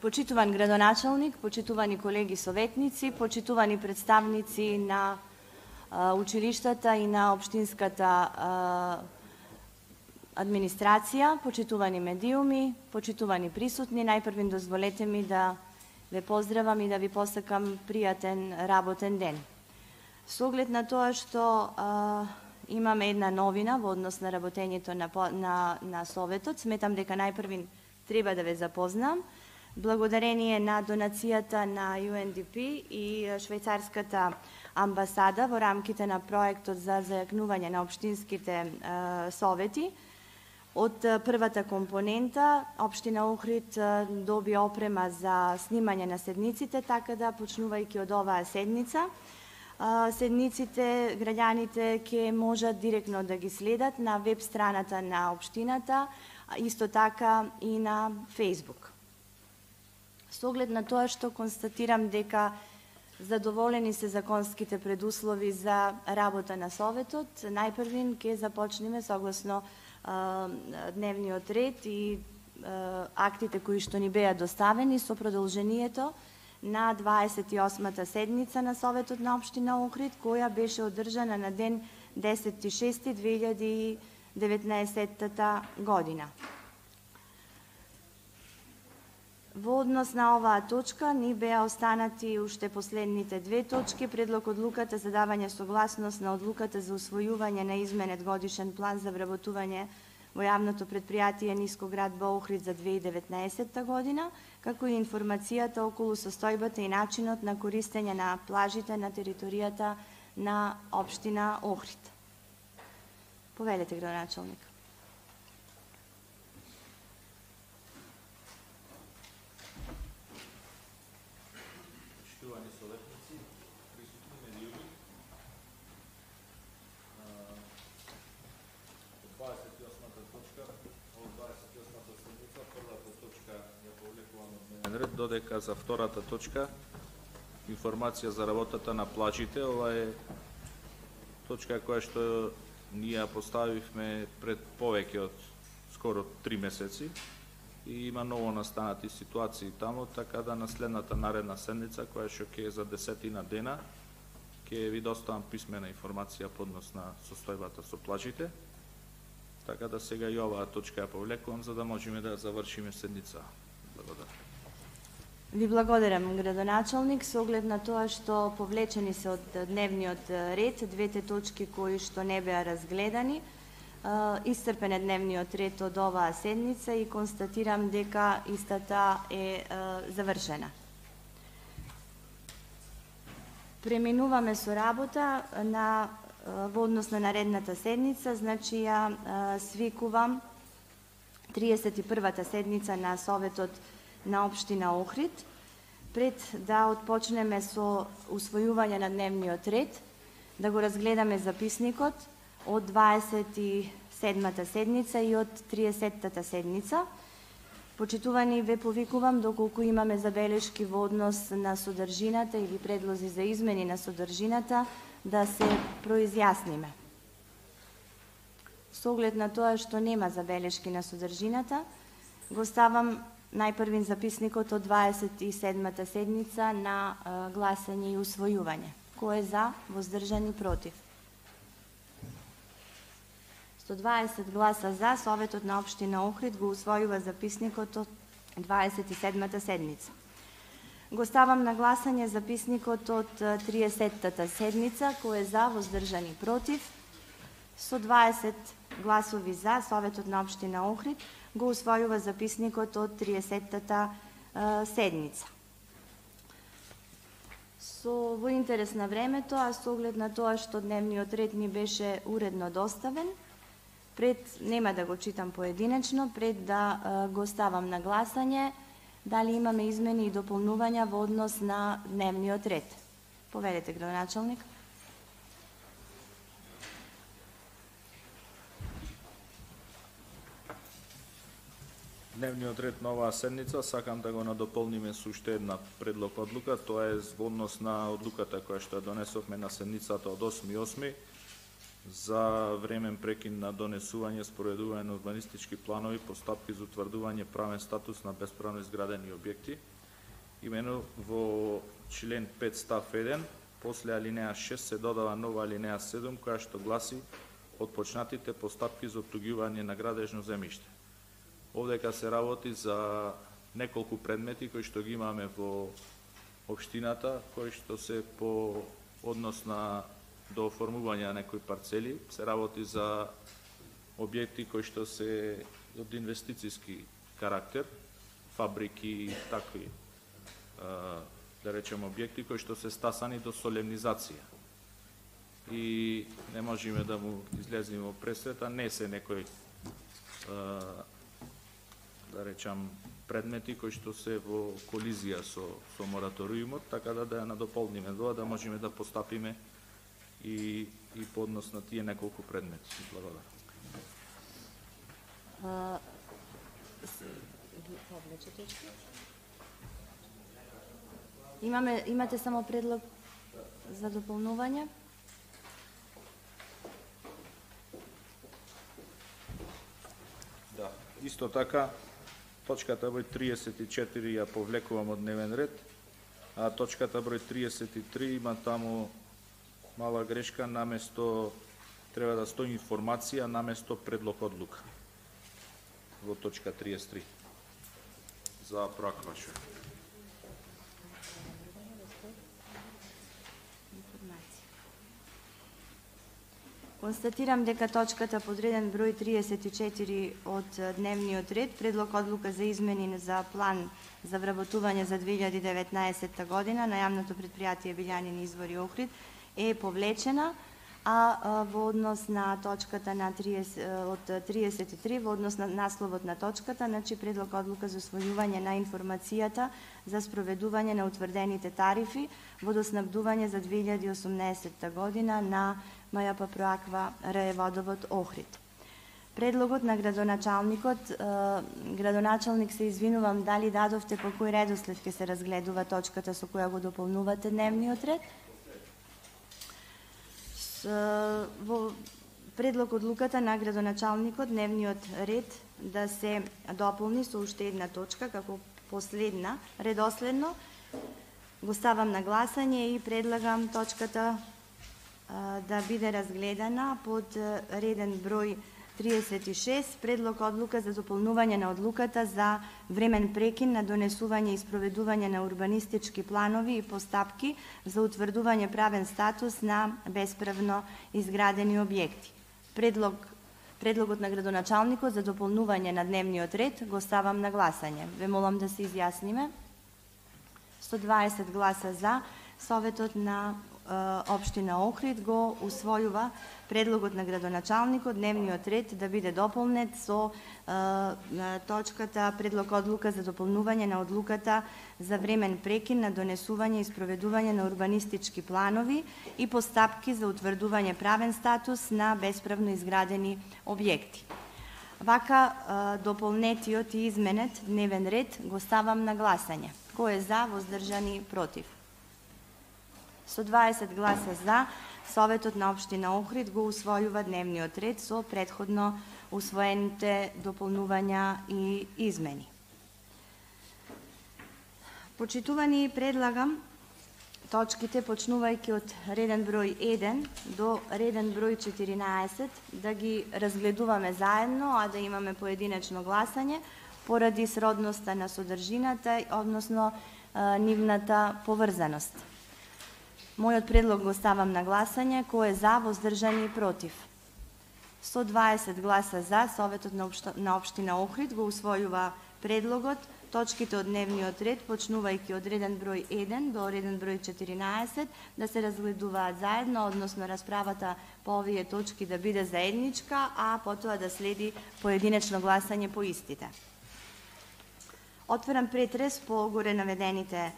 Почитуван градоначалник, почитувани колеги советници, почитувани представници на училиштата и на општинската администрација, почитувани медиуми, почитувани присутни, најпрвин дозволете ми да ве поздравам и да ви посакам пријатен работен ден. Со оглед на тоа што имаме една новина во однос на работењето на Советот, сметам дека најпрвин треба да ве запознам. Благодарение на донацијата на UNDP и швајцарската амбасада во рамките на проектот за зајакнување на општинските совети, од првата компонента, општина Охрид доби опрема за снимање на седниците, така да, почнувајќи од оваа седница, седниците граѓаните ќе можат директно да ги следат на веб страната на општината, исто така и на Facebook. Со оглед на тоа што констатирам дека задоволени се законските предуслови за работа на Советот, најпрвин ќе започнеме согласно дневниот ред и актите кои што ни беа доставени со продолжението на 28-та седница на Советот на општина Охрид, која беше одржана на ден 10.6.2019 година. Во однос на оваа точка ни беа останати уште последните две точки: предлог одлуката за давање согласност на одлуката за усвојување на изменет годишен план за вработување во јавното предпријатие Нискоградба Охрид за 2019 година, како и информацијата околу состојбата и начинот на користење на плажите на територијата на општина Охрид. Повелете, градоначалник. Почитувани советници, присутни медиуми, 28-та точка, од 28-та седница, првата точка ја повлекувам од дневен ред, додека за втората точка, информација за работата на плажите. Ова е точка која што ние ја поставивме пред повеќе од скоро 3 месеци и има ново настанати ситуации таму, така да на следната наредна седница, која што ќе е за 10 дена, ќе ви доставам писмена информација по однос на состојбата со плажите. Така да сега и оваа точка ја повлекувам, за да можеме да завршиме седница. Благодарам. Ви благодарам, градоначалник, со оглед на тоа што повлечени се од дневниот ред двете точки кои што не беа разгледани. Исцрпен е дневниот ред од оваа седница и констатирам дека истата е завршена. Преминуваме со работа во однос на наредната седница, значи ја свикувам 31-та седница на Советот на општина Охрид. Пред да отпочнеме со усвојување на дневниот ред, да го разгледаме записникот од 27-та седница и од 30-та седница. Почитувани, ве повикувам доколку имаме забелешки во однос на содржината или предлози за измени на содржината, да се произјасниме. Со оглед на тоа што нема забелешки на содржината, го ставам најпрвин записникот од 27-та седница на гласање и усвојување. Кој е за, воздржан и против? 120 гласа за, Советот на општина Охрид го усвојува записникот од 27-та седница. Го ставам на гласање записникот од 30-та седница, кој е за, воздржан и против. Со 20 гласови за, Советот на општина Охрид го усвојува записникот од 30-та седница. Во интерес на времето, а со оглед на тоа што дневниот ред ни беше уредно доставен, нема да го читам поединечно, пред да го ставам на гласање, дали имаме измени и дополнувања во однос на дневниот ред. Повелете, градоначалник. Дневниот ред на оваа седница сакам да го надополниме со уште една предлог одлука. Тоа е во однос на одлуката која што ја донесовме на седницата од 8.8. за времен прекин на донесување, споредување на урбанистички планови, постапки за утврдување правен статус на бесправно изградени објекти. Имено во член 5 став 1, после алинеја 6 се додава нова алинеја 7, која што гласи отпочнатите постапки за оттуѓување на градежно земјиште. Овдека се работи за неколку предмети кои што ги имаме во општината, кои што се по однос на до оформување на некои парцели, се работи за објекти кои што се од инвестицијски карактер, фабрики и такви, да речем, објекти кои што се стасани до солемнизација. И не можеме да му излеземе во пресвета, не се некои, да речам, предмети кои што се во колизија со мораториумот, така да ја надополниме да можеме да постапиме и по однос на тие неколку предмети. Благодарам. Имате само предлог за дополнување? Да, исто така, точката број 34 ја повлекувам од дневен ред, а точката број 33 има таму мала грешка, наместо треба да стои информација, наместо предлог одлука во точка 33 за проакваша. Констатирам дека точката подреден број 34 од дневниот ред, предлог одлука за измени за план за вработување за 2019 година на јавното претпријатие Билјанин извори Охрид е повлечена, а во однос на точката на од 33, во однос на насловот на точката, значи предлог одлука за усвојување на информацијата за спроведување на утврдените тарифи водоснабдување за 2018 година на МЈП Проаква РЕ Водовод Охрид. Предлогот на градоначалникот, градоначалник, се извинувам, дали дадовте по кој редослед ќе се разгледува точката со која го дополнувате дневниот ред? Во предлог одлуката на градоначалникот дневниот ред да се дополни со уште една точка како последна, редоследно, го ставам на гласање и предлагам точката да биде разгледана под реден број 36, предлог одлука за дополнување на одлуката за времен прекин на донесување и спроведување на урбанистички планови и постапки за утврдување правен статус на бесправно изградени објекти. Предлогот на градоначалникот за дополнување на дневниот ред го ставам на гласање. Ве молам да се изјасниме. 120 гласа за, Советот на Општина Охрид го усвојува предлогот на градоначалникот дневниот ред да биде дополнет со точката предлог одлука за дополнување на одлуката за времен прекин на донесување и спроведување на урбанистички планови и постапки за утврдување правен статус на бесправно изградени објекти. Вака дополнетиот и изменет дневен ред го ставам на гласање. Кој е за, воздржани, против? 120 гласа за, Советот на Општина Охрид го усвојува дневниот ред со претходно усвоените дополнувања и измени. Почитувани, предлагам точките почнувајќи од реден број 1 до реден број 14 да ги разгледуваме заедно, а да имаме поединечно гласање поради сродноста на содржината, односно нивната поврзаност. Мојот предлог го ставам на гласање. Кој е за, воздржани, против? 120 гласа за, Советот на Општина Охрид го усвојува предлогот, точките од дневниот ред, почнувајќи од реден број 1 до реден број 14, да се разгледуваат заедно, односно расправата по овие точки да биде заедничка, а потоа да следи поединечно гласање по истите. Отварам претрес по горе наведените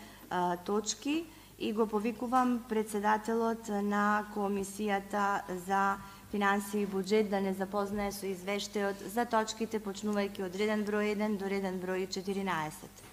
точки и го повикувам председателот на Комисијата за финансии и буџет да не запознае со извештајот за точките почнувајќи од реден број 1 до реден број 14.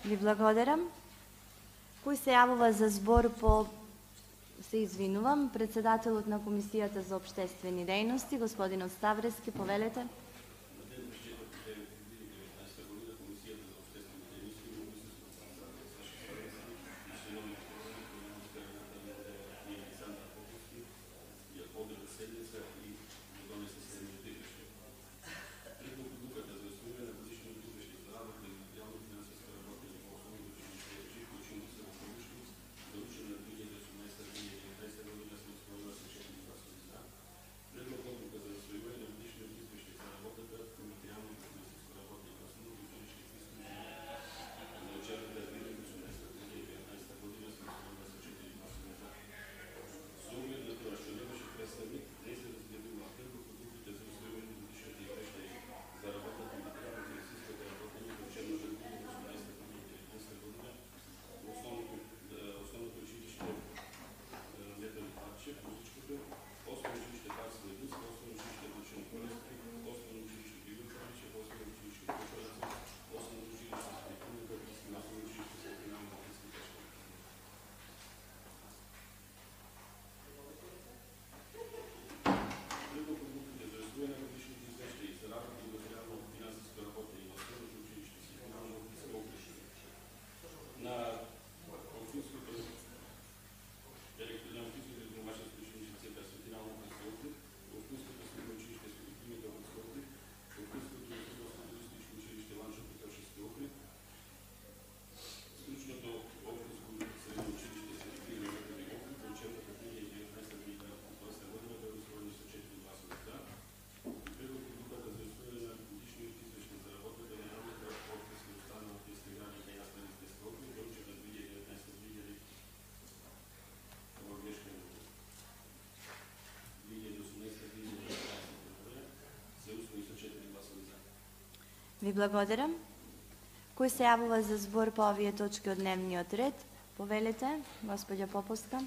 Ви благодарам. Кој се јавува за збор по... Се извинувам, председателот на Комисијата за општествени дејности, господинот Ставрески, повелете. Ви благодарам. Кој се јавува за збор по овие точки од дневниот ред? Повелете, господја Поповска.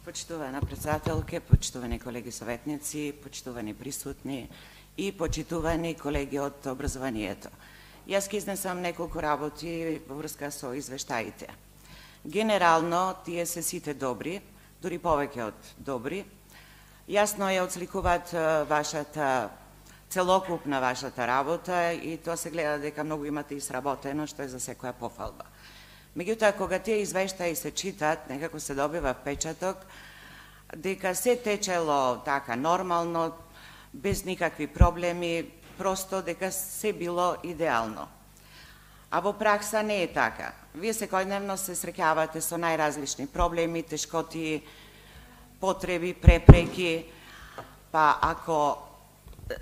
Почитувана председателке, почитувани колеги советници, почитувани присутни и почитувани колеги од образованието. Јас ќе изнесам неколку работи во врска со извештаите. Генерално, тие се сите добри, дури повеќе од добри. Јасно ја отсликуваат вашата, целокупна вашата работа и тоа се гледа дека многу имате изработено, што е за секоја пофалба. Меѓутоа, кога тие извештаи се читат, некако се добива впечаток дека се течело така нормално, без никакви проблеми, просто дека се било идеално. А во пракса не е така. Вие секојдневно се среќавате со најразлични проблеми, тешкоти, потреби, препреки, па ако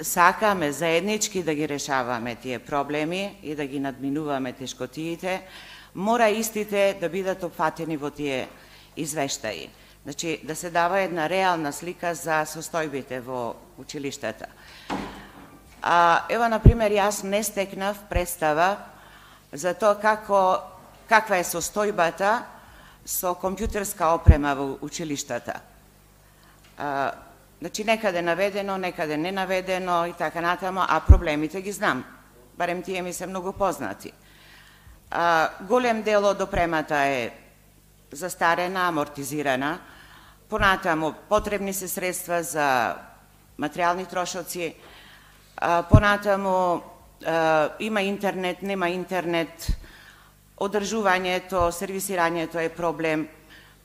сакаме заеднички да ги решаваме тие проблеми и да ги надминуваме тешкотиите, мора истите да бидат опфатени во тие извештаи. Значи, да се дава една реална слика за состојбите во училиштата. Ева, например, јас не стекнав представа за тоа каква е состојбата со компјутерска опрема во училиштата. Значи, некаде наведено, некаде не наведено и така натаму, а проблемите ги знам. Барем тие ми се многу познати. Голем дел од опремата е застарена, амортизирана. Понатаму, потребни се средства за материјални трошоци. Понатаму, има интернет, нема интернет, одржувањето, сервисирањето е проблем,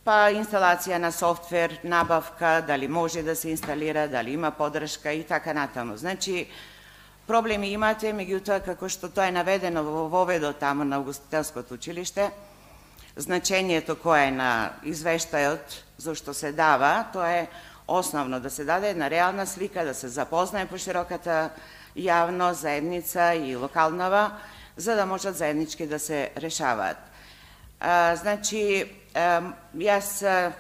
па инсталација на софтвер, набавка, дали може да се инсталира, дали има поддршка и така натаму. Значи, проблеми имате, меѓутоа, како што тоа е наведено во воведот таму на Угостителското училиште, значењето кое е на извештајот, зашто се дава, тоа е основно да се даде една реална слика, да се запознае пошироката јавност, заедница и локалнава, за да можат заеднички да се решаваат. Значи, јас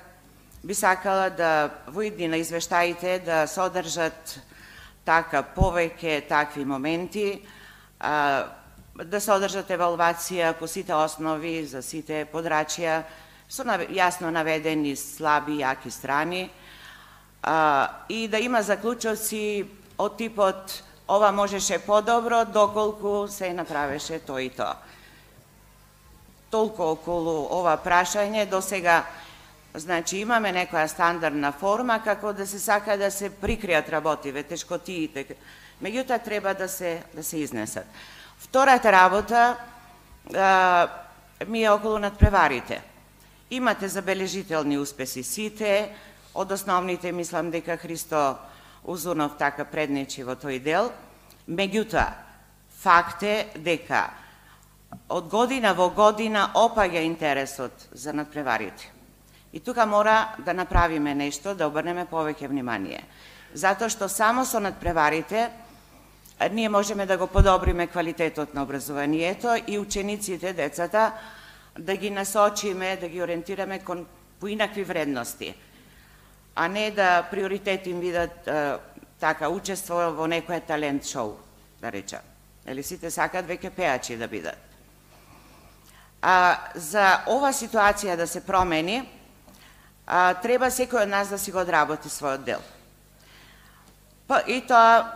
би сакала да во иднина извештаите да содржат така повеќе такви моменти, да содржат евалвација по сите основи за сите подрачја, со јасно наведени слаби и јаки страни, и да има заклучоци од типот ова можеше подобро, доколку се направеше тој и тоа. Толку околу ова прашање, до сега, значи, имаме некоја стандардна форма како да се сака да се прикријат работиве, тешкотиите, меѓутоа треба да се изнесат. Втората работа ми е околу надпреварите. Имате забележителни успеси сите, од основните мислам дека Христо Узунов така преднечи во тој дел, меѓутоа факт е дека од година во година опаѓа интересот за надпреварите. И тука мора да направиме нешто, да обрнеме повеќе внимание. Затоа што само со надпреварите ние можеме да го подобриме квалитетот на образованието и учениците, децата, да ги насочиме, да ги ориентираме кон поинакви вредности, а не да приоритет им видат така учество во некој талент шоу, да речам. Или сите сакат веќе пеачи да бидат. За ова ситуација да се промени, треба секој од нас да си го одработи својот дел. И тоа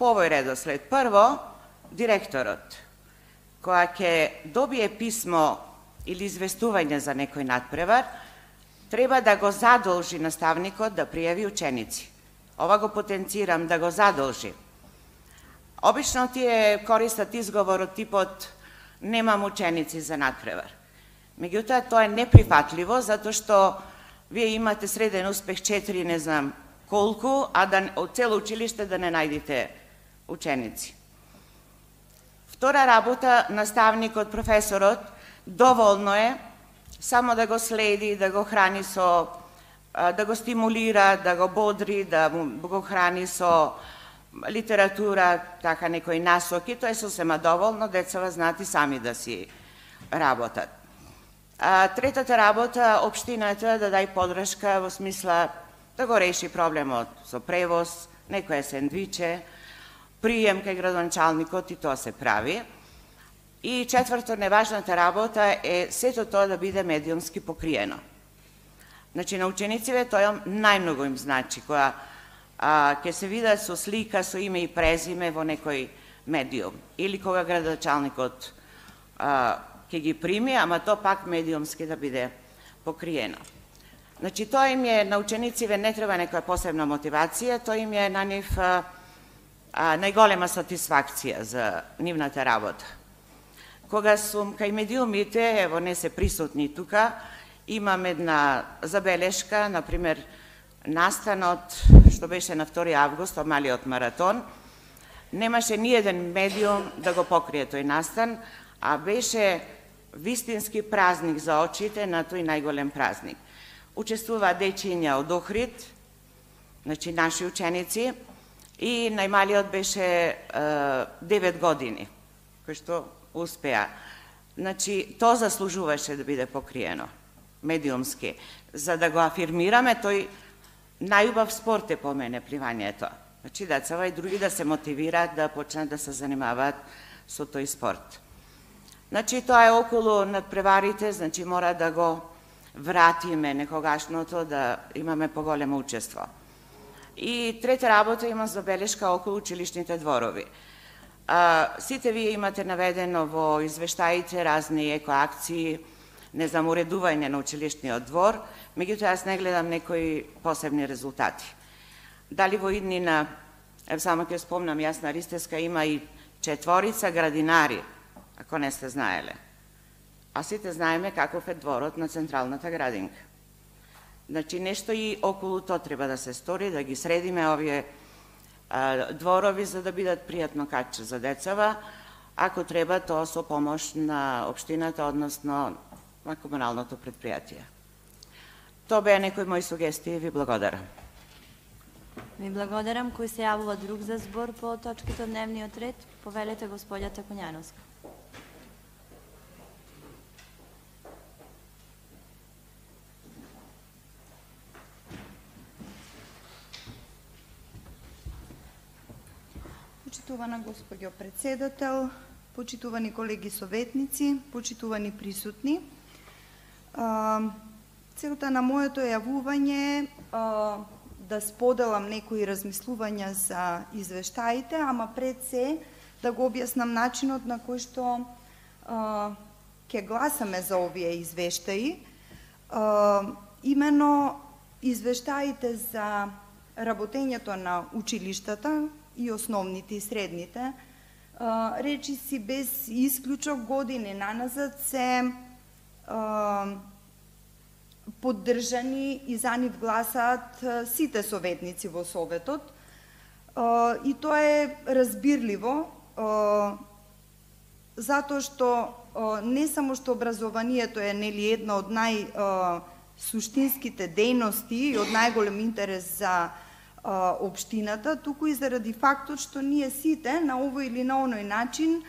по овој редослед. Прво, директорот, која ќе добие писмо или известување за некој надпревар, треба да го задолжи наставникот да пријави ученици. Ова го потенцирам, да го задолжи. Обично тие користат изговор од типот немам ученици за надпревар. Меѓутоа, тоа е неприфатливо, затоа што вие имате среден успех 4, не знам колку, а од цело училиште да не најдите ученици. Втора работа, наставникот, професорот, доволно е само да го следи, да го храни со, да го стимулира, да го бодри, да го храни со литература, така некои насоки, тоа е сосема доволно, децава знаат и сами да си работат. Третата работа, општината да дај подршка во смисла да го реши проблемот со превоз, некоја сендвиче, прием кај градоначалникот и тоа се прави. И четврто, неважната работа е сето тоа да биде медиумски покриено. Значи, на учениците тоа најмногу им значи, која ќе се видат со слика, со име и презиме во некој медиум. Или кога градоначалникот ќе ги прими, ама тоа пак медиумски да биде покриено. Значи, тоа им е, на учениците не треба некоја посебна мотивација, тоа им е на нив најголема сатисфакција за нивната работа. Кога сум кај медиумите, ево не се присутни тука, имам една забелешка, например, настанот, што беше на 2 август, малиот маратон, немаше ни еден медиум да го покрие тој настан, а беше вистински празник за очите на тој најголем празник. Учествува дечиња од Охрид, значи наши ученици, и најмалиот беше 9 години, кој што успеа. Значи, тоа заслужуваше да биде покриено, медиумски. За да го афирмираме, тој најубав спорт е по мене пливањето. Значи, децава и други да се мотивираат да почнат да се занимаваат со тој спорт. Значи, тоа е околу надпреварите, значи мора да го вратиме некогашното, да имаме поголемо учество. И трета работа има забелешка околу училишните дворови. Сите вие имате наведено во извештаите разни екоакции, не знам, уредување на училишниот двор, меѓутоа јас не гледам некои посебни резултати. Дали во иднина, само ќе спомнам, јас на Ристеска има и 4 градинари, ако не сте знаеле. А сите знаеме каков е дворот на Централната градинка. Значи, нешто и околу тоа треба да се стори, да ги средиме овие дворови, за да бидат пријатно каче за децава, ако треба тоа со помош на општината, односно на комуналното предпријатие. Тоа беа некои мои сугестии, ви благодарам. Ви благодарам. Кој се јавува друг за збор по точките од дневниот ред? Повелете господјата Коњановска. Почитувана господјо председател, почитувани колеги советници, почитувани присутни. Целта на моето јавување да споделам некои размислувања за извештаите, ама пред се да го објаснам начинот на кој што ќе гласаме за овие извештаи. Имено извештаите за работењето на училиштата и основните и средните, речи си без исклучок години наназад се поддржани и за нив гласаат сите советници во Советот. И тоа е разбирливо, затоа што не само што образованието е една од најсуштинските дејности и од најголем интерес за општината, туку и заради фактот што ние сите на овој или на оној начин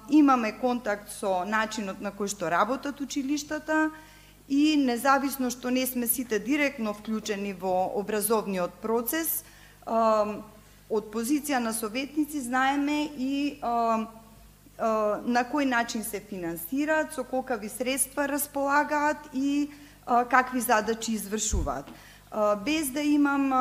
имаме контакт со начинот на кој што работат училиштата и независно што не сме сите директно вклучени во образовниот процес, од позиција на советници знаеме и на кој начин се финансираат, со колкави средства располагаат и какви задачи извршуваат. Без да имам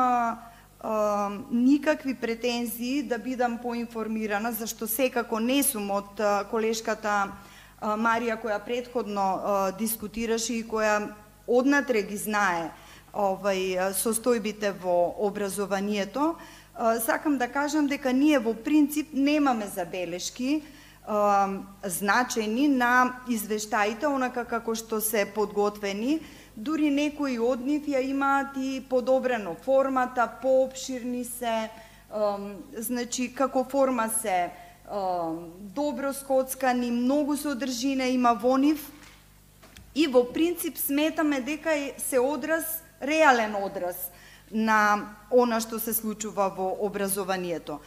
никакви претензии да бидам поинформирана, зашто секако не сум од колешката Марија која претходно дискутираше и која однатре ги знае состојбите во образованието, сакам да кажам дека ние во принцип немаме забелешки значајни на извештаите, онака како што се подготвени. Дури некои од нив ја имаат и подобрено формата, поопширни се, значи како форма се добро скоцкани, многу содржина има во нив и во принцип сметаме дека се одраз, реален одраз на она што се случува во образованието.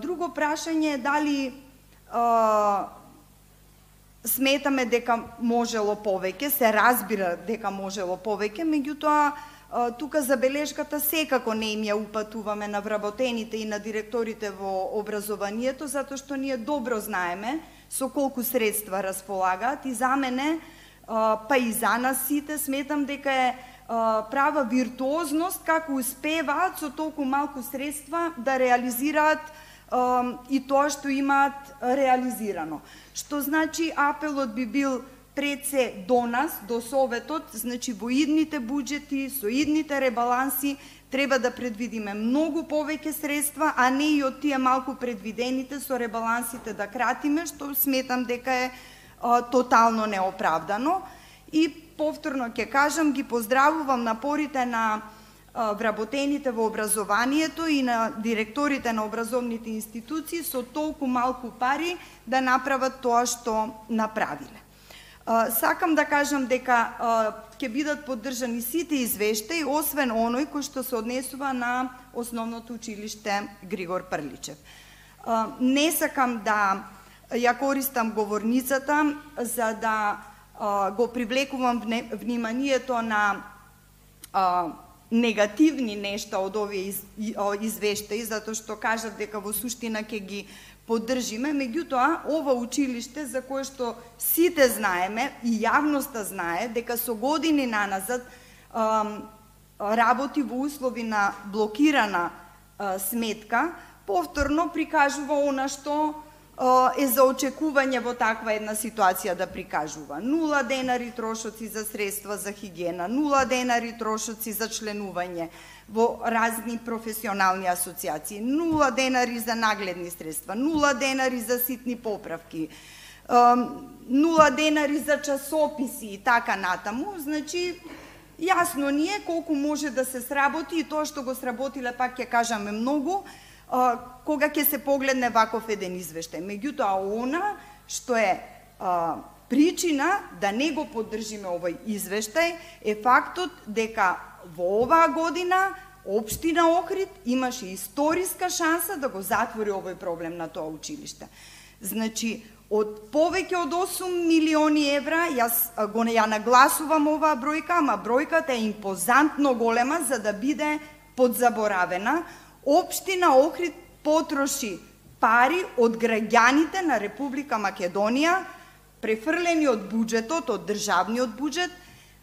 Друго прашање е дали сметаме дека можело повеќе, се разбира дека можело повеќе, меѓутоа тука забелешката секако не им ја упатуваме на вработените и на директорите во образованието, затоа што ние добро знаеме со колку средства располагаат и за мене, па и за нас сите, сметам дека е права виртуозност како успеваат со толку малку средства да реализираат и тоа што имаат реализирано. Што значи апелот би бил пред се до нас, до Советот, значи во идните буџети, со идните ребаланси треба да предвидиме многу повеќе средства, а не и од тие малку предвидените со ребалансите да кратиме, што сметам дека е тотално неоправдано. И повторно ќе кажам, ги поздравувам напорите на вработените во образованието и на директорите на образовните институции со толку малку пари да направат тоа што направиле. Сакам да кажам дека ќе бидат поддржани сите извештаи, освен оној кој што се однесува на Основното училиште Григор Прличев. Не сакам да ја користам говорницата за да го привлекувам вниманието на негативни нешта од овие извештаи, затоа што кажат дека во суштина ќе ги поддржиме, меѓутоа ова училиште за кое што сите знаеме и јавноста знае дека со години наназад работи во услови на блокирана сметка, повторно прикажува она што е за очекување во таква една ситуација да прикажува. 0 денари трошоци за средства за хигиена, 0 денари трошоци за членување во разни професионални асоциации, 0 денари за нагледни средства, 0 денари за ситни поправки, 0 денари за часописи и така натаму. Значи, јасно ни е колку може да се сработи и тоа што го сработиле, пак ќе кажаме многу, кога ќе се погледне ваков еден извештај. Меѓутоа, она што е причина да не го поддржиме овој извештај е фактот дека во оваа година Општина Охрид имаше историска шанса да го затвори овој проблем на тоа училиште. Значи, од повеќе од 8 милиони евра, јас ја нагласувам оваа бројка, ама бројката е импозантно голема за да биде подзаборавена. Општина Охрид потроши пари од граѓаните на Република Македонија, префрлени од буџетот, од државниот буџет,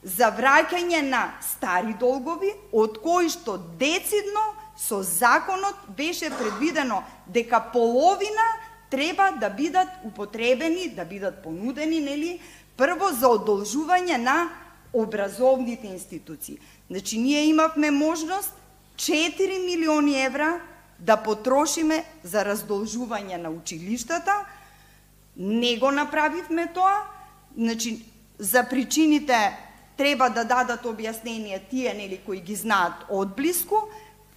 за враќање на стари долгови, од кои што децидно со законот беше предвидено дека половина треба да бидат употребени, да бидат понудени, нели, прво за одолжување на образовните институции. Значи, ние имавме можност 4 милиони евра да потрошиме за раздолжување на училиштата, не го направивме тоа, значи, за причините треба да дадат објаснение тие, нели, кои ги знаат одблиску.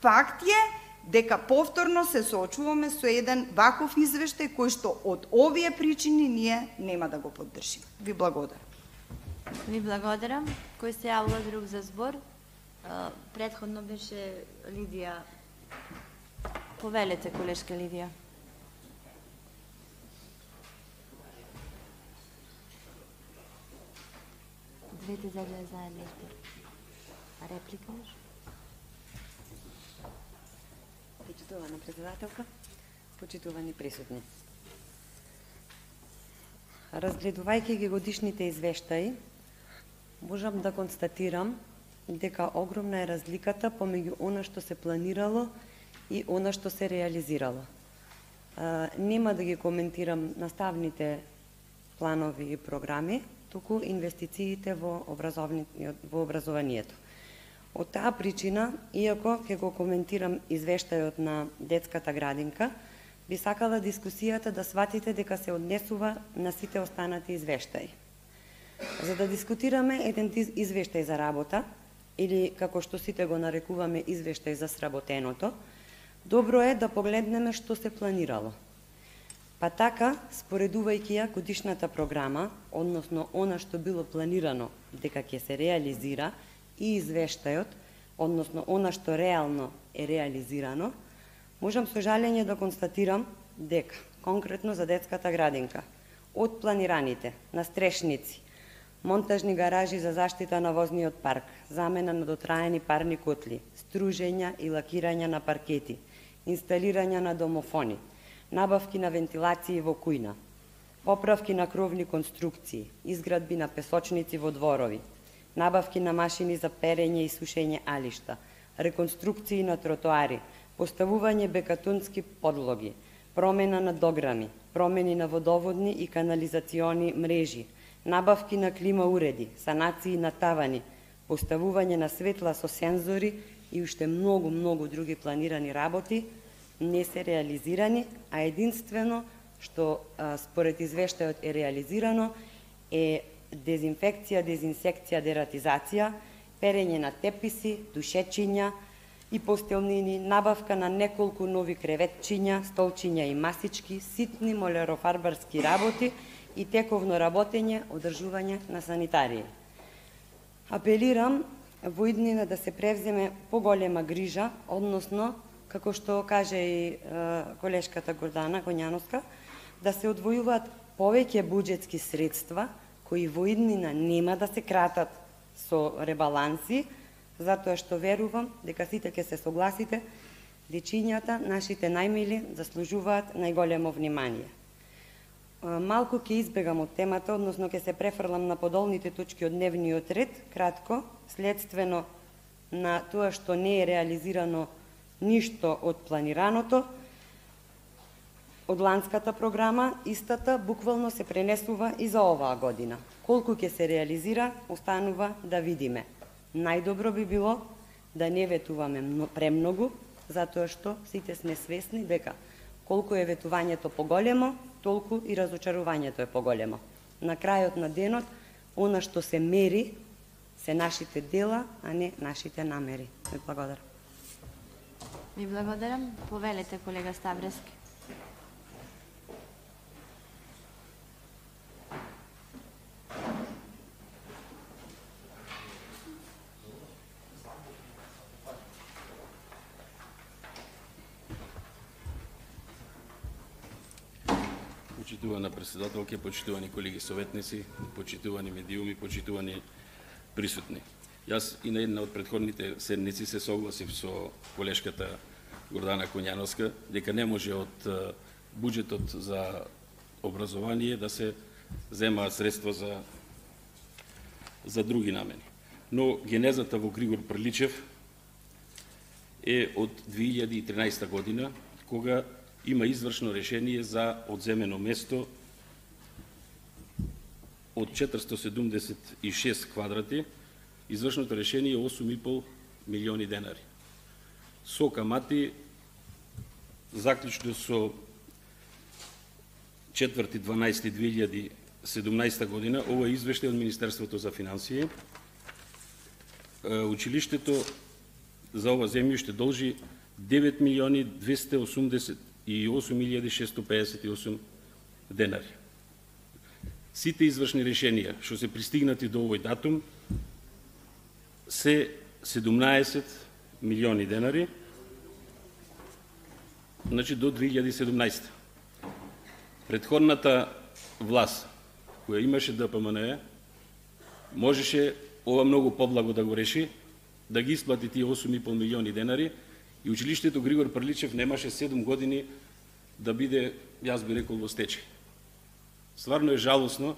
Факт е дека повторно се соочуваме со еден ваков извештај кој што од овие причини ние нема да го поддржиме. Ви благодарам. Ви благодарам. Кој се јавува друг за збор? Претходно беше Лидија. Повелете, колешка Лидија. Двете заедно. Реплика? Почитувана председателка, почитувани присутни. Разгледувајќи ги годишните извештаи, можам да констатирам дека огромна е разликата помеѓу она што се планирало и она што се реализирало. Нема да ги коментирам наставните планови и програми, туку инвестициите во образованието. Од таа причина, иако ќе го коментирам извештајот на детската градинка, би сакала дискусијата да сватите дека се однесува на сите останати извештаи. За да дискутираме еден извештај за работа, или како што сите го нарекуваме извештај за сработеното, добро е да погледнеме што се планирало. Па така, споредувајќи ја годишната програма, односно она што било планирано дека ќе се реализира, и извештајот, односно она што реално е реализирано, можам со жалење да констатирам дека, конкретно за детската градинка, од планираните настрешници, монтажни гаражи за заштита на возниот парк, замена на дотраени парни котли, стружења и лакирање на паркети, инсталирање на домофони, набавки на вентилации во кујна, поправки на кровни конструкции, изградби на песочници во дворови, набавки на машини за перење и сушење алишта, реконструкции на тротоари, поставување бекатунски подлоги, промена на дограми, промени на водоводни и канализациони мрежи, набавки на клима уреди, санации на тавани, поставување на светла со сензори и уште многу други планирани работи не се реализирани, а единствено што според извештајот е реализирано е дезинфекција, дезинсекција, дератизација, перење на теписи, душечиња и постелнини, набавка на неколку нови креветчиња, столчиња и масички, ситни молерофарбарски работи и тековно работење, одржување на санитарии. Апелирам во иднина да се превземе поголема грижа, односно, како што каже и колешката Гордана Коњановска, да се одвојуваат повеќе буџетски средства кои во иднина нема да се кратат со ребаланси, затоа што верувам дека сите ќе се согласите, дечињата, нашите најмили, заслужуваат најголемо внимание. Малку ќе избегам од темата, односно ќе се префрлам на подолните точки од дневниот ред, кратко, следствено на тоа што не е реализирано ништо од планираното, од ланската програма, истата буквално се пренесува и за оваа година. Колку ќе се реализира, останува да видиме. Најдобро би било да не ветуваме премногу, затоа што сите сме свесни дека колку е ветувањето поголемо, толку и разочарувањето е поголемо. На крајот на денот, она што се мери се нашите дела, а не нашите намери. Ви благодарам. Ви благодарам. Повелете, колега Ставрески. Почитувана председателке, почитувани колеги советници, почитувани медиуми, почитувани присутни. Јас и на една од претходните седници се согласив со колешката Гордана Коњановска дека не може од буџетот за образование да се земаат средства за други намени. но генезата во Григор Приличев е од 2013 година, кога има извршно решение за одземено место од 476 квадрати. Извршното решение е 8,5 милиони денари. Со камати, заклучно со 4.12.2017 година, ова е извештај од Министерството за финансии, училиштето за ова земјиште должи 9.288.658 денари. Сите извршни решенија што се пристигнати до овој датум се 17 милиони денари, значи до 2017. Предходната власт, која имаше ДПМН, можеше ова многу поблаго да го реши, да ги исплати тие 8,5 милиони денари и училиштето Григор Приличев немаше 7 години да биде, јас би рекол, во стечај. Стварно е жалосно,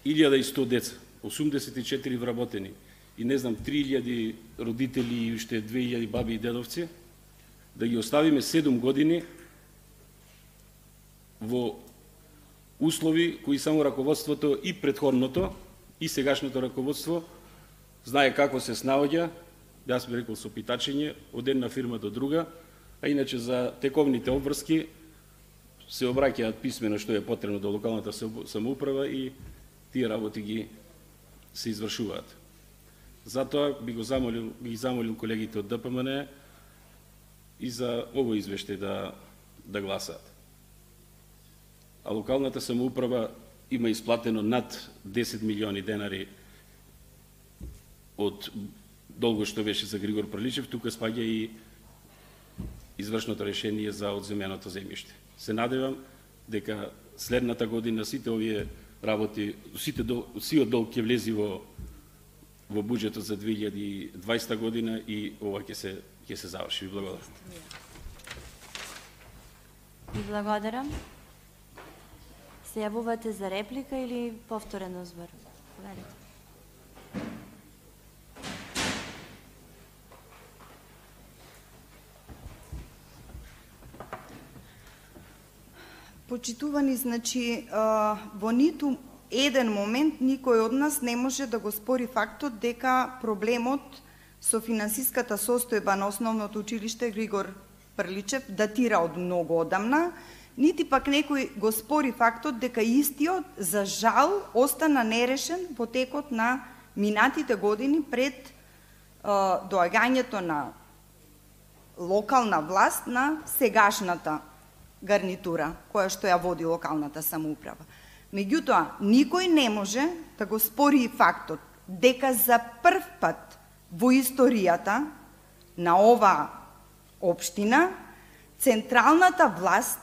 1100 деца, 84 вработени и не знам 3000 родители и уште 2000 баби и дедовци, да ги оставиме 7 години во услови кои само раководството и предходното и сегашното раководство знае како се снаоѓа, јас би рекол со питачење, од една фирма до друга, а иначе за тековните обврски се обраќаат писмено што е потребно до локалната самоуправа и тие работи ги се извршуваат. Затоа би замолил колегите од ДПМН и за овој извештај да гласаат. А локалната самоуправа има исплатено над 10 милиони денари од долго што беше за Григор Приличев, тука спаѓа и извршното решение за одземеното земјиште. Се надевам дека следната година сите овие работи, сиот долг ќе влези во буџетот за 2020 година и ова ќе се заврши. Ви благодарам. Ви благодарам. Се јавувате за реплика или повторен озбор? Поведете. Почитувани, значи, во ниту еден момент никој од нас не може да го спори фактот дека проблемот со финансиската состојба на основното училиште Григор Приличев датира од многу одамна, нити пак некој го спори фактот дека истиот, за жал, остана нерешен во текот на минатите години пред доаѓањето на локална власт на сегашната гарнитура, која што ја води локалната самоуправа. Меѓутоа, никој не може да го спори и фактот дека за прв пат во историјата на ова општина централната власт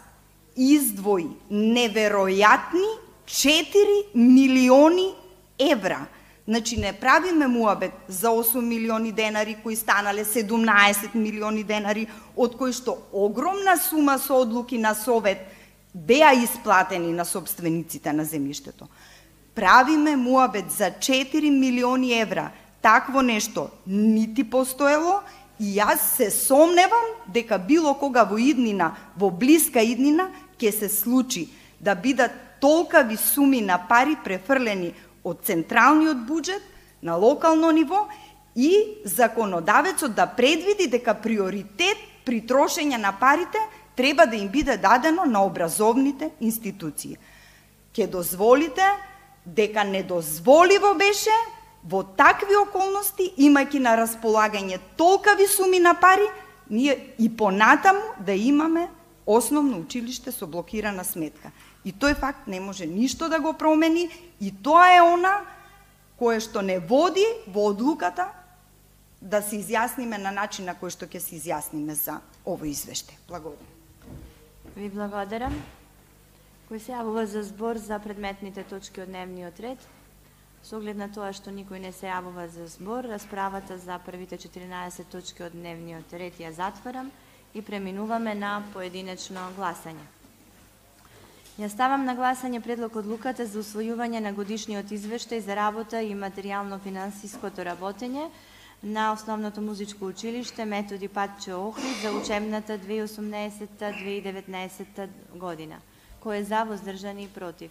издвои неверојатни 4 милиони евра. Значи, не правиме муабет за 8 милиони денари кои станале 17 милиони денари, од кои што огромна сума со одлуки на Совет беа исплатени на собствениците на земјиштето. Правиме муабет за 4 милиони евра. Такво нешто нити постоело и јас се сомневам дека било кога во иднина, во блиска иднина, ќе се случи да бидат толкави суми на пари префрлени од централниот буџет на локално ниво и законодавецот да предвиди дека приоритет при трошење на парите треба да им биде дадено на образовните институции. Ке дозволите дека недозволиво беше во такви околности, имајќи на располагање толкави суми на пари, ние и понатаму да имаме основно училиште со блокирана сметка. И тој факт не може ништо да го промени и тоа е она кое што не води во одлуката да се изјасниме на начин на кој што ќе се изјасниме за овој извештај. Благодарам. Ви благодарам. Кој се јавува за збор за предметните точки од дневниот ред? Со оглед на тоа што никој не се јавува за збор, расправата за првите 14 точки од дневниот ред ја затварам и преминуваме на поединечно гласање. Ја ставам на гласање предлог одлуката за усвојување на годишниот извештај за работа и материјално-финансиското работење на Основното музичко училиште Методи Патче Охрид за учебната 2018-2019 година. Кој е за, воздржани и против?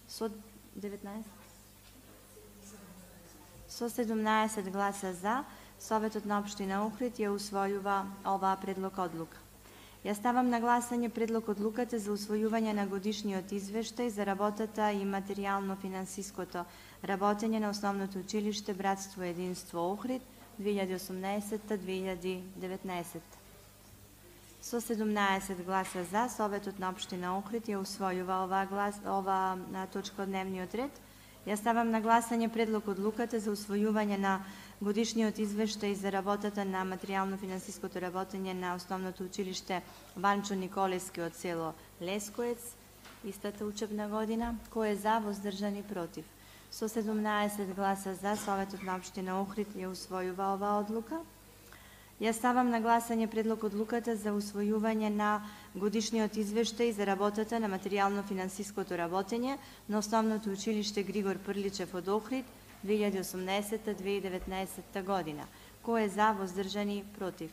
Со 17 гласа за, Советот на општина Охрид ја усвојува оваа предлог одлука. Ја ставам на гласање предлог одлуката за усвојување на годишниот извештај за работата и материјално-финансиското работење на Основното училиште Братство и единство Охрид 2018-2019. Со 17 гласа за, Советот на општина Охрид ја усвојува оваа точка од дневниот ред. Ја ставам на гласање предлог одлуката за усвојување на годишниот извештај за работата на материјално-финансиското работење на Основното училиште Ванчо Николевски од село Лескоец истата учебна година. Кој е за, воздржани и против? Со 17 гласа за, Советот на општина Охрид ја усвојува оваа одлука. Ја ставам на гласање предлог одлуката за усвојување на годишниот извештај за работата на материјално-финансиското работење на Основното училиште Григор Прличев од Охрид 2018-2019 година. Кој е за, воздржани и против?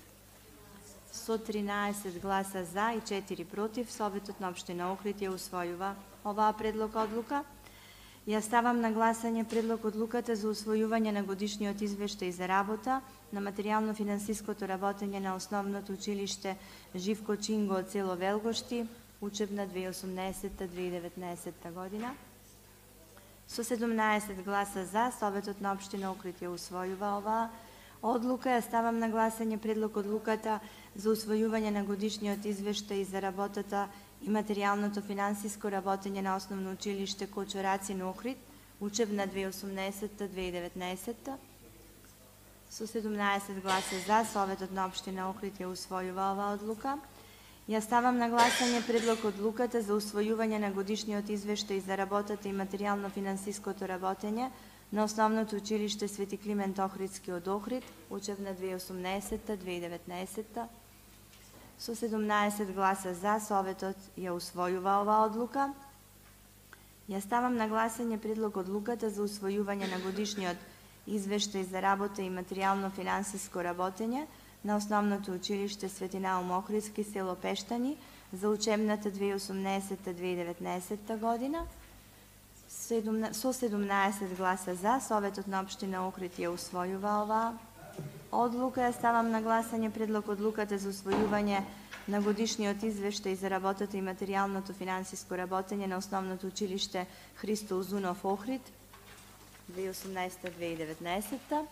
Со 13 гласа за и 4 против, Советот на општина Охрид ја усвојува оваа предлог одлука. Ја ставам на гласање предлог одлуката за усвојување на годишниот извештај за работа на материјално-финансиското работење на Основното училиште Живко Чинго од село Велгошти, учебна 2018-2019 година. Со 17 гласа за, Советот на општина Охрид ја усвојува оваа одлука. Ја ставам на гласање предлог одлуката за усвојување на годишниот извештај за работата и материјалното финансиско работење на Основно училиште Кочо Рацин Охрид, учебна 2018-2019. Со 17 гласа за, Советот на општина Охрид ја усвојува оваа одлука. Ја ставам на гласање предлог одлуката за усвојување на годишниот извештај за работата и материјално-финансиското работење на Основното училиште Свети Климент Охридски од Охрид, учебна 2018-2019. Со 17 гласа за, Советот ја усвојува оваа одлука. Ја ставам на гласање предлог одлуката за усвојување на годишниот извештај за работа и материјално-финансиско работење на Основното училиште Свети Наум Охридски, село Пештани, за учебната 2018-2019 година. Со 17 гласа за, Советот на општина Охрид ја усвојува оваа одлука. Ја ставам на гласање предлог одлуката за усвојување на годишниот извештај за работата и материјалното финансиско работење на Основното училиште Христо Узунов Охрид 2018-2019.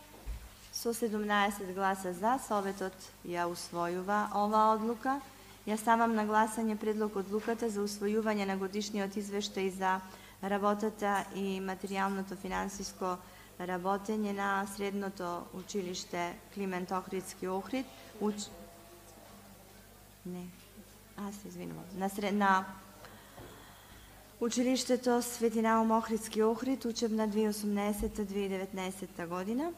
Со 17 гласа за, Советот ја усвојува оваа одлука. Ја ставам на гласање предлог одлуката за усвојување на годишниот извештај за работата и материјалното финансиско работење на Средното училиште Климент Охридски Охрид. На училиштето Свети Наум Охридски Охрид, учебна 2018-2019 година.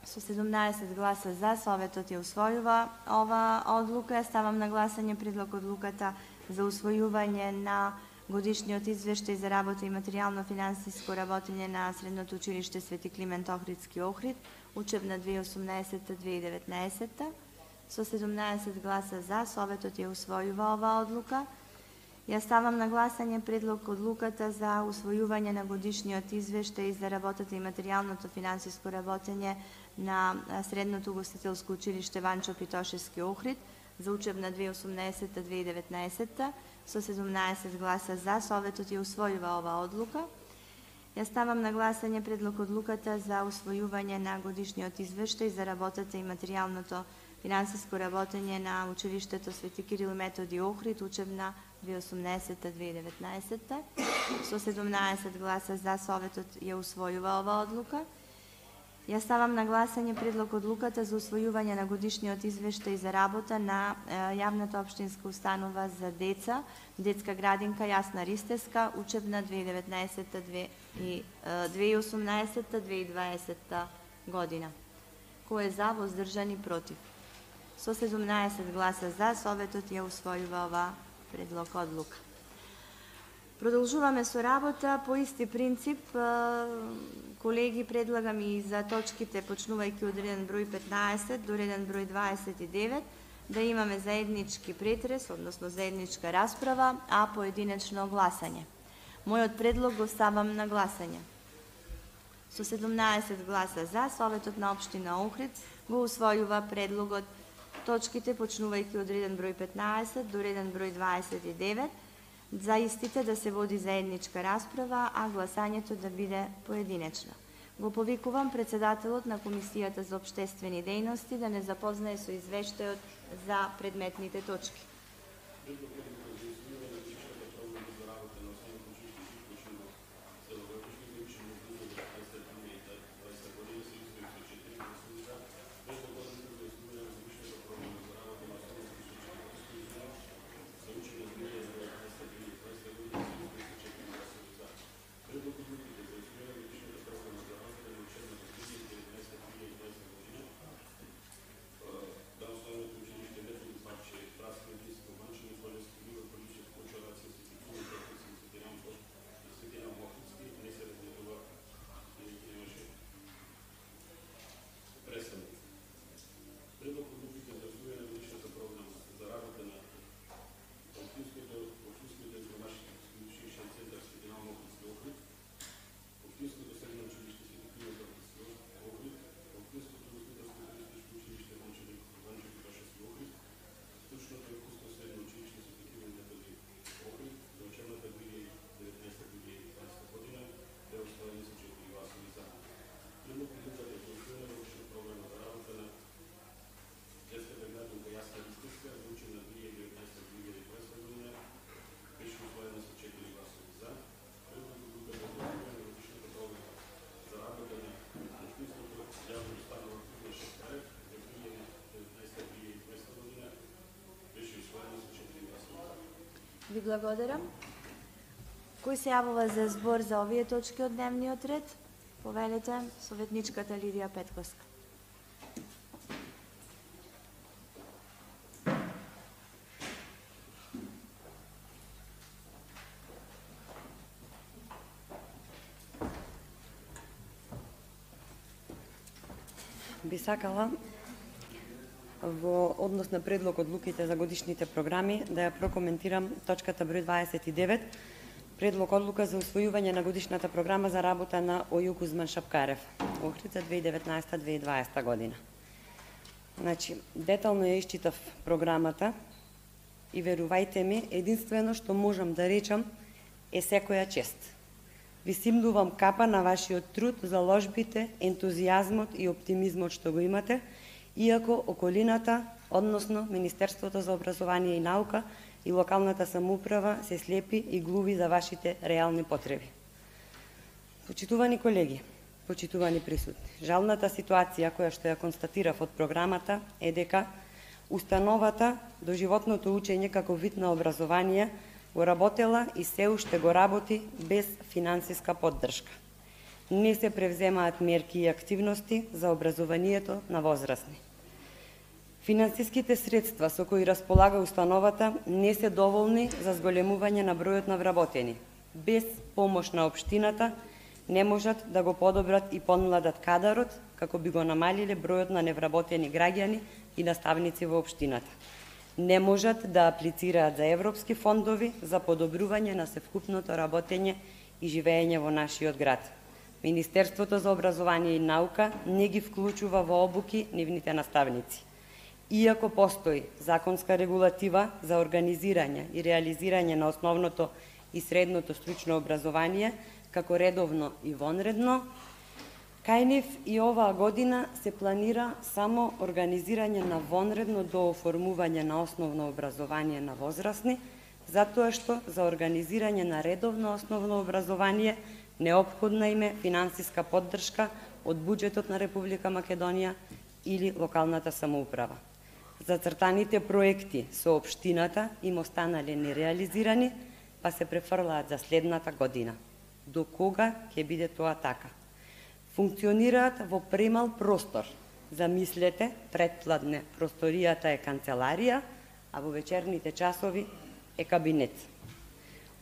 Со 17 гласа за, Советот ја усвојува оваа одлука. Ја ставам на гласање предлог одлуката за усвојување на годишниот извештај за работа и материјално-финансиско работење на Средното училиште Свети Климент Охридски Охрид, учебна 2018-2019. Со 17 гласа за, Советот ја усвојува оваа одлука. Ја ставам на гласање предлог одлуката за усвојување на годишниот извештај за работата и материјалното финансиско работење на Средното угостителско училиште Ванчо Питошевски Охрид за учебна 2018-2019. Со 17 гласа за, Советот ја усвојува оваа одлука. Ја ставам на гласање предлог одлуката за усвојување на годишниот извештај за работата и материјалното финансиско работење на училиштето Свети Кирил Методи Охрид, учебна 2018-2019. Со 17 гласа за, Советот ја усвојува оваа одлука. Ја ставам на гласање предлог одлуката за усвојување на годишниот извештај за работа на јавната општинска установа за деца, детска градинка Јасна Ристеска, учебна 2018-2020 година. Кој е за, воздржан и против? Со 17 гласа за, Советот ја усвојува оваа предлог одлука. Продолжуваме со работа по исти принцип. Колеги, предлагам и за точките почнувајќи од реден број 15 до реден број 29 да имаме заеднички претрес, односно заедничка расправа, а поединечно гласање. Мојот предлог го ставам на гласање. Со 17 гласа за, Советот на општина Охрид го усвојува предлогот точките почнувајќи од реден број 15 до реден број 29 за истите да се води заедничка расправа, а гласањето да биде поединечно. Го повикувам председателот на Комисијата за општествени дејности да не запознае со извештајот за предметните точки. Ви благодарам. Кој се јавува за збор за овие точки од дневниот ред? Повелете, советничката Лидија Петковска. Би сакала во однос на предлог одлуките за годишните програми да ја прокоментирам точката број 29, предлог одлука за усвојување на годишната програма за работа на ОЈУ Кузман Шапкарев, Охрид за 2019-2020 година. Значи, детално ја исчитав програмата и верувајте ми, единствено што можам да речам е секоја чест. Ви симнувам капа на вашиот труд, заложбите, ентузијазмот и оптимизмот што го имате, иако околината, односно Министерството за образование и наука и локалната самоуправа се слепи и глуви за вашите реални потреби. Почитувани колеги, почитувани присутни, жалната ситуација која што ја констатирав од програмата е дека установата доживотното учење како вид на образование го работела и се уште го работи без финансиска поддршка. Не се превземаат мерки и активности за образованието на возрастни. Финансиските средства со кои располага установата не се доволни за зголемување на бројот на вработени. Без помош на општината не можат да го подобрат и помладат кадарот, како би го намалиле бројот на невработени граѓани и наставници во општината. Не можат да аплицираат за европски фондови за подобрување на севкупното работење и живеење во нашиот град. Министерството за образование и наука не ги вклучува во обуки нивните наставници. Иако постои законска регулатива за организирање и реализирање на основното и средното стручно образование, како редовно и вонредно, кај нив и оваа година се планира само организирање на вонредно дооформување на основно образование на возрастни, затоа што за организирање на редовно основно образование неопходна им е финансиска поддршка од буџетот на Република Македонија или локалната самоуправа. Зацртаните проекти со општината им останале нереализирани, па се префрлаат за следната година. До кога ќе биде тоа така? Функционираат во премал простор. Замислете, предпладне просторијата е канцеларија, а во вечерните часови е кабинет.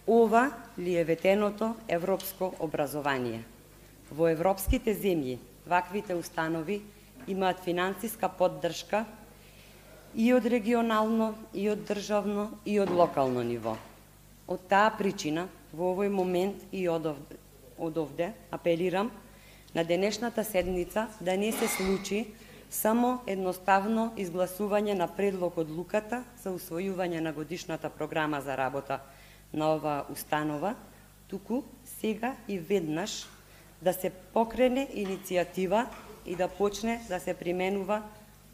Ова ли е ветеното европско образование? Во европските земји ваквите установи имаат финансиска поддршка и од регионално, и од државно, и од локално ниво. Од таа причина, во овој момент и од овде апелирам на денешната седница да не се случи само едноставно изгласување на предлог одлуката за усвојување на годишната програма за работа на оваа установа, туку сега и веднаш да се покрене иницијатива и да почне да се применува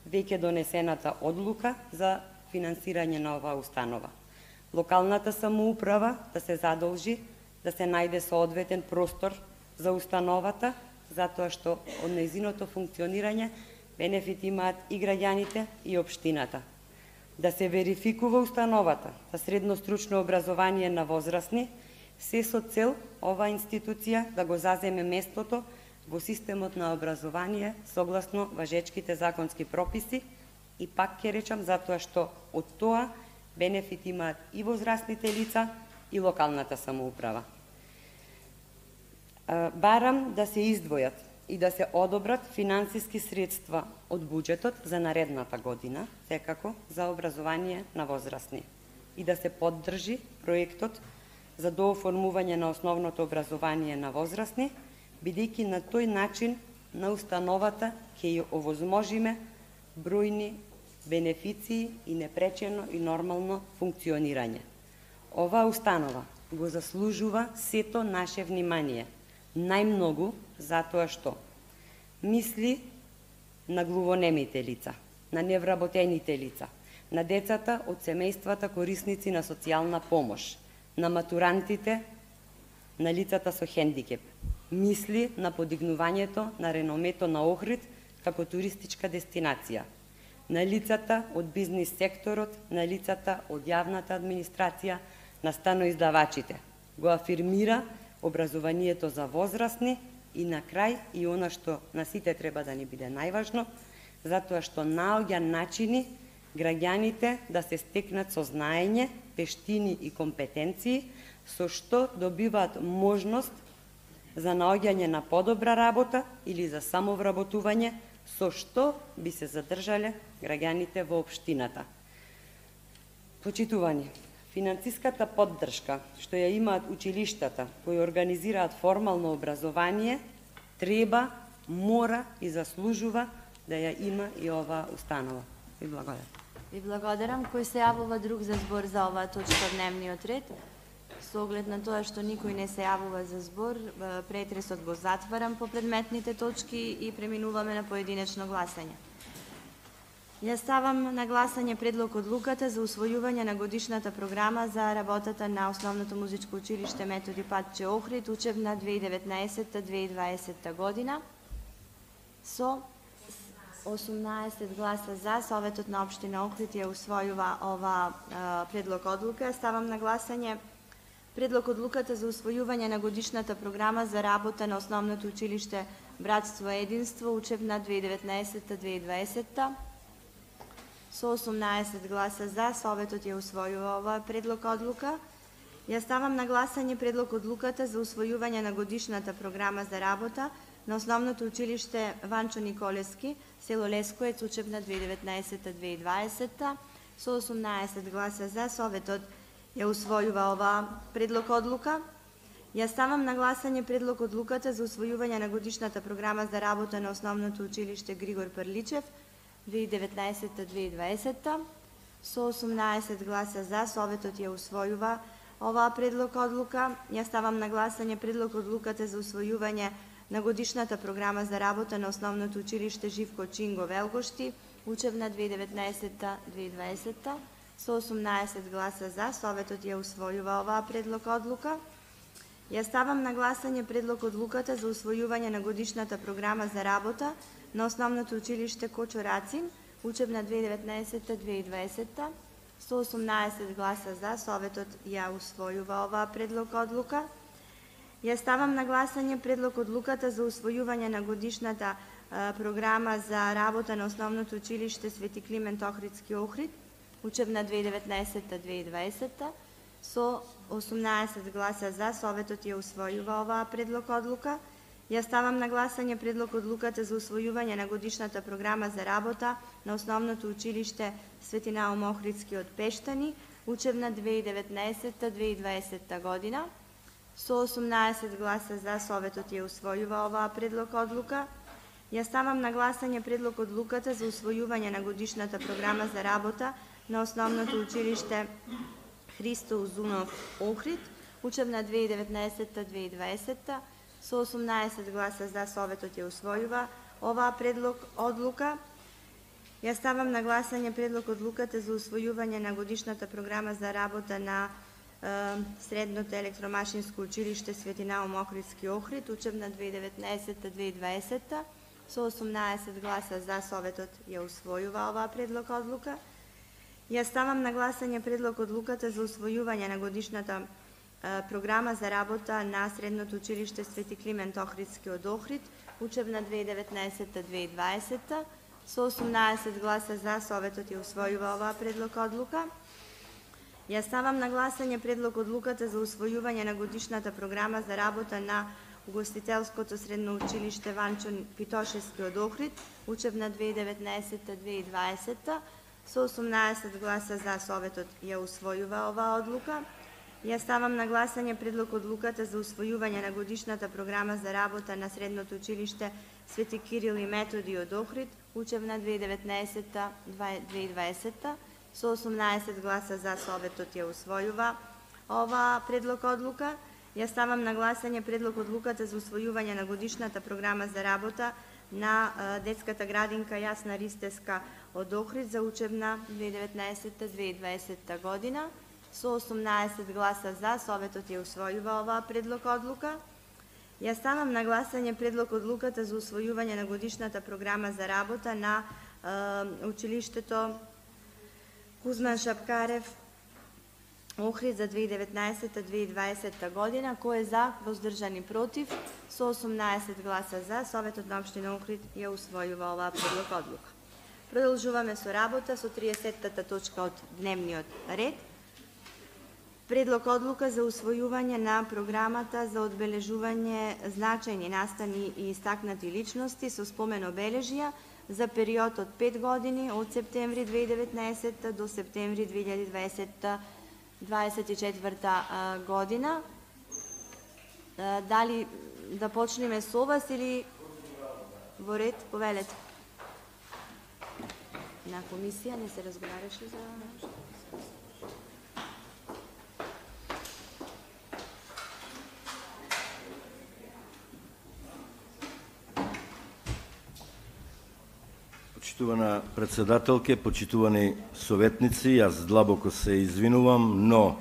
веќе донесената одлука за финансирање на оваа установа. Локалната самоуправа да се задолжи да се најде соодветен простор за установата, затоа што од нејзиното функционирање бенефит имаат и граѓаните и општината. Да се верификува установата за средно стручно образование на возрастни, се со цел оваа институција да го заземе местото во системот на образование согласно важечките законски прописи и пак ќе речам затоа што од тоа бенефит имаат и возрастните лица и локалната самоуправа. Барам да се издвојат и да се одобрат финансиски средства од буџетот за наредната година, секако за образование на возрастни, и да се поддржи проектот за дооформување на основното образование на возрастни, бидејќи на тој начин на установата ќе ја овозможиме бројни бенефиции и непречено и нормално функционирање. Оваа установа го заслужува сето наше внимание, најмногу затоа што мисли на глувонемите лица, на невработените лица, на децата од семејствата корисници на социјална помош, на матурантите, на лицата со хендикеп. Мисли на подигнувањето на реномето на Охрид како туристичка дестинација, на лицата од бизнис секторот, на лицата од јавната администрација, на станоиздавачите. Го афирмира образованието за возрастни и на крај и она што на сите треба да ни биде најважно, затоа што наоѓа начини граѓаните да се стекнат со знаење, вештини и компетенции, со што добиваат можност за наоѓање на подобра работа или за самовработување, со што би се задржале граѓаните во општината. Почитувани, финансиската поддршка што ја имаат училиштата кои организираат формално образование, треба, мора и заслужува да ја има и оваа установа. Ви благодарам. Ви благодарам. Кој се јавува друг за збор за оваа точка од дневниот ред? Со оглед на тоа што никој не се јавува за збор, претресот го затварам по предметните точки и преминуваме на поединечно гласање. Ја ставам на гласање предлог одлуката за усвојување на годишната програма за работата на Основното музичко училиште Методи Патче Охрид, учебна 2019-2020 година. Со 18 гласа за, Советот на општина Охрид ја усвојува ова предлог одлука. Ставам на гласање предлог одлуката за усвојување на годишната програма за работа на Основното училиште Братство Единство, учебна 2019-2020. Со 18 гласа за, Советот ја усвојува оваа предлог одлука. Ја ставам на гласање предлог одлуката за усвојување на годишната програма за работа на Основното училиште Ванчо Николевски, село Лескоец, учебна 2019-2020. Со 18 гласа за, Советот ја усвојува оваа предлог одлука. Ја ставам на гласање предлог одлуката за усвојување на годишната програма за работа на Основното училиште Григор Прличев, 2019-2020. Со 18 гласа за, Советот ја усвојува оваа предлог одлука. Ја ставам на гласање предлог одлуката за усвојување на годишната програма за работа на Основното училиште Живко Чинго Велгошти, учебна 2019-2020. Со 18 гласа за, Советот ја усвојува оваа предлог одлука. Ја ставам на гласање предлог одлуката за усвојување на годишната програма за работа на Основното училиште Кочо Рацин, учебна 2019-2020. Со 18 гласа за, Советот ја усвојува оваа предлог одлука. Ја ставам на гласање предлог одлуката за усвојување на годишната програма за работа на Основното училиште Свети Климент Охридски Охрид, учебна 2019-2020. Со 18 гласа за, Советот ја усвојува оваа предлог одлука. Ја ставам на гласање предлог одлуката за усвојување на годишната програма за работа на Основното училиште Свети Наум Охридски од Пештани, учебна 2019-2020 година. Со 18 гласа за, Советот ја усвојува оваа предлог одлука. Ја ставам на гласање предлог одлуката за усвојување на годишната програма за работа на Основното училиште Христо Узунов Охрид, учебна 2019-2020. Со 18 гласа за, Советот ја усвојува оваа предлог одлука. Ја ставам на гласање предлог одлуката за усвојување на годишната програма за работа на Средното електромашинско училиште Свети Наум Охридски Охрид, учебна 2019-2020. Со 18 гласа за, Советот ја усвојува оваа предлог одлука. Ја ставам на гласање предлог одлуката за усвојување на годишната програма за работа на Средното училиште Свети Климент Охридски од Охрид, учебна 2019-2020. Со 18 гласа за, Советот ја усвојува оваа предлог одлука. Ја ставам на гласање предлог одлуката за усвојување на годишната програма за работа на Угостителското средно училиште Ванчо Питошевски од Охрид, учебна 2019-2020. Со 18 гласа за, Советот ја усвојува оваа одлука. Ја ставам на гласање предлог одлуката за усвојување на годишната програма за работа на Средното училиште Свети Кирил и Методи од Охрид, учебна 2019-2020. Со 18 гласа за, Советот ја усвојува оваа предлог одлука. Ја ставам на гласање предлог одлуката за усвојување на годишната програма за работа на детската градинка Јасна Ристеска од Охрид за учебна 2019-2020 година. Со 18 гласа за, Советот ја усвојува оваа предлог одлука. Ја ставам на гласање предлог одлуката за усвојување на годишната програма за работа на училиштето Кузман Шапкарев Охрид за 2019-2020 година. Кој е за, воздржани против? Со 18 гласа за, Советот на општина Охрид ја усвојува оваа предлог одлука. Продолжуваме со работа со 30-та точка од дневниот ред. Предлог одлука за усвојување на програмата за одбележување значајни настани и истакнати личности со спомен обележја за период од 5 години од септември 2019 до септември 2024 година. Дали да почнеме со вас или во ред? Повелете. На комисија не се разговараше за... Почитувана председателке, почитувани советници, јас длабоко се извинувам, но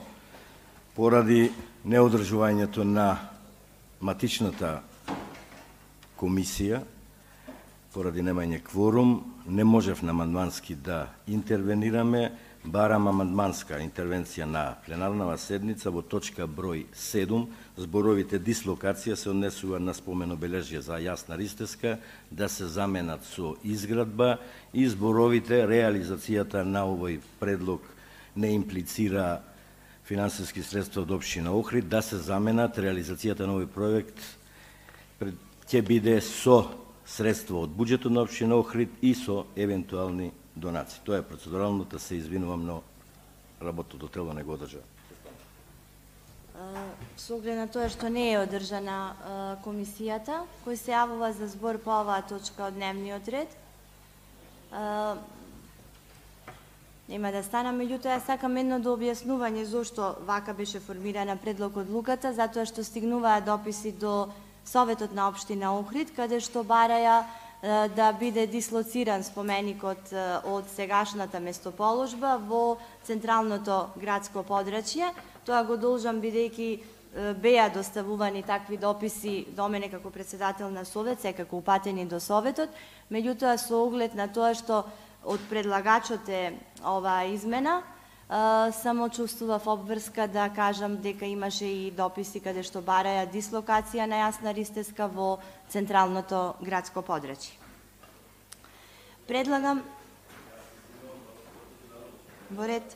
поради неодржувањето на матичната комисија, поради немање кворум, не можевме амандмански да интервенираме. Барам амандманска интервенција на пленарнава седница во точка број 7. Зборовите дислокација се однесува на спомен обележје за Јасна Ристеска да се заменат со изградба и зборовите реализацијата на овој предлог не имплицира финансиски средства од општина Охрид да се заменат. Реализацијата на овој проект ќе биде со средства од буџетот на општина Охрид и со евентуални донации. Тоа е процедуралното, се извинувам, но работното тело не го одржа. Со оглед на тоа што не е одржана комисијата, кој се јавува за збор по оваа точка од дневниот ред, нема да стана, меѓутоа ја сакам едно до објаснување зошто вака беше формирана предлог одлуката, затоа што стигнуваа дописи до Советот на општина Охрид, каде што бараја да биде дислоциран споменикот од сегашната местоположба во централното градско подрачје. Тоа го должам бидејќи беа доставувани такви дописи до мене како председател на Совет, секако упатени до Советот, меѓутоа со оглед на тоа што од предлагачот е оваа измена, само чувствував обврска да кажам дека имаше и дописи каде што бараја дислокација на Јасна Ристеска во централното градско подрачје. Предлагам во ред.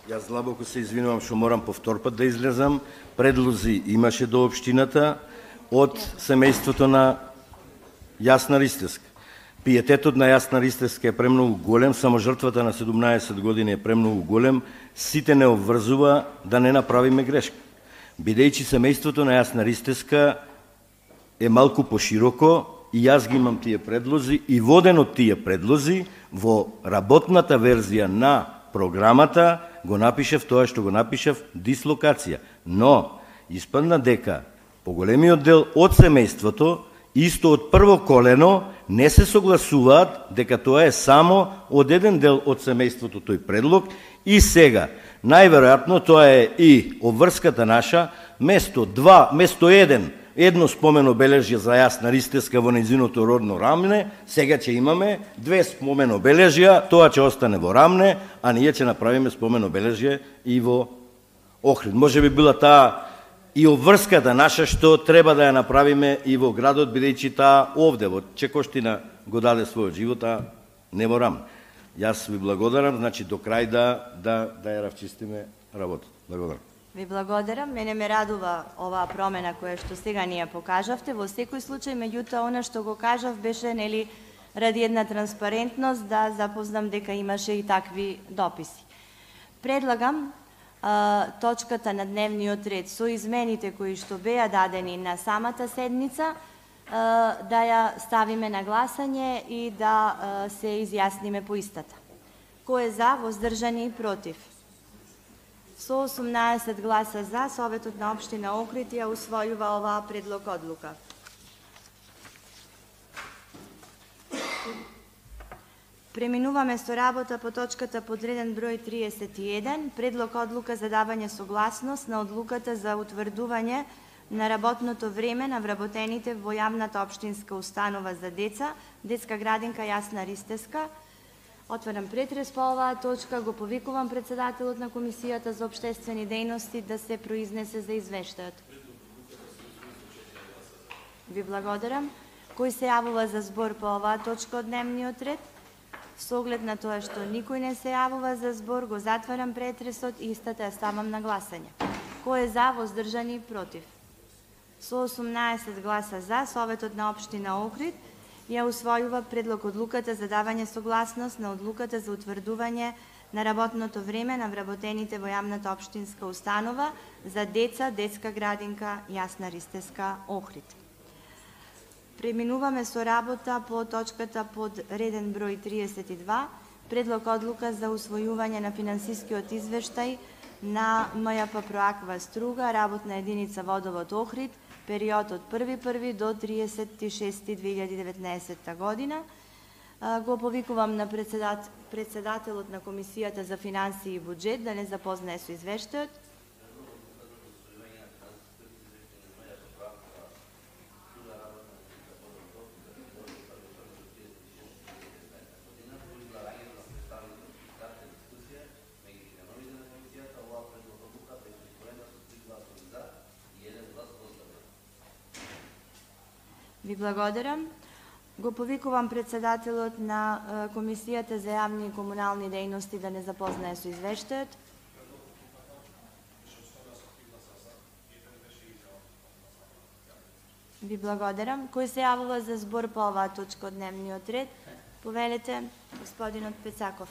Јас длабоко се извинувам што морам повторпат да излезам. Предлози имаше до општината од семејството на Јасна Ристевска. Пиететот на Јасна Ристевска е премногу голем, само жртвата на 17 години е премногу голем, сите не обврзува да не направиме грешка. Бидејќи семејството на Јасна Ристевска е малку пошироко, и јас ги имам тие предлози, и воден од тие предлози, во работната верзија на програмата го напишев тоа што го напишев дислокација. Но, испадна дека поголемиот дел од семејството, исто од прво колено, не се согласуваат дека тоа е само од еден дел од семејството тој предлог, и сега, најверојатно тоа е и обврската наша, место едно спомен обележје за Јасна Ристевска во нејзиното родно Рамне, сега ќе имаме 2 спомен обележја, тоа ќе остане во Рамне, а ние ќе направиме спомен обележје и во Охрид. Може би била таа и обврската наша што треба да ја направиме и во градот, бидејќи таа овде во Чекоштина го даде својот живот, а не во Рамне. Јас ви благодарам, значи до крај да ја равчистиме работата. Благодарам. Ви благодарам. Мене ме радува оваа промена која што сега ни ја покажавте. Во секој случај, меѓутоа, она што го кажав беше, нели, ради една транспарентност да запознам дека имаше и такви дописи. Предлагам точката на дневниот ред со измените кои што беа дадени на самата седница да ја ставиме на гласање и да се изјасниме по истата. Кој е за, воздржани и против? Со 18 гласа за, Советот на општина Охрид ја усвојува оваа предлог одлука. Преминуваме со работа по точката подреден број 31, предлог одлука за давање согласност на одлуката за утврдување на работното време на вработените во јавната општинска установа за деца, детска градинка Јасна Ристевска. Отварам претрес по оваа точка, го повикувам председателот на Комисијата за општествени дејности да се произнесе за извештајот. Ви благодарам. Кој се јавува за збор по оваа точка од дневниот ред? Со оглед на тоа што никој не се јавува за збор, го затварам претресот и истата ја ставам на гласање. Кој е за, воздржани и против? Со 18 гласа за, Советот на општина Охрид ја усвојува предлог одлуката за давање согласност на одлуката за утврдување на работното време на вработените во јавната општинска установа за деца, детска градинка Јасна Ристевска Охрид. Преминуваме со работа по точката под реден број 32, предлог одлука за усвојување на финансискиот извештај на МЈП Проаква Струга, работна единица Водовод Охрид, период од 1.1. до 36.2019 година. Го повикувам на председателот на Комисијата за финансии и буџет да не запознае со извештајот. Ви благодарам. Го повикувам председателот на Комисијата за јавни и комунални дејности да не запознае со извештајот. Ви благодарам. Кој се јавува за збор по оваа точка од дневниот ред? Повелете, господинот Пецаков.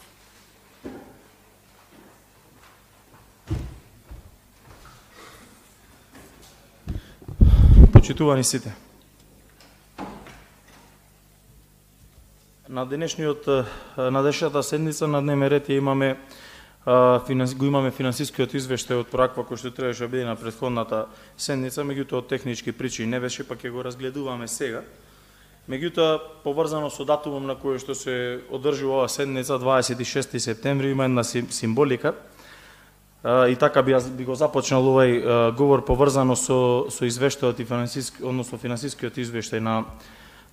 Почитувани сите. На денешната седница на дневен ред имаме финансискиот извештај од Проаква кој што требаше да биде на претходната седница, меѓутоа од технички причини не беше, па ќе го разгледуваме сега. Меѓутоа, поврзано со датумом на кој што се одржува оваа седница, 26 септември, има една символика. И така би го започнал овај говор поврзано со извештајот и финансискиот извештај на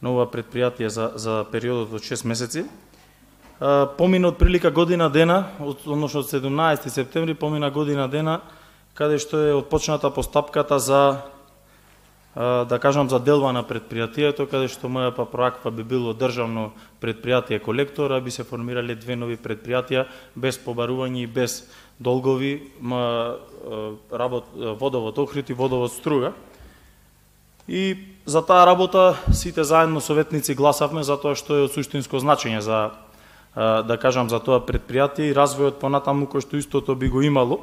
ова предпријатие за периодот од 6 месеци. Помина од прилика година дена, односно од 17 септември, помина година дена, каде што е отпочната постапката за да кажам за делба на предпријатието, каде што МП Проаква би било државно предпријатие колектор, а би се формирале две нови предпријатија без побарување и без долгови, водовод Охрид и водовод Струга. И за таа работа сите заедно советници гласавме затоа што е од суштинско значење за да кажам за тоа предпријатие и развојот понатаму кој што истото би го имало.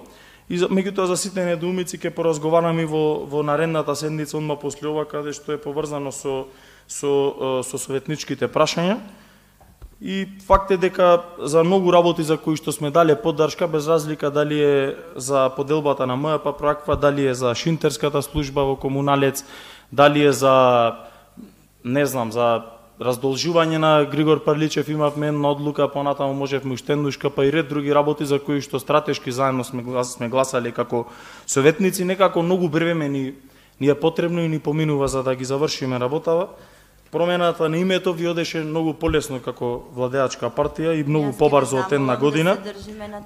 И меѓутоа за сите недоумици ќе поразговараме во наредната седница одма после ова, каде што е поврзано со советничките прашања. И факт е дека за многу работи за кои што сме дале поддршка, без разлика дали е за поделбата на МП Проаква, дали е за шинтерската служба во Комуналец, дали е за за раздолжување на Григор Парличев, имавме една одлука, понатаму можевме уште еднушка, па и ред други работи за кои што стратешки заедно сме гласали како советници, некако многу време ни е потребно и ни поминува за да ги завршиме работава. Промената на името ви одеше многу полесно како владеачка партија и многу побрзо од една година.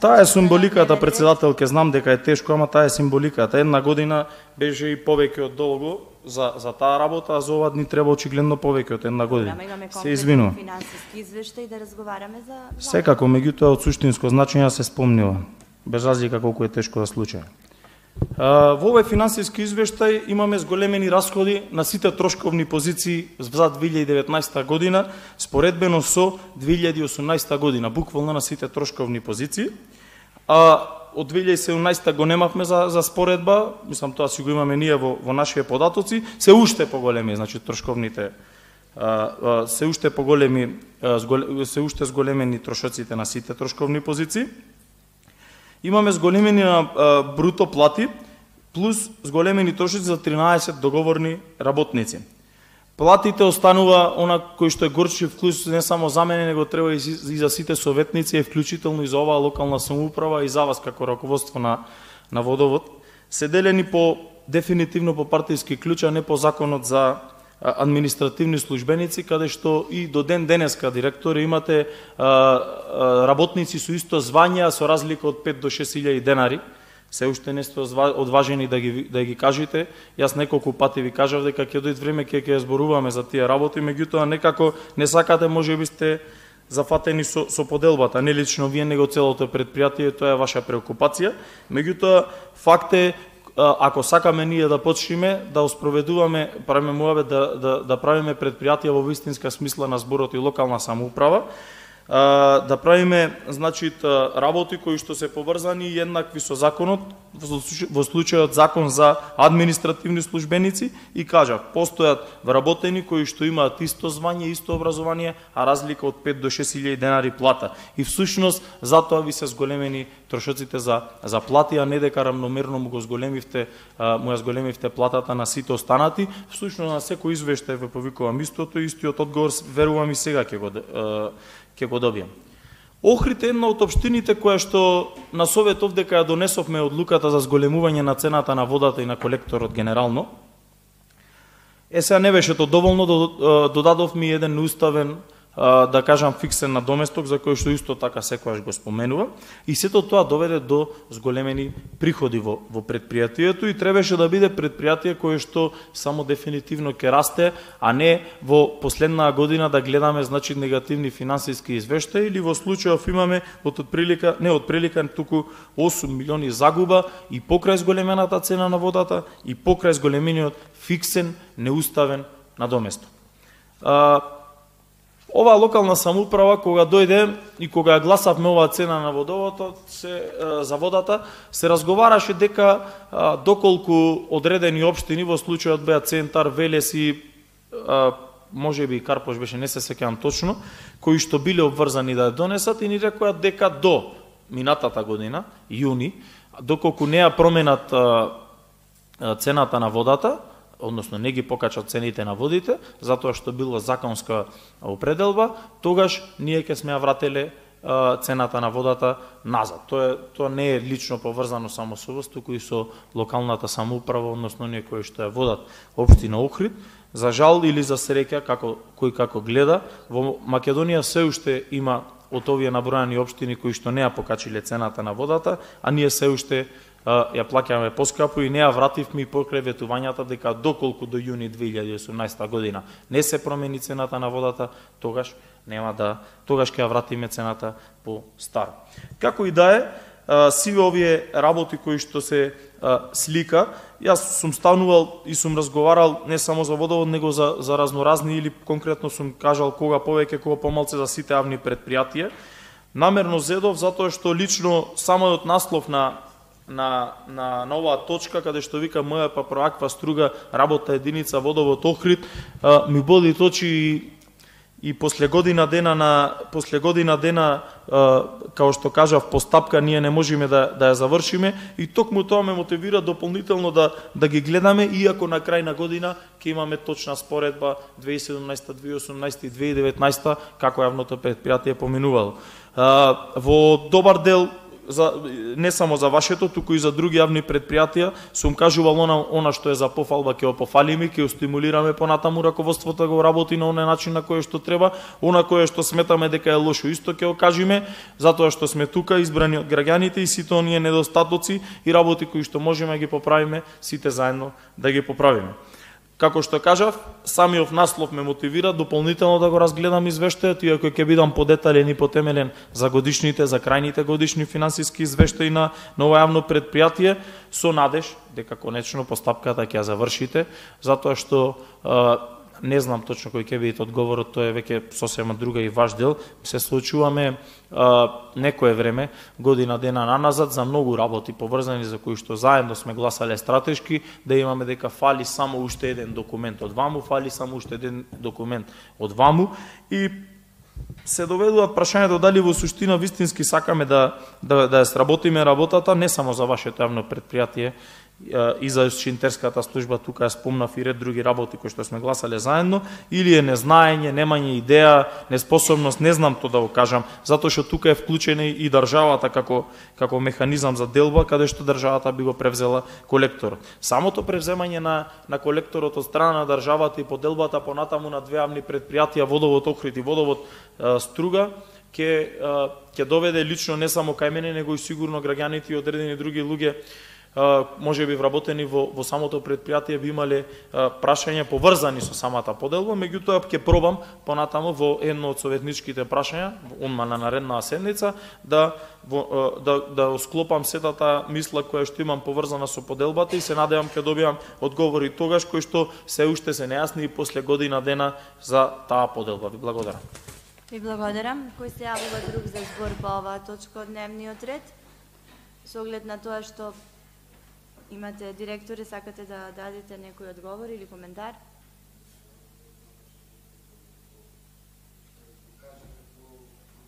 Таа е символиката, председателке, знам дека е тешко, ама таа е символиката. Една година беше и повеќе од долго за таа работа, а за ова ни треба очигледно повеќе од една година. Се извинувам. Финансиски извештај да разговараме за секако, меѓутоа од суштинско значење се спомнува, без разлика колку е тешко да случај. Во овој финансиски извештај имаме зголемени расходи на сите трошковни позиции за 2019 година, споредбено со 2018 година, буквално на сите трошковни позиции. А од 2017 го немавме за споредба, мислам тоа си го имаме ние во нашите податоци, се уште поголеми, значи трошковните се уште поголеми, се уште зголемени трошоците на сите трошковни позиции. Имаме зголемени на бруто плати, плюс зголемени трошоци за 13 договорни работници. Платите останува она кој што е горчив вклуч не само за мене, него треба и за сите советници, вклучително и за оваа локална самоуправа и за вас како раководство на водовод. Се делени дефинитивно по партиски клуч, а не по законот за административни службеници, каде што и до ден денеска директори имате работници со исто звање, со разлика од 5 до 6.000 денари. Се уште не сте одважени да ги кажете. Јас неколку пати ви кажав дека ќе дојде време ќе зборуваме за тие работи, меѓутоа некако не сакате, можеби сте зафатени со поделбата, не лично вие, него целото предпријатие, тоа е ваша преокупација. Меѓутоа факт е, ако сакаме ние да почнеме да оспроведуваме, правиме муавет да правиме предпријатија во вистинска смисла на зборот и локална самоуправа, да правиме работи кои што се поврзани и еднакви со законот, во случајот закон за административни службеници, и кажав, постојат вработени кои што имаат исто звање, исто образование, а разлика од 5 до 6.000 денари плата. И всушност затоа ви се зголемени трошоците за плати, а не дека рамномерно му ја зголемивте платата на сите останати. Всушност на секој извештај ве повикувам истото, истиот одговор верувам и сега ќе го добијам. Охрид е една од општините која што на советов дека ја донесовме одлуката за зголемување на цената на водата и на колекторот генерално. Сега не беше тоа доволно, додадовме еден неуставен, да кажам, фиксен надоместок, за кој што исто така секојаш го споменува, и сето тоа доведе до зголемени приходи во предпријатието и требаше да биде предпријатие кое што само дефинитивно ќе расте, а не во последна година да гледаме негативни финансиски извештаи, или во случајов имаме туку 8 милиони загуба и покрај зголемената цена на водата и покрај зголемениот фиксен неуставен надоместок. Оваа локална самоуправа, кога дојде и кога гласавме оваа цена на водовото за водата, се разговараше дека доколку одредени општини, во случајот беа Центар, Велес и можеби Карпош беше, не се сеќавам точно, кои што биле обврзани да ја донесат, и ни рекоа дека до минатата година, јуни, доколку не ја променат цената на водата, односно не ги покачат цените на водите, затоа што било законска определба, тогаш ние ќе сме ја врателе цената на водата назад. Тоа не е лично поврзано само со вас, туку и со локалната самоуправа, односно ние кои што ја водат општина Охрид. За жал или за среќа, кој како гледа, во Македонија се уште има од овие набројани општини кои што не ја покачиле цената на водата, а ние се уште ја плаќаме поскапо и не ја вративме и покрај ветувањата дека доколку до јуни 2018 година не се промени цената на водата, тогаш ќе ја вратиме цената по старо. Како и да е, сиве овие работи кои што се слика, јас сум станувал и сум разговарал не само за водовод, него за разноразни, или конкретно сум кажал кога повеќе, кога помалце за сите јавни предпријатија. Намерно зедов затоа што лично самиот наслов на оваа точка, каде што вика МЈП проаква струга работа единица водовод Охрид, ми боди очи и после година дена, као што кажав, постапка ние не можеме да ја завршиме, и токму тоа ме мотивира дополнително да ги гледаме, иако на крај на година ќе имаме точна споредба 2017, 2018 и 2019 како јавното предпријатие поминувало. Во добар дел, не само за вашето, туку и за други јавни предпријатија, сум кажувал она што е за пофалба ќе го пофалиме, ќе го стимулираме понатаму раководството да го работи на оној начин на кој што треба, она кое што сметаме дека е лошо исто ќе го кажеме, затоа што сме тука избрани од граѓаните и сите оние недостатоци и работи кои што можеме да ги поправиме, сите заедно да ги поправиме. Како што кажав, самиот наслов ме мотивира дополнително да го разгледам извештајот, иако ќе бидам подетален и потемелен за годишните, за крајните годишни финансиски извештаи на ова јавно предпријатие, со надеж дека конечно постапката ќе ја завршите, затоа што не знам точно кој ќе биде одговорот, тоа е веќе сосема друга и ваш дел. Се случуваме некое време, година дена наназад, за многу работи поврзани за кои што заедно сме гласале стратешки, да имаме дека фали само уште еден документ од ваму, фали само уште еден документ од ваму, и се доведуваат прашањето дали во суштина вистински сакаме да ја сработиме работата, не само за вашето јавно предпријатие, и за шинтерската служба, тука ја спомнав и ред други работи кои што сме гласале заедно, или е незнаење, немање идеја, неспособност, не знам тоа да го кажам, затоа што тука е вклучена и државата како механизам за делба, каде што државата би го превзела колекторот. Самото превземање на колекторот од страна на државата и поделбата понатаму на две јавни предпријатија, водовод Охрид и водовод Струга, ќе доведе лично не само кај мене, него и сигурно граѓаните и одредени други луѓе, може би вработени во самото предпријатие, би имале прашања поврзани со самата поделба, меѓутоа ќе пробам понатаму во едно од советничките прашања, онма на наредната седница, да склопам сетата мисла која што имам поврзана со поделбата, и се надевам ќе добиам одговори тогаш кои што се уште се нејасни и после година дена за таа поделба. Ви благодарам. Ви благодарам. Кој се јавува друг за збор по оваа точка од дневниот ред? Со оглед на тоа што имате директори, сакате да дадете некој одговор или коментар?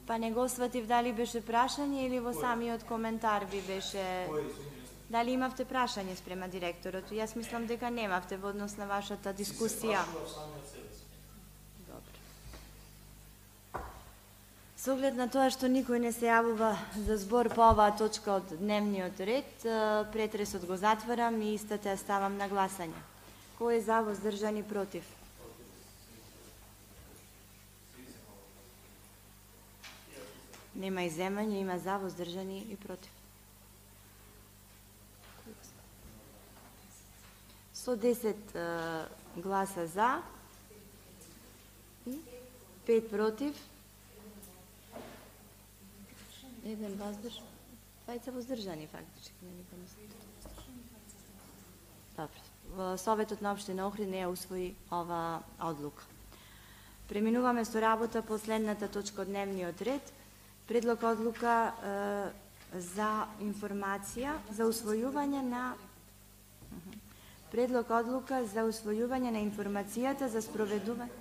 Па не го сватив дали беше прашање или во самиот коментар ви беше... Дали имавте прашање спрема директорот? Јас мислам дека немавте во однос на вашата дискусија. Со оглед на тоа што никој не се јавува за збор по оваа точка од дневниот ред, претресот го затварам и истата ја ставам на гласање. Кој е за, воздржан и против? Нема иземање, има за, воздржани и против. Со 10 гласа за и 5 против, еден воздржан, двајца воздржани фактички. Добро. Советот на општина Охрид не ја усвои ова одлука. Преминуваме со работа по следната точка од дневниот ред. Предлог одлука за информација за усвојување на Предлог одлука за усвојување на информацијата за спроведување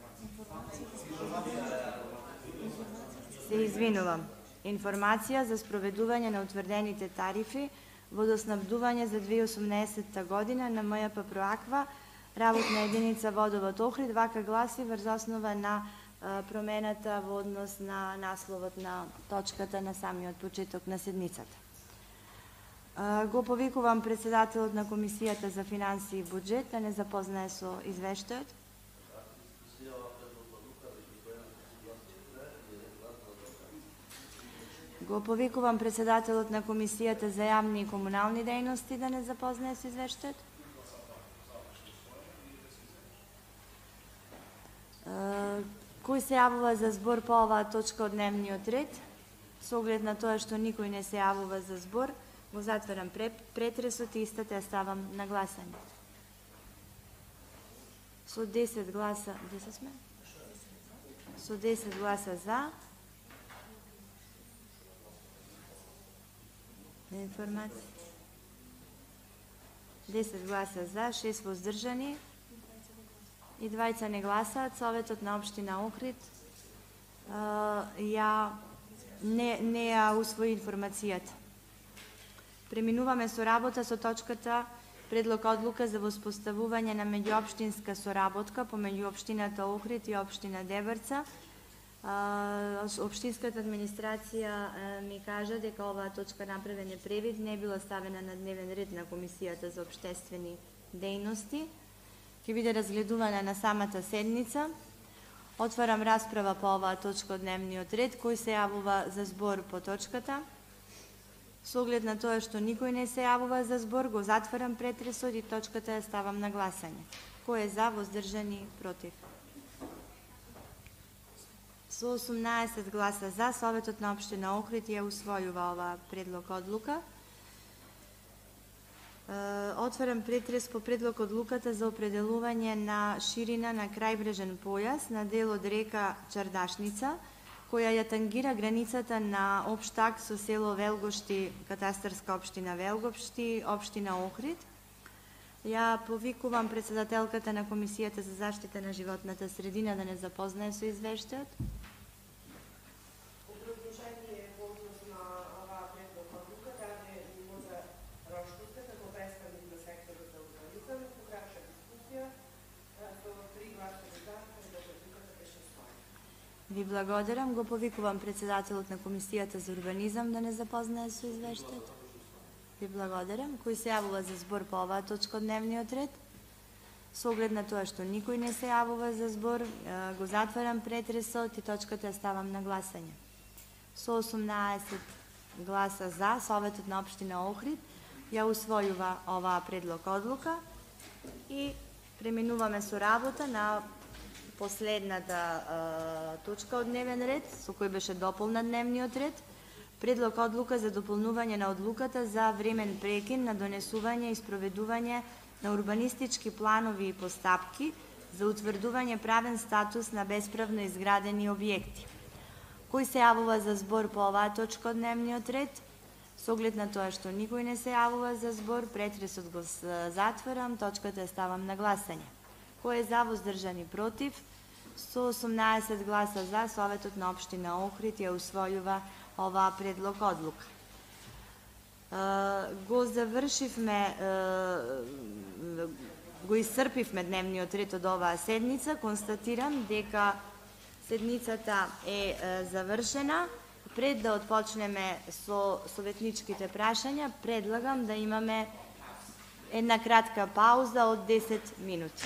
Се извинувам. Информација за спроведување на утврдените тарифи водоснабдување за 2018 година на МЈП Проаква, работна единица водовод Охрид, вака гласи врз основа на промената во однос на насловот на точката на самиот почеток на седницата. Го повикувам председателот на Комисијата за финансии и буџет да не запознае со извештајот. Го повикувам председателот на Комисијата за јавни и комунални дејности да не запознае со извештајот. Кој се јавува за збор по оваа точка од дневниот ред? Со оглед на тоа што никој не се јавува за збор, го затварам претресот и истата ја ставам на гласање. Со 10 гласа, 10 сме? Со 10 гласа за, информација. 10 гласа за, 6 воздржани и 2 не гласаат. Советот на општина Охрид не ја усвои информацијата. Преминуваме со работа со точката Предлог одлука за воспоставување на меѓуопштинска соработка помеѓу општината Охрид и општина Дебрца. Општинската администрација ми кажа дека оваа точка направен е превид, не била ставена на дневен ред на Комисијата за општествени дејности. Ќе биде разгледувана на самата седница. Отварам расправа по оваа точка од дневниот ред. Кој се јавува за збор по точката? Со оглед на тоа што никој не се јавува за збор, го затварам претресот и точката ја ставам на гласање. Кој е за, воздржани, против? Со 18 гласа за, Советот на општина Охрид ја усвојува оваа предлог одлука. Отварам претрес по предлог одлуката за определување на ширина на крајбрежен појас на дел од река Чардашница, која ја тангира границата на општ акт со село Велгошти, катастарска општина Велгошти, општина Охрид. Ја повикувам председателката на Комисијата за заштита на животната средина да не запознае со извештајот. Образложение по однос на оваа предлог одлука даде Мимоза Рошкуска како представник на секторот за урбанизам, покраша дискусија со 3 гласа за, предлог одлуката беше усвоен. Ви благодарам. Го повикувам председателот на Комисијата за урбанизам да не запознае со извештајот. Ви благодарам. Кој се јавува за збор по оваа точка од дневниот ред? Со оглед на тоа што никој не се јавува за збор, го затварам претресот и точката ја ставам на гласање. Со 18 гласа за, Советот на општина Охрид ја усвојува оваа предлог одлука и преминуваме со работа на последната точка од дневен ред, со кој беше дополнат дневниот ред. Предлог одлука за дополнување на одлуката за времен прекин на донесување и спроведување на урбанистички планови и постапки за утврдување правен статус на бесправно изградени објекти. Кој се јавува за збор по оваа точка од дневниот ред? Со оглед на тоа што никој не се јавува за збор, претресот го затворам, точката ја ставам на гласање. Кој е за, воздржани, против? Со 18 гласа за, Советот на општина Охрид ја усвојува оваа предлог одлука. Го завршивме, го исцрпивме дневниот ред од оваа седница. Констатирам дека седницата е завршена. Пред да отпочнеме со советничките прашања, предлагам да имаме една кратка пауза од 10 минути.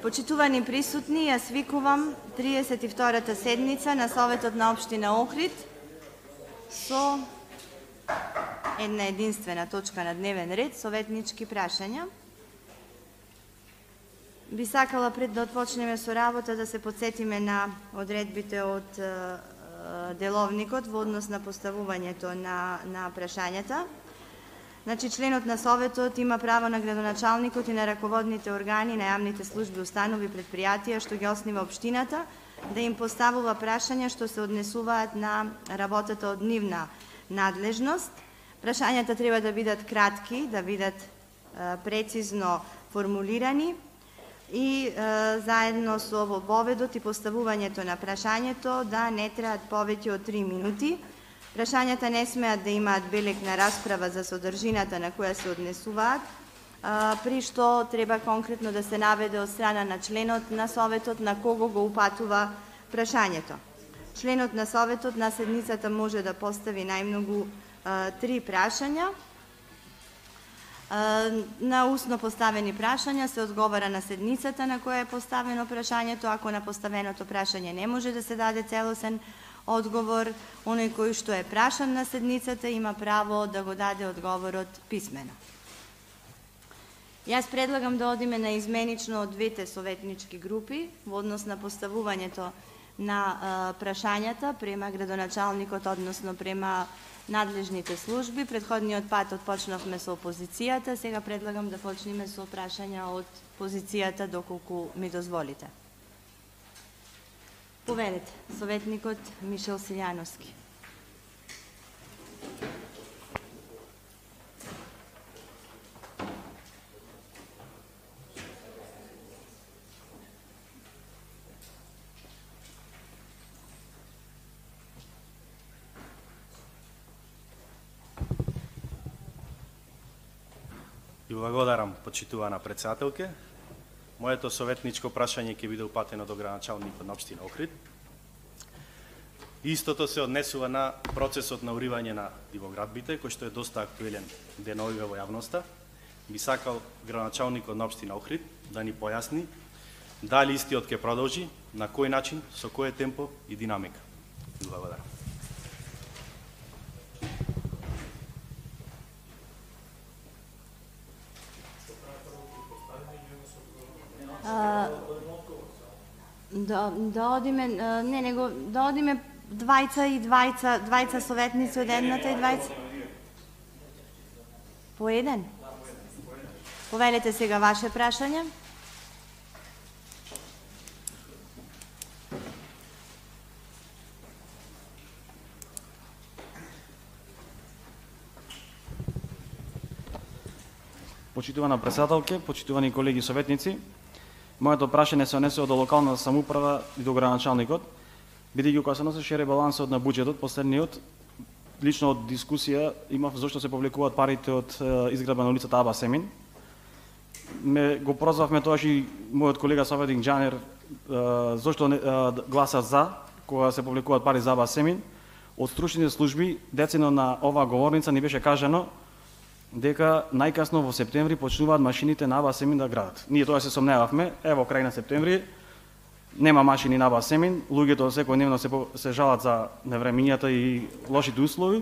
Почитувани присутни, ја свикувам 32-та седница на Советот на општина Охрид со една единствена точка на дневен ред, советнички прашања. Би сакала пред да отпочнеме со работа да се подсетиме на одредбите од деловникот во однос на поставувањето на прашањата. Значи, членот на Советот има право на градоначалникот и на раководните органи на јавните служби, установи, предпријатија што ги основа општината да им поставува прашања што се однесуваат на работата од нивна надлежност. Прашањата треба да бидат кратки, да бидат прецизно формулирани и заедно со воведот и поставувањето на прашањето да не траат повеќе од 3 минути. Прашањата не смеат да имаат белег на расправа за содржината на која се однесуваат, при што треба конкретно да се наведе од страна на членот на Советот на кого го упатува прашањето. Членот на Советот на седницата може да постави најмногу 3 прашања. На устно поставени прашања се одговара на седницата на која е поставено прашањето. Ако на поставеното прашање не може да се даде целосен одговор, оној кој што е прашан на седницата има право да го даде одговорот писмено. Јас предлагам да одиме на изменично од двете советнички групи во однос на поставувањето на прашањата према градоначалникот, односно према надлежните служби. Предходниот пат отпочнавме со опозицијата, сега предлагам да почнеме со прашања од позицијата доколку ми дозволите. Повелете, советникот Мишел Силјановски. Ви благодарам, почитувана председателке. Моето советничко прашање ќе биде упатено до градоначалникот на општина Охрид. Истото се однесува на процесот на уривање на дивоградбите, кој што е доста актуелен деновиве во јавноста. Би сакал градоначалникот на општина Охрид да ни појасни дали истиот ќе продолжи, на кој начин, со кој темпо и динамика. Ви благодарам. Да одиме, да одиме двајца советници од едната и двајца. По еден? Повелете сега ваше прашање. Почитувана председателке, почитувани колеги советници, моето прашање се однесува до локалната самоуправа и до градоначалникот, бидејќи кога се носеше ребалансот на буџетот, последниот, лично од дискусија имав зошто се повлекуваат парите од изградба на улицата Аба Семин. Го прозвавме тоаш и мојот колега советник Џанер зошто гласа за кога се повлекуваат пари за Аба Семин. Од стручните служби децено на оваа говорница ни беше кажано дека најкасно во септември почнуваат машините на Аба Семин да градат. Ние тоа се сомневавме, ево крај на септември нема машини на Аба Семин, луѓето секојдневно се жалат за невремињата и лошите услови.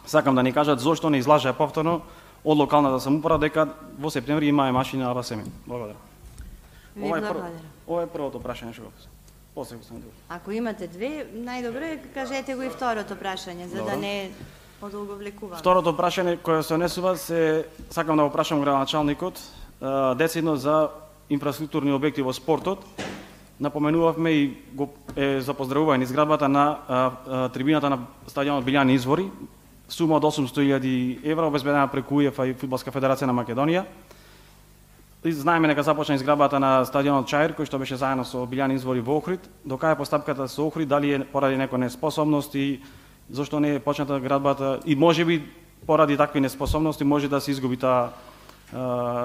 Сакам да ни кажат зошто не излажаа повторно од локалната самоуправа дека во септември имае машини на Аба Семин. Благодарам. Ова е првото прашање што го писам. После го сам друго. Ако имате две, најдобро кажете го и второто прашање, за да не подолговлекуваме. Второто прашање кое се однесува сакам да го прашам градоначалникот децидно за инфраструктурни објекти во спортот. Напоменувавме и за поздравување изградбата на трибината на стадионот Билјани Извори, сума од 800.000 евра обезбедена преку УЕФА и Фудбалска федерација на Македонија. Знаеме дека започна изградбата на стадионот Чаир, кој што беше заедно со Билјани Извори во Охрид. До кај е постапката со Охрид, дали е поради некоја неспособност и зошто не е почната градбата и можеби поради такви неспособности може да се изгуби таа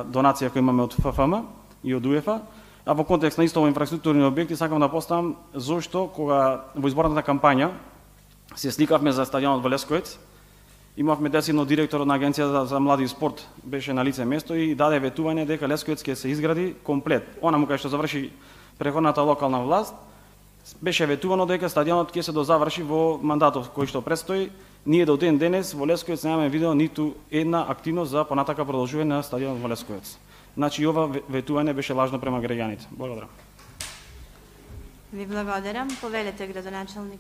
донација која имаме од ФФМ и од УЕФА. А во контекст на исто инфраструктурни објекти сакам да поставам зошто кога во изборната кампања се сликавме за стадионот во Лесковец, имавме десидно директорот на Агенцијата за млади и спорт беше на лице место и даде ветување дека Лесковец ќе се изгради комплет. Онаму кај што заврши преходната локална власт, беше ветувано дека стадионот ќе се дозаврши во мандатот кој што предстои. Ние до ден денес во Лесковец немаме видено ниту една активност за понатака продолжување на стадионот во Лесковец. Значи, ова ветување беше лажно према граѓаните. Благодарам. Ви благодарам. Повелете, градоначалник.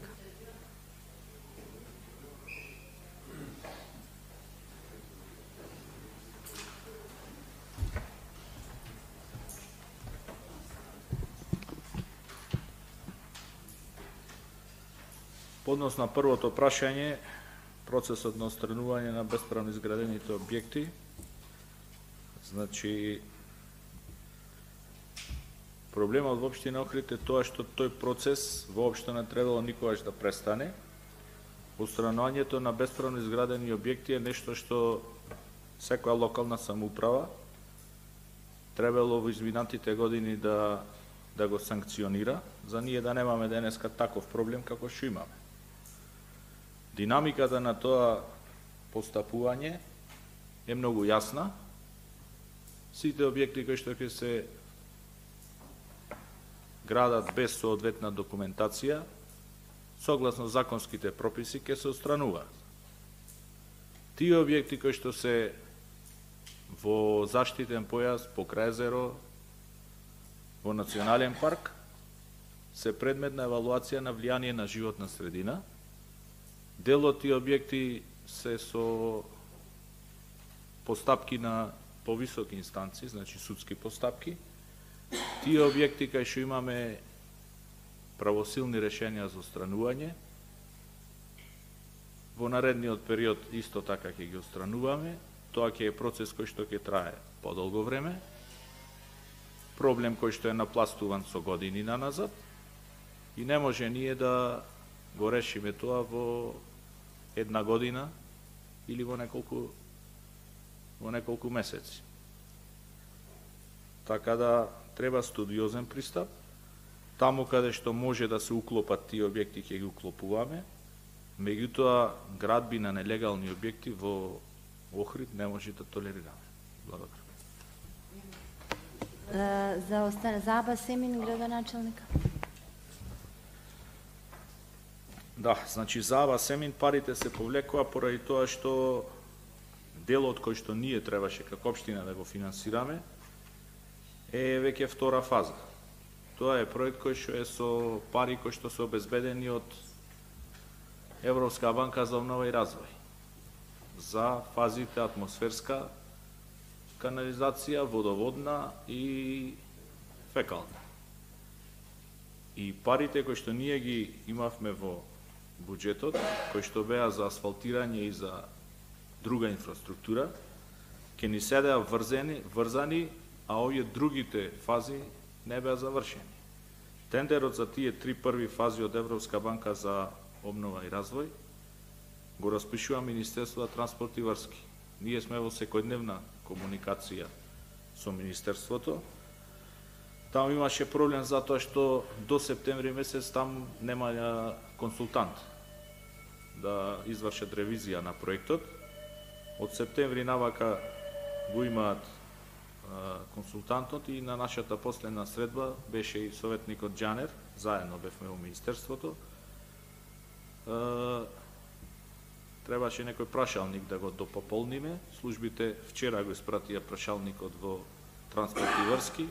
По однос на првото прашање, процесот на отстранување на бесправно изградените објекти, значи, проблемот во општина Охрид е тоа што тој процес воопшто не требало никогаш да престане. Отстранувањето на бесправно изградени објекти е нешто што секоја локална самоуправа требало во изминатите години да го санкционира, за ние да немаме денеска таков проблем како што имаме. Динамиката на тоа постапување е многу јасна. Сите објекти кои што ќе се градат без соодветна документација, согласно законските прописи, ќе се отстрануваат. Тие објекти кои што се во заштитен појас, покрај езеро, во национален парк, се предмет на евалуација на влијание на животна средина. Дел од тие објекти се со постапки на повисоки инстанции, значи судски постапки. Тие објекти кај што имаме правосилни решенија за отстранување, во наредниот период исто така ќе ги отстрануваме. Тоа ќе е процес кој што ќе трае подолго време. Проблем кој што е напластуван со години наназад и не може ние да го решиме тоа во една година или во неколку месеци. Така да треба студиозен пристап. Таму каде што може да се уклопат тие објекти ќе ги уклопуваме. Меѓутоа градби на нелегални објекти во Охрид не може да толерираме. Благодарам. За Аба Семин, градоначалник. Да, значи за Аба Семин парите се повлекува поради тоа што делот кој што ние требаше како општина да го финансираме е веќе втора фаза. Тоа е проект кој што е со пари кои што се обезбедени од Европска банка за обнова и развој за фазите атмосферска канализација, водоводна и фекална. И парите кои што ние ги имавме во буџетот, кои што беа за асфалтирање и за друга инфраструктура, ќе ни седеа врзани, а овие другите фази не беа завршени. Тендерот за тие 3 први фази од Европска банка за обнова и развој го распишува Министерство за транспорт и врски. Ние сме во секојдневна комуникација со Министерството. Таму имаше проблем затоа што до септември месец там нема консултант да извршат ревизија на проектот. Од септември навака го имаат консултантот и на нашата последна средба беше и советникот Џанер, заедно бевме во Министерството. Требаше некој прашалник да го допополниме. Службите вчера го испратија прашалникот во транспорт и врски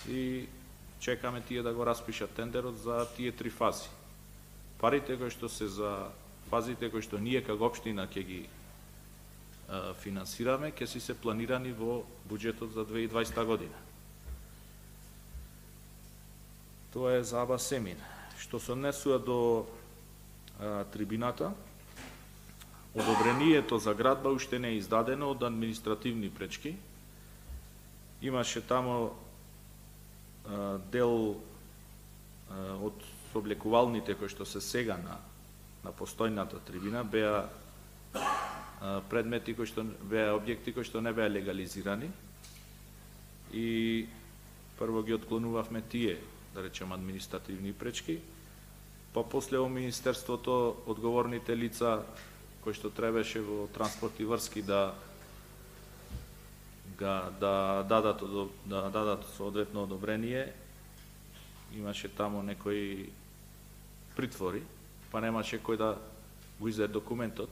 и чекаме тие да го распишат тендерот за тие 3 фази. Парите кои што се за фазите кои што ние како општина ќе ги финансираме, ќе си се планирани во буџетот за 2020 година. Тоа е за Аба Семин. Што се однесува до трибината, одобрението за градба уште не е издадено од административни пречки. Имаше тамо дел од облекувалните кои што се сега на постојната трибина беа предмети кои што беа објекти кои што не беа легализирани и прво ги отклонувавме тие, да речем, административни пречки, па после во Министерството одговорните лица кои што требаше во транспорт и врски да дадат соодветно одобрение, имаше тамо некои притвори, па немаше кој да го издаде документот.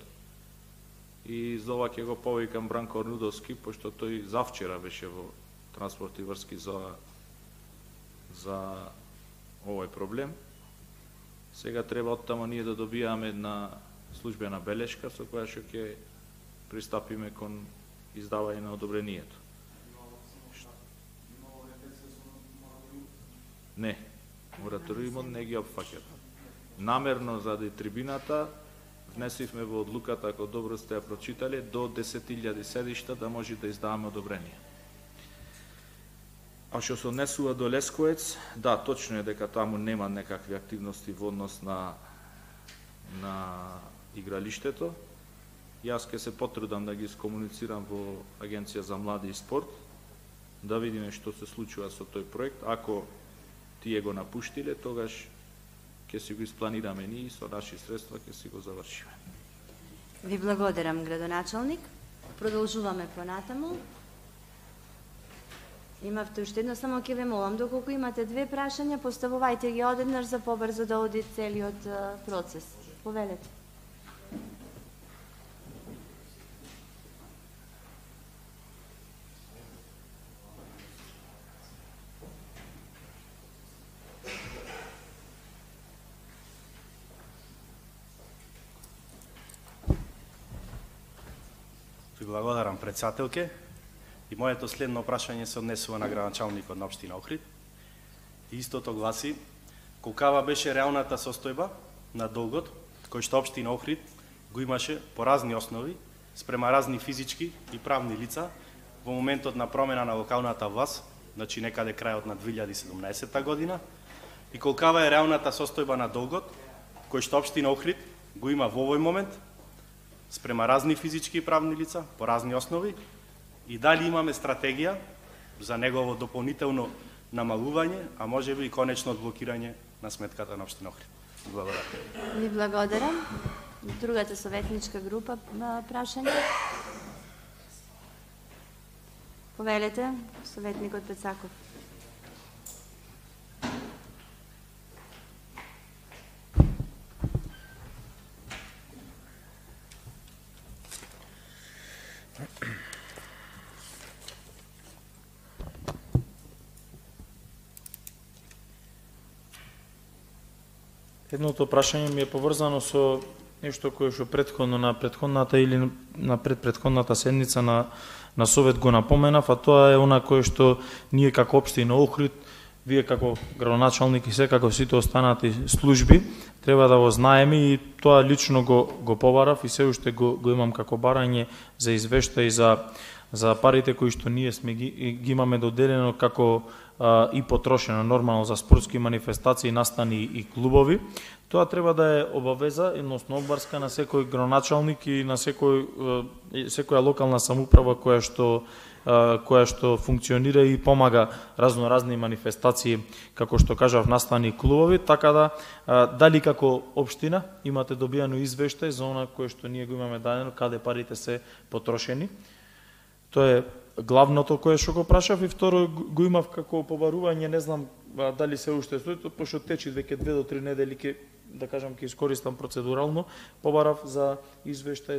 и за ова ќе го повикам Бранко Орнудовски, пошто тој завчера беше во транспорт и врски за овој проблем. Сега треба оттаму ние да добијаме една службена белешка со која што ќе пристапиме кон издавање на одобрението. Не, мораториумот не ги опфаќа. Намерно заради трибината внесивме во одлуката, ако добро сте ја прочитале, до 10.000 седишта да може да издаваме одобрение. А што се однесува до Лесковец, да, точно е дека таму нема некакви активности во однос на игралиштето. Јас ќе се потрудам да ги скомуницирам во Агенција за млади и спорт, да видиме што се случува со тој проект. Ако тие го напуштиле, тогаш ќе си го испланираме ние и со наши средства ќе си го завршиме. Ви благодарам, градоначалник. Продолжуваме понатаму. Имавте уште едно, само ќе ве молам, доколку имате две прашања, поставувајте ги одеднаш за побрзо да оди целиот процес. Повелете. Благодарам, председателке. И моето следно прашање се однесува на градоначалникот на општина Охрид. И истото гласи: колкава беше реалната состојба на долгот кој што општина Охрид го имаше по разни основи спрема разни физички и правни лица во моментот на промена на локалната власт, значи некаде крајот на 2017 година, и колкава е реалната состојба на долгот кој што општина Охрид го има во овој момент спрема разни физички и правни лица по разни основи, и дали имаме стратегија за негово дополнително намалување, а можеби и конечно одблокирање на сметката на општина Охрид. Благодарам. Ви благодарам. Другата советничка група прашање. Повелете, советникот Пецаков. Едното прашање ми е поврзано со нешто кое што претходно на претходната или на предпретходната седница на Совет го напоменав, а тоа е она кое што ние како општина Охрид, вие како градоначалник и секако сите останати служби треба да го знаеме, и тоа лично го побарав и се уште го имам како барање за извештај за парите кои што ние сме ги имаме доделено како и потрошено нормално за спортски манифестации, настани и клубови. Тоа треба да е обавеза, едносно обврска на секој градоначалник и на секоја локална самоуправа која што функционира и помага разноразни манифестации, како што кажав, настани и клубови, така да дали како општина имате добијано извештај за она кое што ние го имаме дадено, каде парите се потрошени. Тоа е главното кое што го прашав, и второ го имав како побарување, не знам дали се уште стои, пошто течи веќе 2 до 3 недели, да кажам, ќе искористам процедурално, побарав за извештај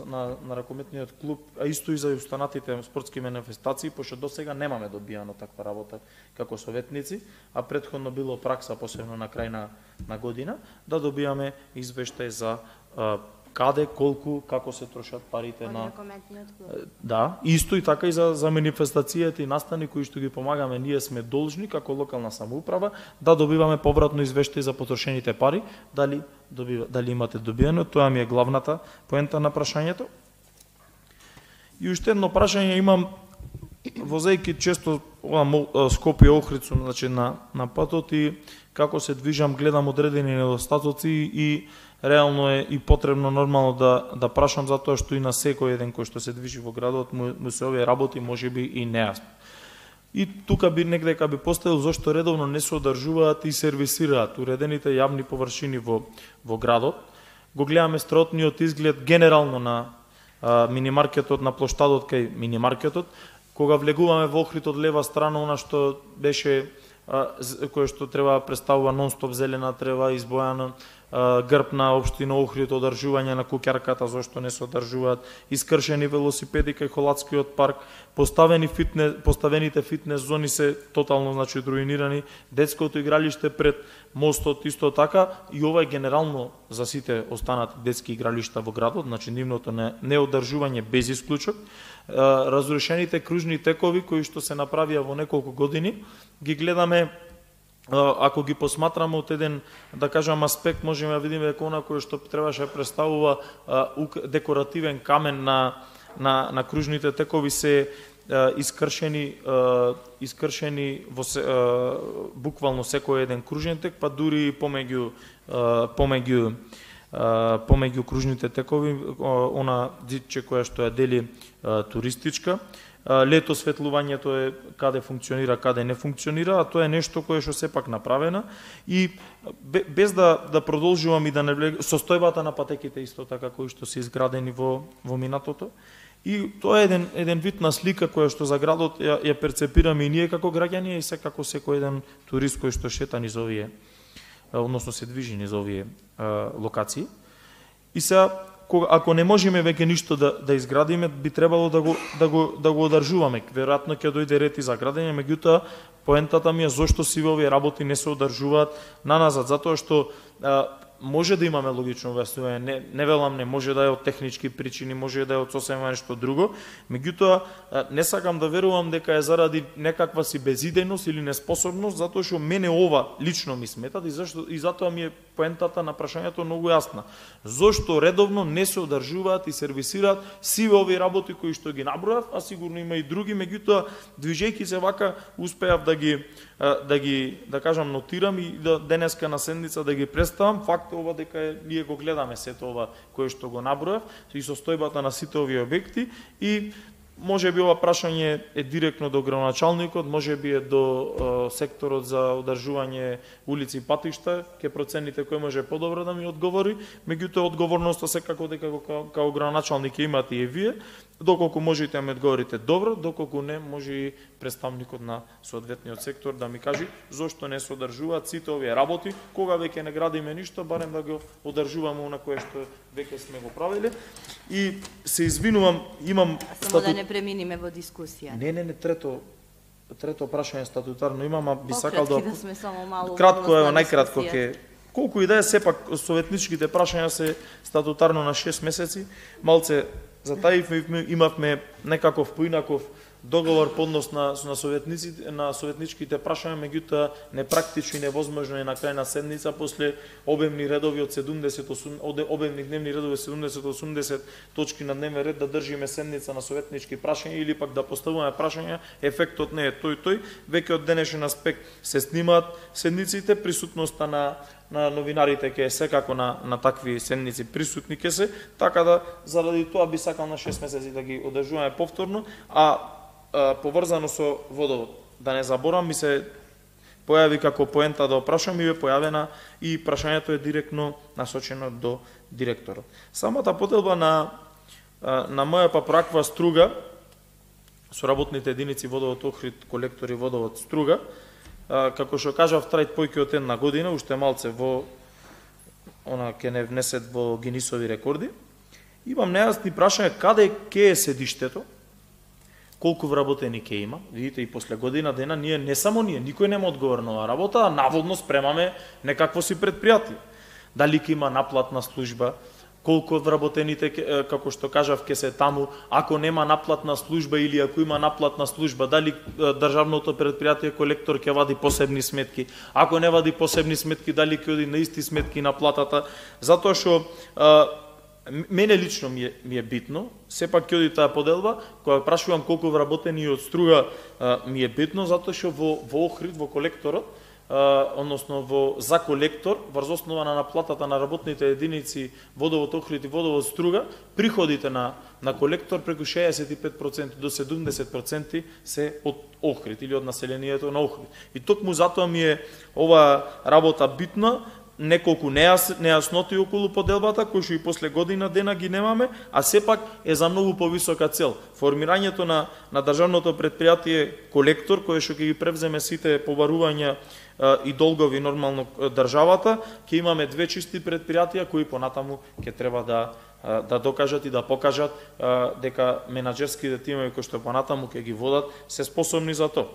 на ракометниот клуб, а исто и за останатите спортски манифестации, пошто досега немаме добијано таква работа како советници, а претходно било пракса, посебно на крај на година, да добијаме извештај за каде, колку, како се трошат парите на ракометниот клуб. Да, исто и така и за манифестацијата и настани кои што ги помагаме, ние сме должни како локална самоуправа да добиваме повратно извештај за потрошените пари, дали имате добиено, тоа ми е главната поента на прашањето. И уште едно прашање имам, возејќи често Скопје Охрид, значи на патот, и како се движам, гледам одредени недостатоци и реално е и потребно нормално да прашам, затоа што и на секој еден кој што се движи во градот му се овие работи можеби и нејасно. И тука би некдека би поставил зошто редовно не се одржуваат и сервисираат уредените јавни површини во градот. Го гледаме строотниот изглед генерално на минимаркетот, на плоштадот кај минимаркетот. Кога влегуваме во Охрид од лева страна, она што беше кое што треба представува нон-стоп зелена трева, избојана грб на општина Охрид, одржување на куќарката, зошто не се одржуваат, искршени велосипеди кај Холатскиот парк, поставените фитнес зони се тотално руинирани, детското игралиште пред мостот исто така, и ова е генерално за сите останати детски игралишта во градот, нивното неодржување без исклучок, разрушените кружни текови кои што се направија во неколку години, ги гледаме. Ако ги посматраме од еден, да кажам, аспект, можеме да видиме дека она кое што требаше да представува декоративен камен на кружните текови се искршени во буквално секој еден кружен тек, па дури помеѓу кружните текови, она дитче која што ја дели туристичка. Лето светлувањето е каде функционира, каде не функционира, а тоа е нешто кое што сепак направено и без да продолжувам и да не влегам, состојбата на патеките исто така кои што се изградени во минатото. И тоа е еден вид на слика која што за градот ја перцепираме и ние како граѓани и секако секој еден турист кој што шета низ овие, односно се движи низ овие локации. И сега, ако не можеме веќе ништо да изградиме, би требало да го одржуваме. Веројатно ќе дојде ред и за градење, меѓутоа поентата ми е зошто сиве овие работи не се одржуваат наназад, затоа што може да имаме логично објаснување, не велам, не може да е од технички причини, може да е од сосема нешто друго, меѓутоа не сакам да верувам дека е заради некаква си безидејност или неспособност, затоа што мене ова лично ми сметат и затоа ми е поентата на прашањето многу јасна. Зошто редовно не се одржуваат и сервисираат сиве овие работи кои што ги набројав, а сигурно има и други, меѓутоа движејќи се вака успеав да кажам нотирам и денеска на седница да ги представам. Факт е ова дека ние го гледаме сето ова кое што го набројав и состојбата на сите овие објекти и може би ова прашање е директно до градоначалникот, може би е до секторот за одржување улици и патишта, ќе процените кој може подобро да ми одговори, меѓутоа одговорноста секако дека како градоначалник имате и вие, доколку можете да ми одговорите добро, доколку не може и представникот на соодветниот сектор да ми каже зошто не се одржуваат сите овие работи, кога веќе не градиме ништо, барем да го одржуваме она кое што веќе сме го правиле. И се извинувам, имам само да не преминиме во дискусија. Не, трето прашање статутарно имам, а би сакал да сме само малку кратко, ево најкратко ќе колку и да е сепак советничките прашања се статутарно на 6 месеци, малце затаивме, имавме некаков поинаков договор по однос на советничките прашања, меѓутоа непрактично и невозможно е на крајна седница после обемни редови од 70 обемни дневни редови 70-80 точки на дневен ред да држиме седница на советнички прашања или пак да поставуваме прашања, ефектот не е тој, веќе од денешен аспект се снимаат седниците, присутноста на новинарите ќе е секако на такви седници присутни ќе се, така да заради тоа би сакал на 6 месеци да ги одржуваме повторно, а поврзано со водовод. Да не заборам, ми се појави како поента да опрашам и е појавена и прашањето е директно насочено до директорот. Самата поделба на моја папраква Струга, со работните единици водовод Охрид, колектори водовод Струга, како што кажав, трајт појќе од една година, уште малце ќе не внесет во Гинисови рекорди. Имам нејасни прашања каде ќе е седиштето, колку вработени ќе има. Видите, и после година дена ние, не само ние, никој нема одговор на оваа работа, а наводно спремаме некакво си предпријатие. Дали ќе има наплатна служба, колку вработените, како што кажав, ќе се таму, ако нема наплатна служба или ако има наплатна служба, дали државното предпријатие колектор ќе вади посебни сметки, ако не вади посебни сметки, дали ќе оди на исти сметки на платата, затоа што мене лично ми е битно, сепак ќе оди таа поделба, кога прашувам колку вработени од Струга ми е битно, затоа што во Охрид, во колекторот, односно за колектор, врз основа на наплатата на работните единици водовод Охрид и водовод Струга, приходите на колектор преку 65% до 70% се од Охрид или од населението на Охрид. И токму затоа ми е ова работа битна, неколку нејасноти околу поделбата, кои што и после година дена ги немаме, а сепак е за многу повисока цел. Формирањето на државното предпријатие колектор, кое што ќе ги превземе сите побарувања и долгови нормално државата, ќе имаме две чисти предпријатија кои понатаму ќе треба да докажат и да покажат дека менаџерските тимови кои што понатаму ќе ги водат се способни за тоа.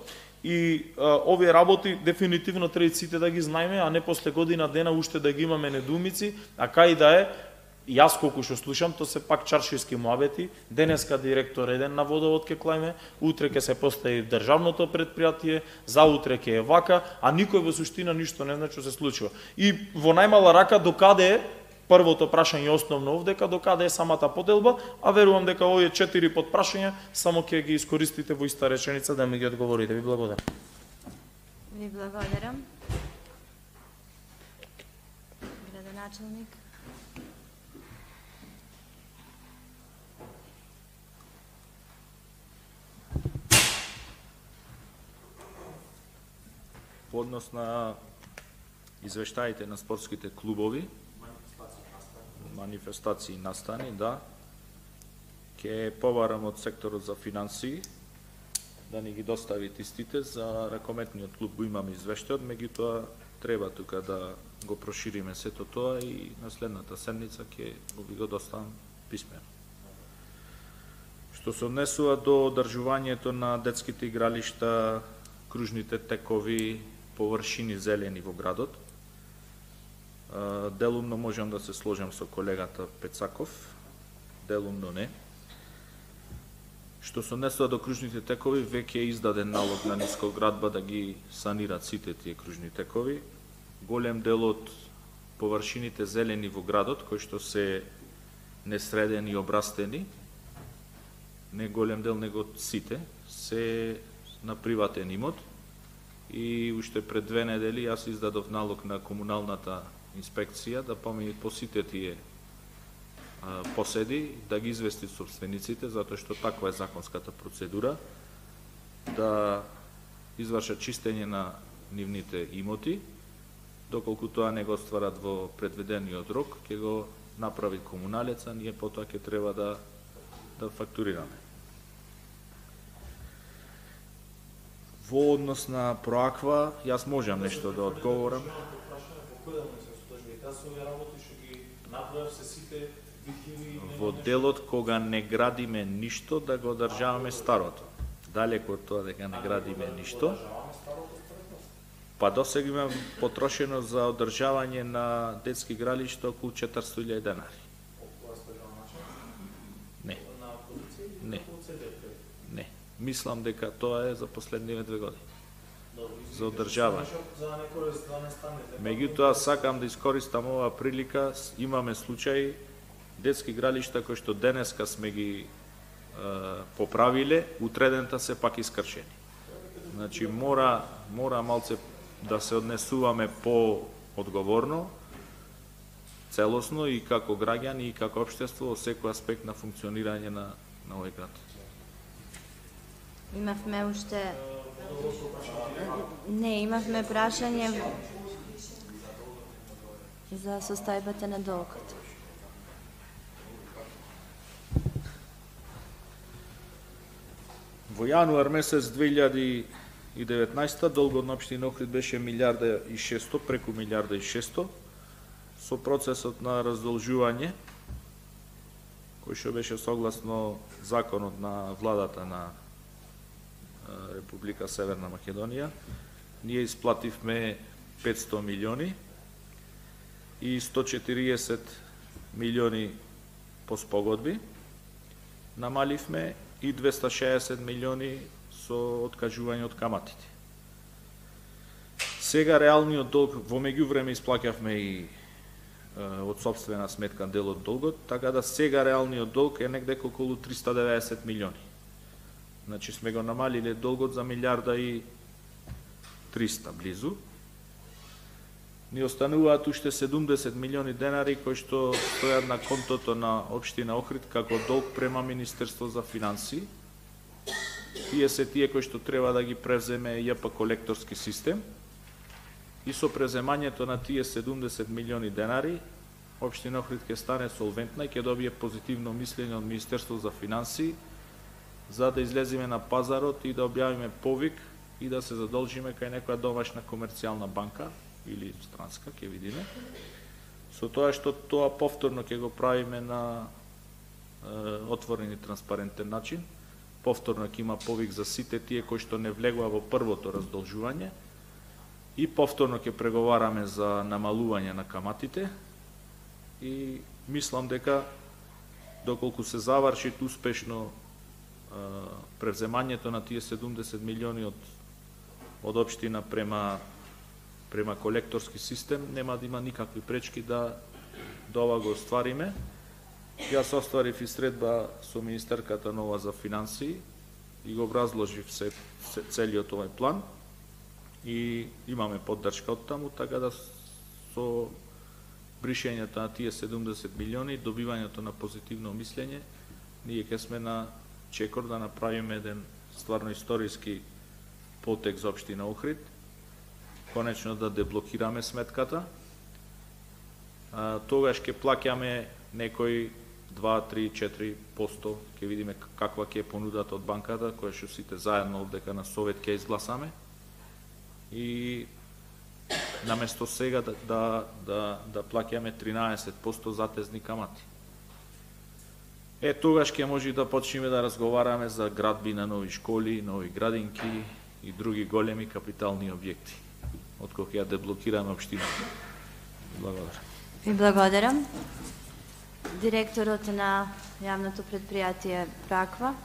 И овие работи дефинитивно треба сите да ги знаеме, а не после година дена уште да ги имаме недоумици, а кај да е, јас колку што слушам, то се пак чаршиски муабети, денеска директор еден на водовод ке клајме, утре ке се постави државното предпријатие, заутре ке е вака, а никој во суштина ништо не знае што се случува. И во најмала рака докаде е првото прашање основно овдека, докаде е самата поделба, а верувам дека овие 4 подпрашања само ќе ги искористите во иста реченица да ми ги одговорите. Ви благодарам. Ви благодарам. Градоначалник. По однос на извештаите на спортските клубови, манифестации настани, да, ќе побарам од секторот за финансии да ни ги доставите истите. За ракометниот клуб го имаме извештајот, меѓутоа треба тука да го прошириме сето тоа и на следната седница ќе го доставам писмено. Што се однесува до одржувањето на детските игралишта, кружните текови, површини зелени во градот, делумно можам да се сложам со колегата Пецаков, делумно не. Што се однесува до кружните текови, веќе е издаден налог на Нискоградба да ги санират сите тие кружни текови. Голем дел од површините зелени во градот, кои што се несредени и обрастени, не голем дел, него сите, се на приватен имот. И уште пред 2 недели јас издадов налог на комуналната инспекција да помине по сите тие поседи, да ги извести собствениците, затоа што таква е законската процедура, да извршат чистење на нивните имоти, доколку тоа не го стварат во предвидениот рок, ќе го направи комуналеца, ние потоа ќе треба да фактурираме. Во однос на Проаква, јас можам нешто да одговорам. Во делот кога не градиме ништо, да го одржаваме старото. Далеко од тоа дека не градиме ништо, па досега има потрошено за одржавање на детски игралишта околу 400.000 денари. Не. Не. Не. Мислам дека тоа е за последниве 2 години. За одржавање. Меѓутоа, сакам да искористам оваа прилика, имаме случаи детски игралишта кои што денеска сме ги поправиле, утредента се пак искршени. Значи, мора малце да се однесуваме по-одговорно, целосно и како граѓани и како општество во секој аспект на функционирање на овој град. Имавме уште... Не, имавме прашање за состојбата на долгот. Во јануар месец 2019 долгот на општина Охрид беше 1.600.000, преку 1.600.000, со процесот на раздолжување, кој што беше согласно законот на владата на Република Северна Македонија, ние исплативме 500 милиони и 140 милиони по спогодби, намаливме и 260 милиони со откажување од каматите. Сега реалниот долг, во меѓувреме исплаќавме и од собствена сметка дел од долгот, така да сега реалниот долг е негде околу 390 милиони. Значи сме го намалиле долгот за 1.300.000 близу. Ни остануваат уште 70 милиони денари кои што стојат на контото на општина Охрид како долг према Министерство за финансии. Тие се тие кои што треба да ги превземе ЈП колекторски систем и со преземањето на тие 70 милиони денари, Општина Охрид ќе стане солвентна и ќе добие позитивно мислење од Министерство за финансии, за да излеземе на пазарот и да објавиме повик и да се задолжиме кај некоја домашна комерцијална банка или странска, ќе видиме. Со тоа што тоа повторно ќе го правиме на отворен и транспарентен начин, повторно ќе има повик за сите тие кои што не влегува во првото раздолжување и повторно ќе преговараме за намалување на каматите и мислам дека доколку се заврши успешно превземањето на тие 70 милиони од општина према колекторски систем, нема да има никакви пречки да ова го оствариме. Јас остварив и средба со министерката нова за финансии и го образложив целиот овој план и имаме поддршка од таму, така да со бришењето на тие 70 милиони, добивањето на позитивно мислење, ние ќе сме на чекор да направиме еден стварно историски потек за општина Охрид, конечно да деблокираме сметката, тогаш ќе плаќаме некои 2, 3, 4%, ќе видиме каква ќе е понудата од банката, која што сите заедно одека на совет ќе изгласаме, и наместо сега да плаќаме 13% затезни камати. Тогаш ќе може да почнеме да разговараме за градби на нови школи, нови градинки и други големи капитални објекти, откога ја деблокираме општината. Благодарам. Ви благодарам. Директорот на јавното предпријатие Праква.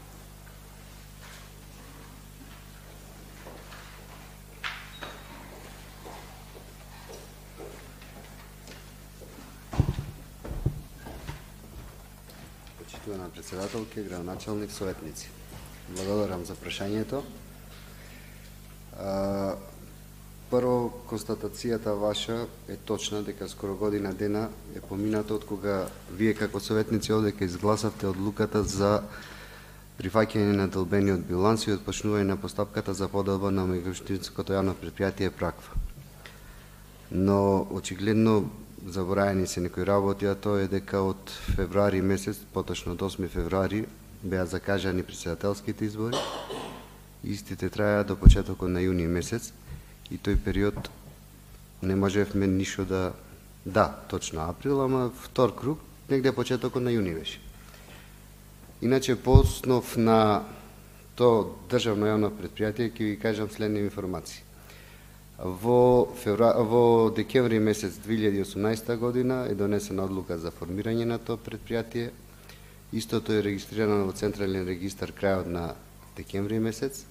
Почитувана председателке, градоначалник, советници. Благодарам за прашањето. Прво, констатацијата ваша е точна дека скоро година дена е поминато од кога вие како советници овдека изгласавте одлуката за прифаќање на делбениот биланс и отпочнување на постапката за поделба на меѓуопштинското јавно предпријатие Праква. Но очигледно забораени се некои работи, а тоа е дека од февруари месец, поточно од 8 февруари, беа закажани председателските избори. Истите траја до почетокот на јуни месец и тој период не можевме ништо да, точно април, ама втор круг, негде почетокот на јуни беше. Иначе, по основ на тоа државно јавно предпријатие, ќе ви кажам следни информации. Во декември месец 2018 година е донесена одлука за формирање на тоа предпријатие. Истото е регистрирано во Централен регистар крајот на декември месец.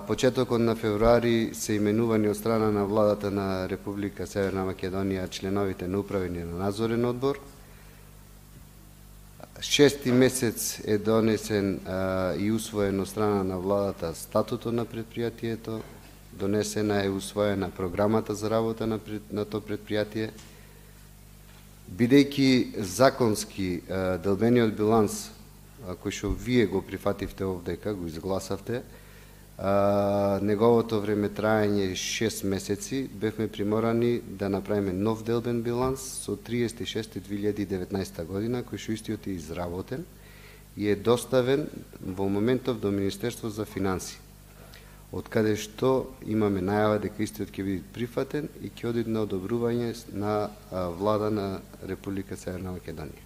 Почетокот на февруари се именувани од страна на владата на Република Северна Македонија членовите на управен и на надзорен одбор. 6 месец е донесен и усвоен од страна на владата статутот на предпријатието, донесена е усвоена програмата за работа на тоа предпријатие. Бидејќи законски делбениот биланс, кој што вие го прифативте овдека, го изгласавте, неговото време трајање 6 месеци, бевме приморани да направиме нов делбен биланс со 36.2019 година, кој што истиот е изработен и е доставен во моментов до Министерство за финансии, од каде што имаме најава дека истиот ќе биде прифатен и ќе оди на одобрување на влада на Република Северна Македонија.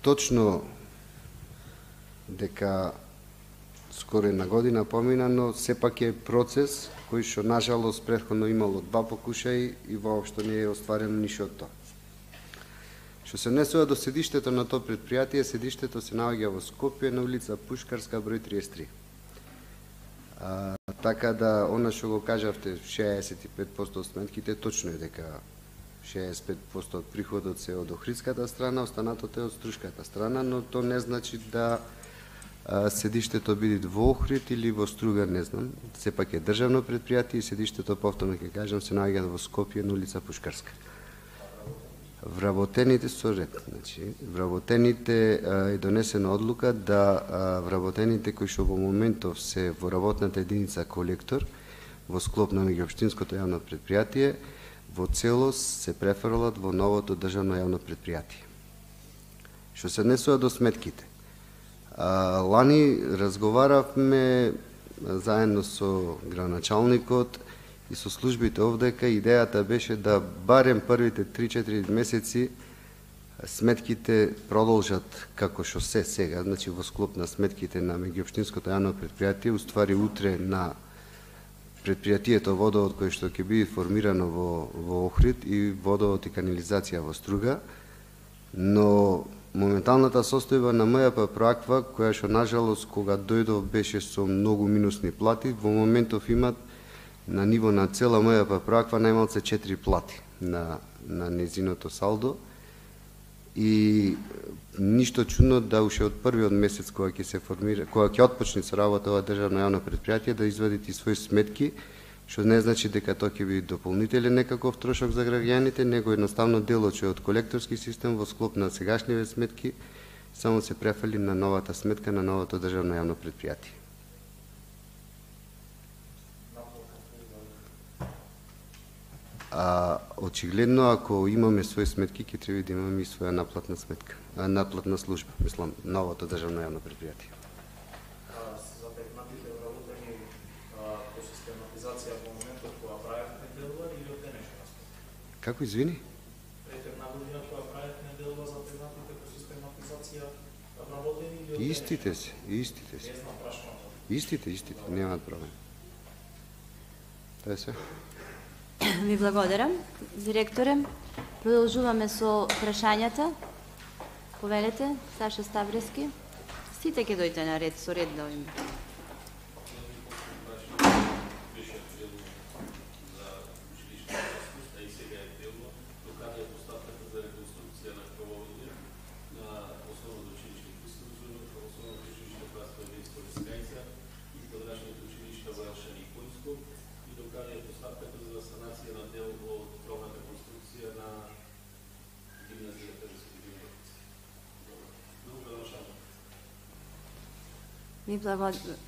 Точно дека скоро една година помина, но сепак е процес кој што нажалост претходно имало 2 покушаи и воопшто не е остварено ништо од тоа. Што се однесува до седиштето на тоа предпријатие, седиштето се наоѓа во Скопје на улица Пушкарска број 33. Така да, она што го кажавте, 65% од сметките, точно е дека 65% од приходот се од охридската страна, останатото е од струшката страна, но тоа не значи да седиштето биде во Охрид или во Струга, не знам. Сепак е државно предпријатие и седиштето, повторно ќе кажам, се наоѓа во Скопје на улица Пушкарска. Вработените со ред, значи, вработените е донесена одлука да вработените кои што во моментов се во работната единица колектор во склоп на меѓуопштинското јавно предпријатие во целост се префрлат во новото државно јавно предпријатие. Што се однесува до сметките. Лани разговаравме заедно со градоначалникот и со службите овдека, идејата беше да барем првите 3-4 месеци сметките продолжат како што се сега, значи во склоп на сметките на меѓуопштинското јавно предпријатие, уствари утре на предпријатието водовод кој што ќе биде формирано во Охрид и водовод и канализација во Струга, но моменталната состојба на МЈП Проаква, која што нажалост кога дојдов беше со многу минусни плати, во моментов имат на ниво на цела МЈП Проаква најмалце 4 плати на незиното салдо и ништо чудно да уште од првиот месец кога ќе се формира, кога ќе отпочне со работа ова државно јавно предпријатие да извадите своји сметки, што не значи дека тоа ќе биде дополнителен некаков трошок за граѓаните, него едноставно делот што е од колекторски систем во склоп на сегашниве сметки само се префали на новата сметка на новото државно јавно предпријатие. Очигледно, ако имаме своји сметки, ќе треба да имаме и своја наплатна сметка, наплатна служба, мислам, новото државно јавно предпријатие. Затекнатите вработени по систематизација во моментот кога правевме делува или од денешна сметка? Како, извини? Пред една година кога правевме делува затекнатите по систематизација вработени или од денешна? Истите се. Истите, немаат проблем. Тоа е се. Ви благодарам, директоре. Продолжуваме со прашањата. Повелете, Саша Ставрески. Сите ќе дојдете на ред, со ред да овим.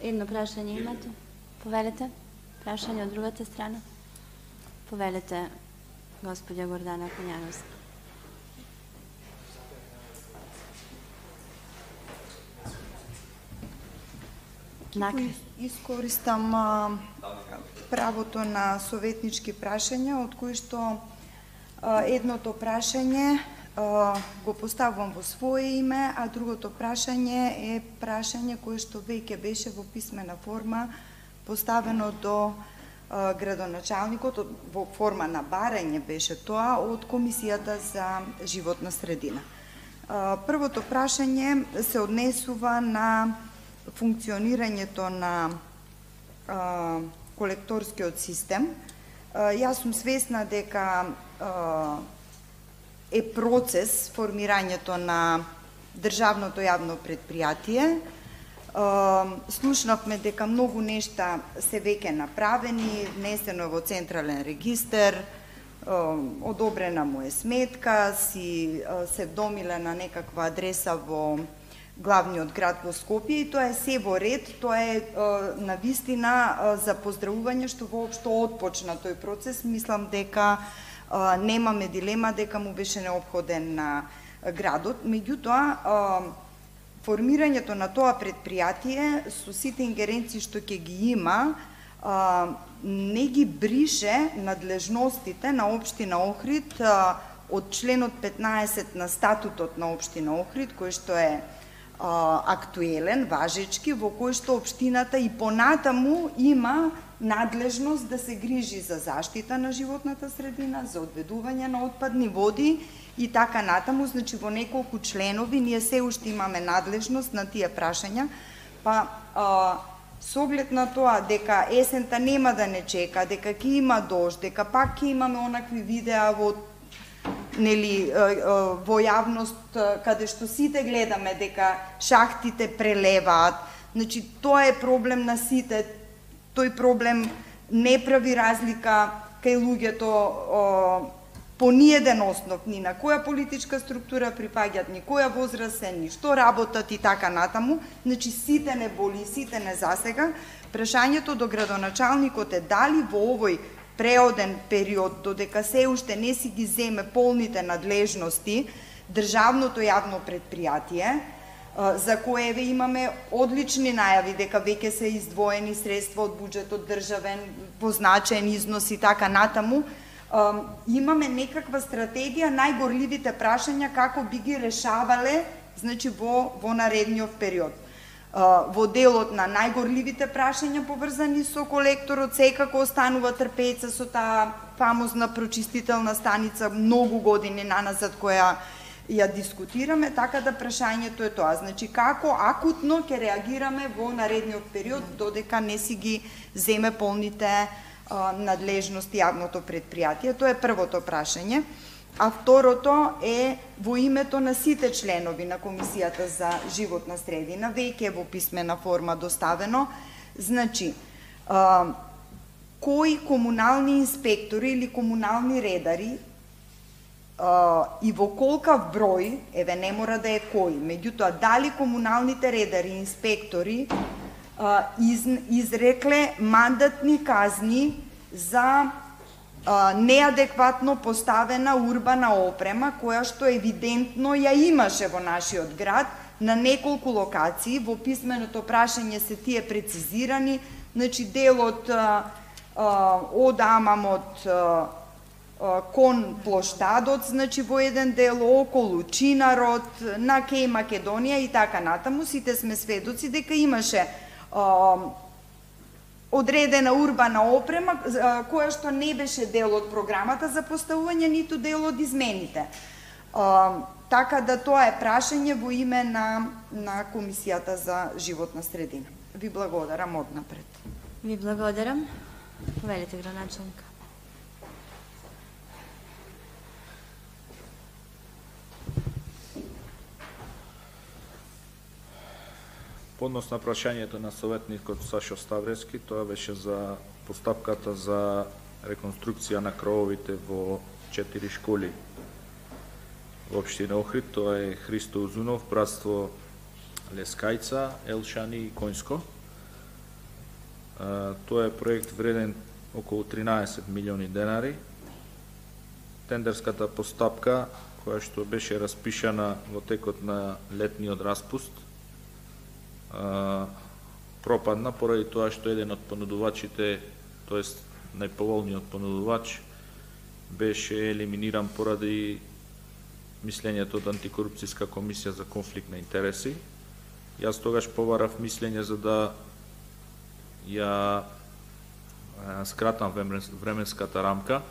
Едно прашање имате? Повелете. Прашање од другата страна. Повелете, господја Гордана Конјановска. Искористам правото на советнички прашања, од кои што едното прашање го поставувам во свое име, а другото прашање е прашање кое што веќе беше во писмена форма поставено до градоначалникот, во форма на барање беше тоа од Комисијата за животна средина. Првото прашање се однесува на функционирањето на колекторскиот систем. Јас сум свесна дека е процес формирањето на државното јавно предпријатие. Слушнавме дека многу нешта се веќе направени, внесено во централен регистер, одобрена му е сметка, си се вдомила на некаква адреса во главниот град во Скопје и тоа е се во ред, тоа е навистина за поздравување што воопшто отпочна тој процес. Мислам дека немаме дилема дека му беше неопходен на градот. Меѓутоа, формирањето на тоа предпријатие со сите ингеренции што ќе ги има, не ги брише надлежностите на општина Охрид од членот 15 на статутот на општина Охрид, кој што е актуелен, важечки, во кој што општината и понатаму има надлежност да се грижи за заштита на животната средина, за одведување на отпадни води и така натаму. Значи, во неколку членови ние се уште имаме надлежност на тие прашања, па со оглед на тоа дека есента нема да не чека, дека ќе има дожд, дека пак ќе имаме онакви видеа во во јавност каде што сите гледаме дека шахтите прелеваат. Значи, тоа е проблем на сите. Тој проблем не прави разлика кај луѓето по ниеден основ, ни на која политичка структура припаѓат, ни која возраст се, ни што работат и така натаму, значи сите не боли, сите не засега. Прашањето до градоначалникот е дали во овој преоден период, додека се уште не си ги земе полните надлежности, државното јавно предпријатие, за кое имаме одлични најави дека веќе се издвоени средства од буџетот државен, позначен износ и така натаму, имаме некаква стратегија најгорливите прашања како би ги решавале, значи во наредниот период. Во делот на најгорливите прашања поврзани со колекторот секако останува трпеца со таа фамозна прочистителна станица многу години наназад која ја дискутираме, така да прашањето е тоа. Значи, како акутно ќе реагираме во наредниот период, додека не си ги земе полните надлежности јавното предпријатие? Тоа е првото прашање. А второто е во името на сите членови на Комисијата за животна средина, веќе во писмена форма доставено. Значи, кои комунални инспектори или комунални редари и во колкав број, еве не мора да е кој, меѓутоа дали комуналните редари и инспектори изрекле мандатни казни за неадекватно поставена урбана опрема, која што евидентно ја имаше во нашиот град на неколку локации. Во писменото прашање се тие прецизирани, значи делот од Амамот кон плоштадот, значи во еден дел околу Чинарот, на Кеј Македонија и така натаму. Сите сме сведоци дека имаше одредена урбана опрема која што не беше дел од програмата за поставување, ниту дел од измените. Така да тоа е прашање во име на Комисијата за животна средина. Ви благодарам однапред. Ви благодарам. Повелите, градоначалник. По однос на прашањето на советникот Сашо Ставрески, тоа беше за постапката за реконструкција на крововите во 4 школи во општина Охрид. Тоа е Христо Узунов, Братство Лескајца, Елшани и Коњско. Тоа е проект вреден околу 13 милиони денари. Тендерската постапка, која што беше распишана во текот на летниот распуст, пропадна поради тоа што еден од понудувачите, тоест најповолниот понудувач, беше елиминиран поради мислењето од Антикорупцијска комисија за конфликт на интереси. Јас тогаш побарав мислење за да ја скратам временската рамка,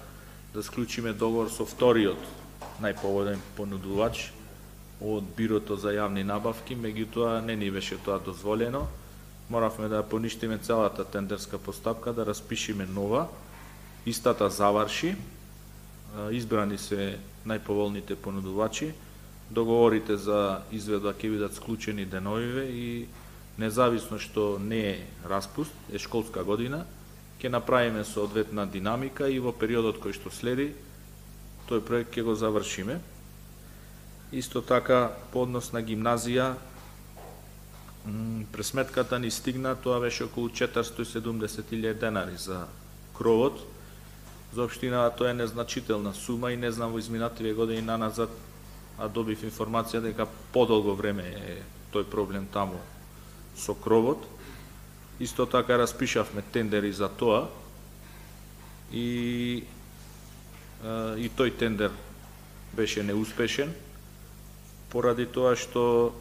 да склучиме договор со вториот најповолен понудувач од Бирото за јавни набавки, меѓутоа не ни беше тоа дозволено. Моравме да поништиме целата тендерска постапка, да распишиме нова. Истата заврши, избрани се најповолните понудувачи, договорите за изведба ќе бидат склучени деновиве и независно што не е распуст, е школска година, ќе направиме соодветна динамика и во периодот кој што следи, тој проект ќе го завршиме. Исто така, по однос на гимназија, пресметката ни стигна, тоа беше околу 470.000 денари за кровот. За општината тоа е незначителна сума и не знам во изминативе години наназад, а добив информација дека подолго време е тој проблем таму со кровот. Исто така распишавме тендери за тоа и тој тендер беше неуспешен, поради тоа што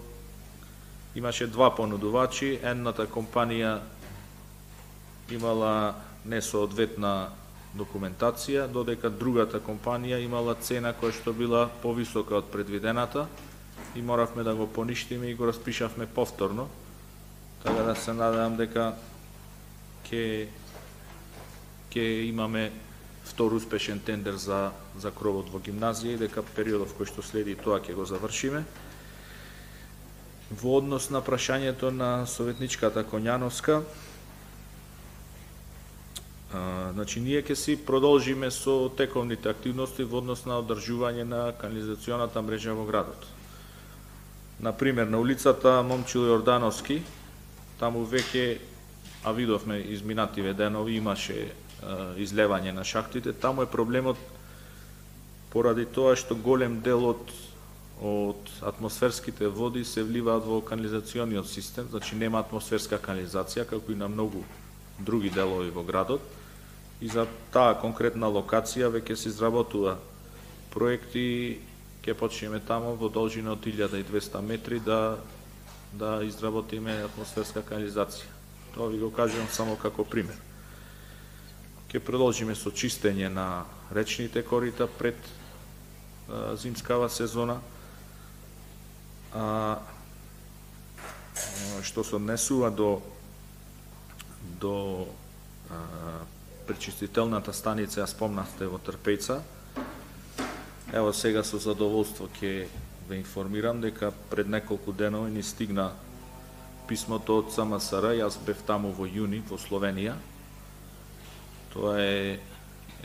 имаше два понудувачи, едната компанија имала несоодветна документација, додека другата компанија имала цена која што била повисока од предвидената и моравме да го поништиме и го распишавме повторно. Така да се надевам дека ќе имаме втор успешен тендер за кровот во гимназија и дека периодов кој што следи тоа ќе го завршиме. Во однос на прашањето на советничката Коњановска, Значи, ние ќе си продолжиме со тековните активности во однос на одржување на канализационата мрежа во градот. Например, на улицата Момчил Јордановски, таму веќе, а видовме изминативе денови, имаше излевање на шахтите, таму е проблемот поради тоа што голем дел од атмосферските води се вливаат во канализациониот систем, значи нема атмосферска канализација, како и на многу други делови во градот, и за таа конкретна локација веќе се изработува проекти, ќе почнеме таму во должина од 1200 метри да изработиме атмосферска канализација. Тоа ви го кажувам само како пример. Ќе продолжиме со чистење на речните корита пред зимскава сезона. Што се однесува до пречистителната станица, ја спомнавте во Трпејца. Ево сега со задоволство ќе ве информирам дека пред неколку денови ни стигна писмото од СМСР, јас бев таму во јуни во Словенија. Тоа е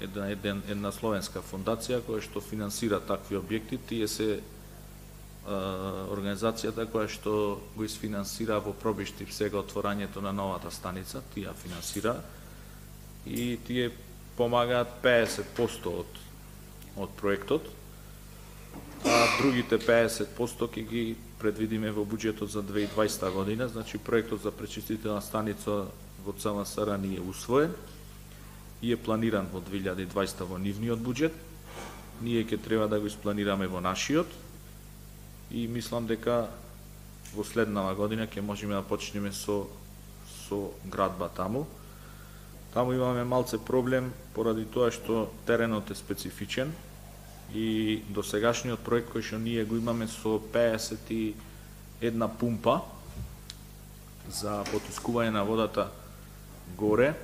една словенска фондација која што финансира такви објекти. Тие се организацијата која што го изфинансира во Пробиштип сега отворањето на новата станица, тие финансира и тие помагаат 50% од проектот, а другите 50% ќе ги предвидиме во буџетот за 2020 година, значи проектот за пречистителна станица во ЦМСР ни е усвоен и е планиран во 2020 во нивниот буџет. Ние ќе треба да го испланираме во нашиот и мислам дека во следнава година ќе можеме да почнеме со градба таму. Таму имаме малце проблем поради тоа што теренот е специфичен и досегашниот проект кој што ние го имаме со 51 пумпа за потискување на водата горе,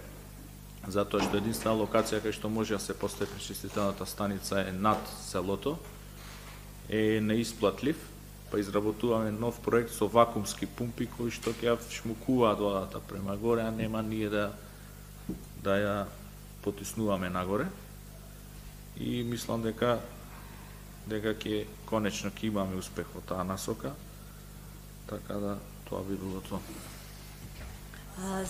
затоа што единствена локација кај што може да се постави пречистителната станица е над селото, е неисплатлив, па изработуваме нов проект со вакуумски пумпи кои што ќе шмукуваат водата према горе, а нема ние да ја потиснуваме нагоре. И мислам дека ќе конечно ќе имаме успех во таа насока, така да тоа би било тоа.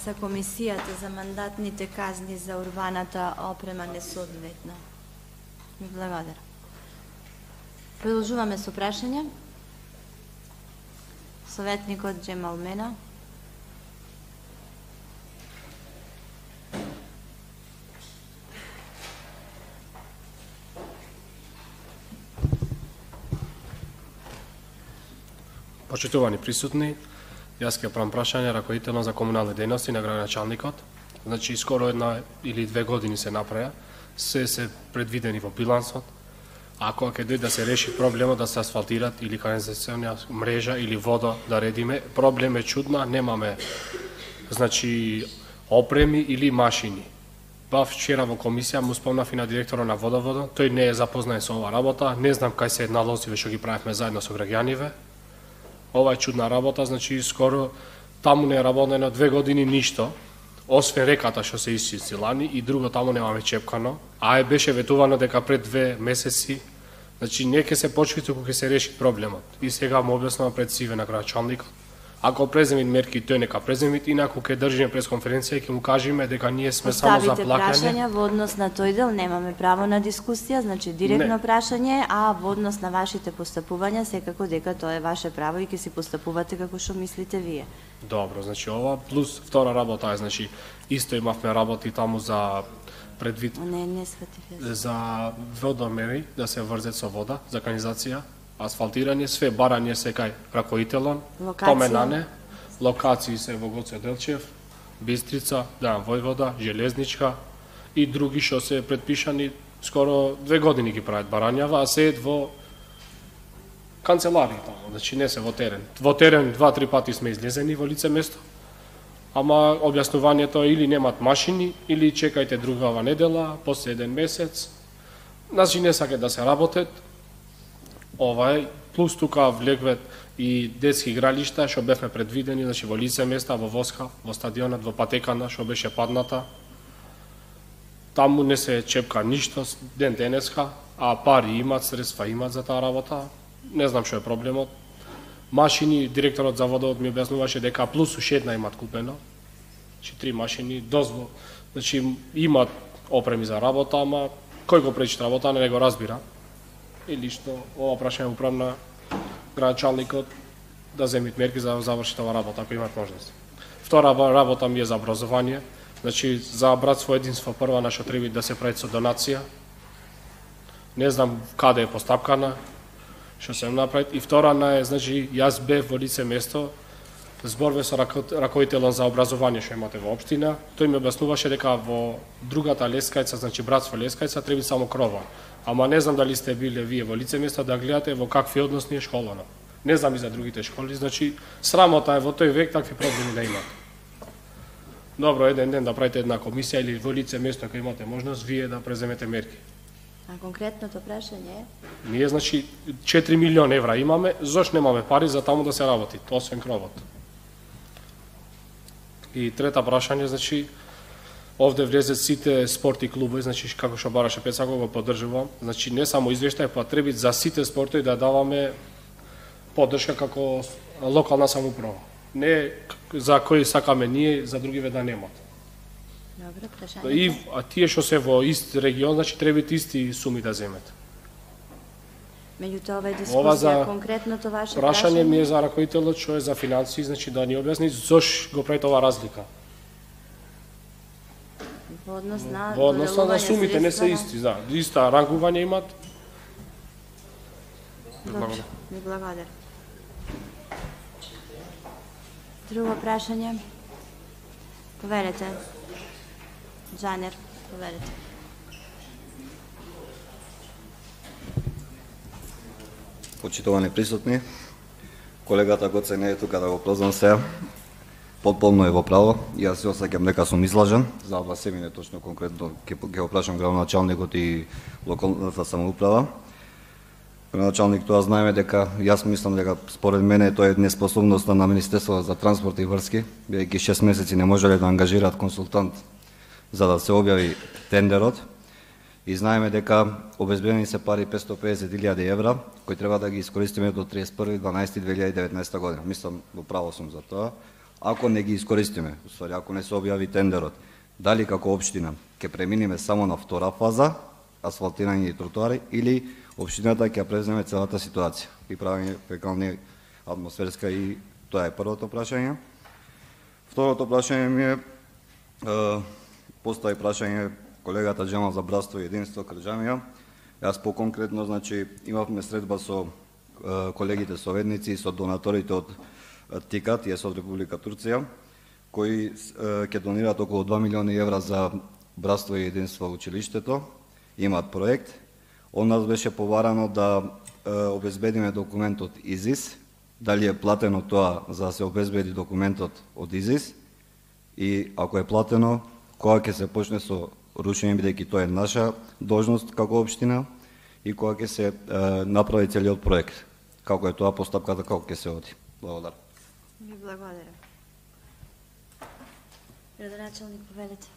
За комисијата за мандатните казни за урбаната опрема несоодветна. Ми благодарам. Продолжуваме со прашања. Советникот Џемал Мена. Почитувани присутни, јас ќе правам прашање раководително за комунални дејности на градоначалникот. Значи, скоро 1 или 2 години се направија, се предвидени во билансот. Ако ќе дојде да се реши проблемот да се асфалтират или канализационна мрежа или вода да редиме, проблем е чудна, немаме значи опреми или машини. Бав вчера во комисија му спомнав и на директора на водоводот, тој не е запознаен со ова работа, не знам кај се налозиве што ги правевме заедно со граѓаниве. Ова е чудна работа, значи скоро таму не е работено 2 години ништо, освен реката што се исчисти лани и друго таму немаме чепкано, а беше ветувано дека пред 2 месеци, значи не ќе се почви туку ќе се реши проблемот. И сега му објаснувам пред сиве на градоначалникот. Ако преземит мерки, тој нека преземит, инаку ќе држиме пресконференција и ќе му кажеме дека ние сме само за плаќање. Поставите прашања во однос на тој дел, немаме право на дискусија, значи директно прашање, а во однос на вашите постапувања, секако дека тоа е ваше право и ќе си постапувате како што мислите вие. Добро, значи ова плюс втора работа е, значи исто имавме работи таму за предвид не сфатив јас. За водомери да се врзет со вода, за канализација, асфалтирање, све барање се кај раковителон, поменане, локации се во Гоце Делчев, Бистрица, Дајан Војвода, Железничка и други што се предпишани, скоро 2 години ги прават барањава, а се во канцеларии таму, значи не се во терен. Во терен 2-3 пати сме излезени во лице место, ама објаснувањето или немат машини, или чекајте другава недела, после 1 месец. Значи не сакаат да се работат. Ова е, плюс тука влегвет и детски игралишта, што бевме предвидени, значи во лице места, во Воска, во стадионот, во патекана, што беше падната. Таму не се чепка ништо ден денеска, а пари имат, средства имат за таа работа. Не знам што е проблемот. Машини, директорот за водовод ми објаснуваше дека плюс уште една имат купено. 3 машини, дозвол. Значи имат опреми за работа, ама кој го пречи работа, не го разбира. И лично ова прашање управ на градоначалникот да земат мерки за да заврши таа работа, ако имат можност. Втора работа ми е за образование. Значи за братство единство прва на што треба да се прави со донација. Не знам каде е постапкана, што се направи. И втора е, значи јас бев во лице место, зборве со раковителот за образование што имате во општина. Тој ми објаснуваше дека во другата Лескајца, значи братство Лескајца, треба само крова. Ама не знам дали сте биле вие во лице место да гледате во какви односи е школано. Не знам и за другите школи, значи срамота е во тој век такви проблеми да имат. Добро, еден ден да правите една комисија или во лице место кога имате можност вие да преземете мерки. А конкретното прашање е? Ние, значи, 4 милион евра имаме, зошто немаме пари за таму да се работи, освен кровот. И трета прашање, значи, овде влезат сите спорти клубови, значи, како што бараше Пецако, го поддржувам. Значи, не само извештај, па треба за сите спортови да даваме поддршка како локална самоуправа. Не за кои сакаме ние, за другиве да немат. Добро, прашање. И тие што се во ист регион, значи треба исти суми да земат. Меѓутоа ова е дискусија, конкретното ваше прашање ми е за раковителот што е за финансии, значи да ни објасни зошто го прави ова разлика. Во однос на на сумите не се исти, да. Иста рангување имат. Добро, ви благодарам. Друго прашање? Поверете. Джанер, поверете. Почитувани присутни, колегата Гоце не е тука да го прозвам сега. Потполно е во право. Јас се осеќам дека сум излажен, за ова се мине точно конкретно ќе го прашам градоначалникот и локалната самоуправа. Градоначалник, тоа знаеме дека јас мислам дека според мене тоа е неспособноста на Министерството за транспорт и врски, бидејќи 6 месеци не можеле да ангажираат консултант за да се објави тендерот. И знаеме дека обезбедени се пари 550.000 евра, кои треба да ги искористиме до 31.12.2019 година. Мислам, во право сум за тоа. Ако не ги искористиме, уствари, ако не се објави тендерот, дали како општина ќе преминиме само на втора фаза, асфалтирање и тротоари, или општината ќе преземе целата ситуација и правење фекални атмосферска, и тоа е првото прашање. Второто прашање ми е, постави прашање колегата Джемал за братство и единство Крџамија. Јас поконкретно, значи, имавме средба со колегите советници и со донаторите од ТИКАТ, јас од Република Турција, кои ќе донираат околу 2 милиони евра за братство и единство училиштето. Имаат проект. Од нас беше поварано да обезбедиме документот ИЗИС, дали е платено тоа за да се обезбеди документот од ИЗИС, и ако е платено, кога ќе се почне со рушење, бидејќи тоа е наша должност како општина, и кога ќе се направи целиот проект, како е тоа постапката, како ќе се оди. Благодарам. Ви благодарам. Градоначалник, повелете.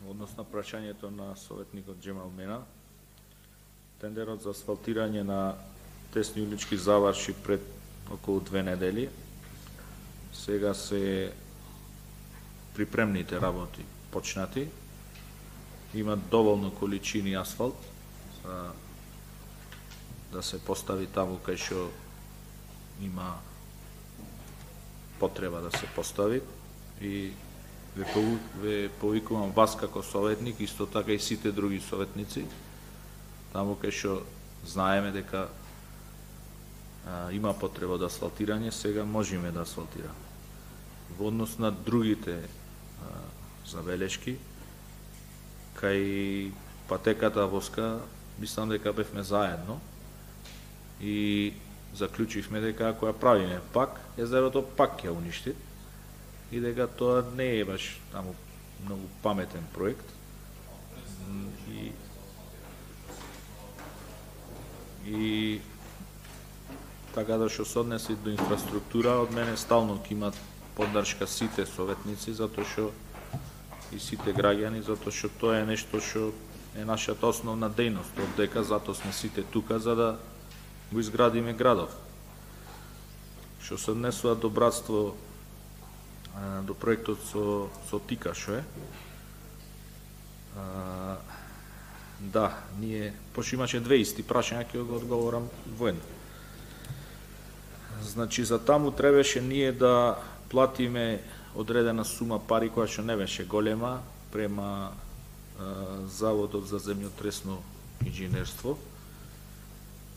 Односно прашањето на советникот Джемал Мена, тендерот за асфалтирање на тесни улички заврши пред околу 2 недели. Сега се припремните работи почнати. Има доволно количини асфалт за да се постави таму кај што има потреба да се постави, и ве повикувам вас како советник, исто така и сите други советници, таму кај што знаеме дека има потреба да асфалтирање, сега можеме да асфалтираме. Во однос на другите забелешки, кај патеката Воска, мислам дека бевме заедно и заклучивме дека ако ја правиме пак, езерото пак ќе уништи, и дека тоа не е баш таму многу паметен проект. И така да што се однеси до инфраструктура, од мене стално ќе имат поддршка сите советници, затоа што и сите граѓани, затоа што тоа е нешто што е нашата основна дејност, од дека затоа сме сите тука за да го изградиме градов. Што се однесува до братство, до проектот со Тикашо е. Да, ние, пошто имаше две исти прашања, ќе го одговорам воедно. Значи, за таму требаше ние да платиме одредена сума пари која што не беше голема према Заводот за земјотресно инженерство,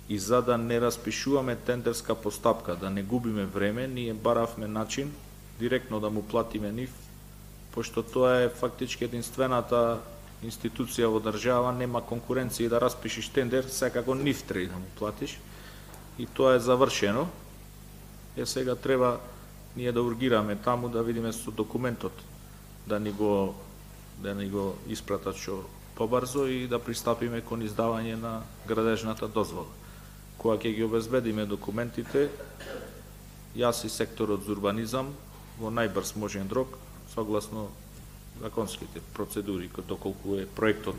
и за да не распишуваме тендерска постапка, да не губиме време, ние баравме начин директно да му платиме нив, пошто тоа е фактички единствената институција во држава, нема конкуренција и да распишиш тендер, секако нив треба да му платиш, и тоа е завршено. Сега треба ние да ургираме таму, да видиме со документот, да ни го испратат што побрзо и да пристапиме кон издавање на градежната дозвола. Кога ќе ги обезбедиме документите, јас и секторот за урбанизам во најбрз можен рок, согласно законските процедури, доколку е проектот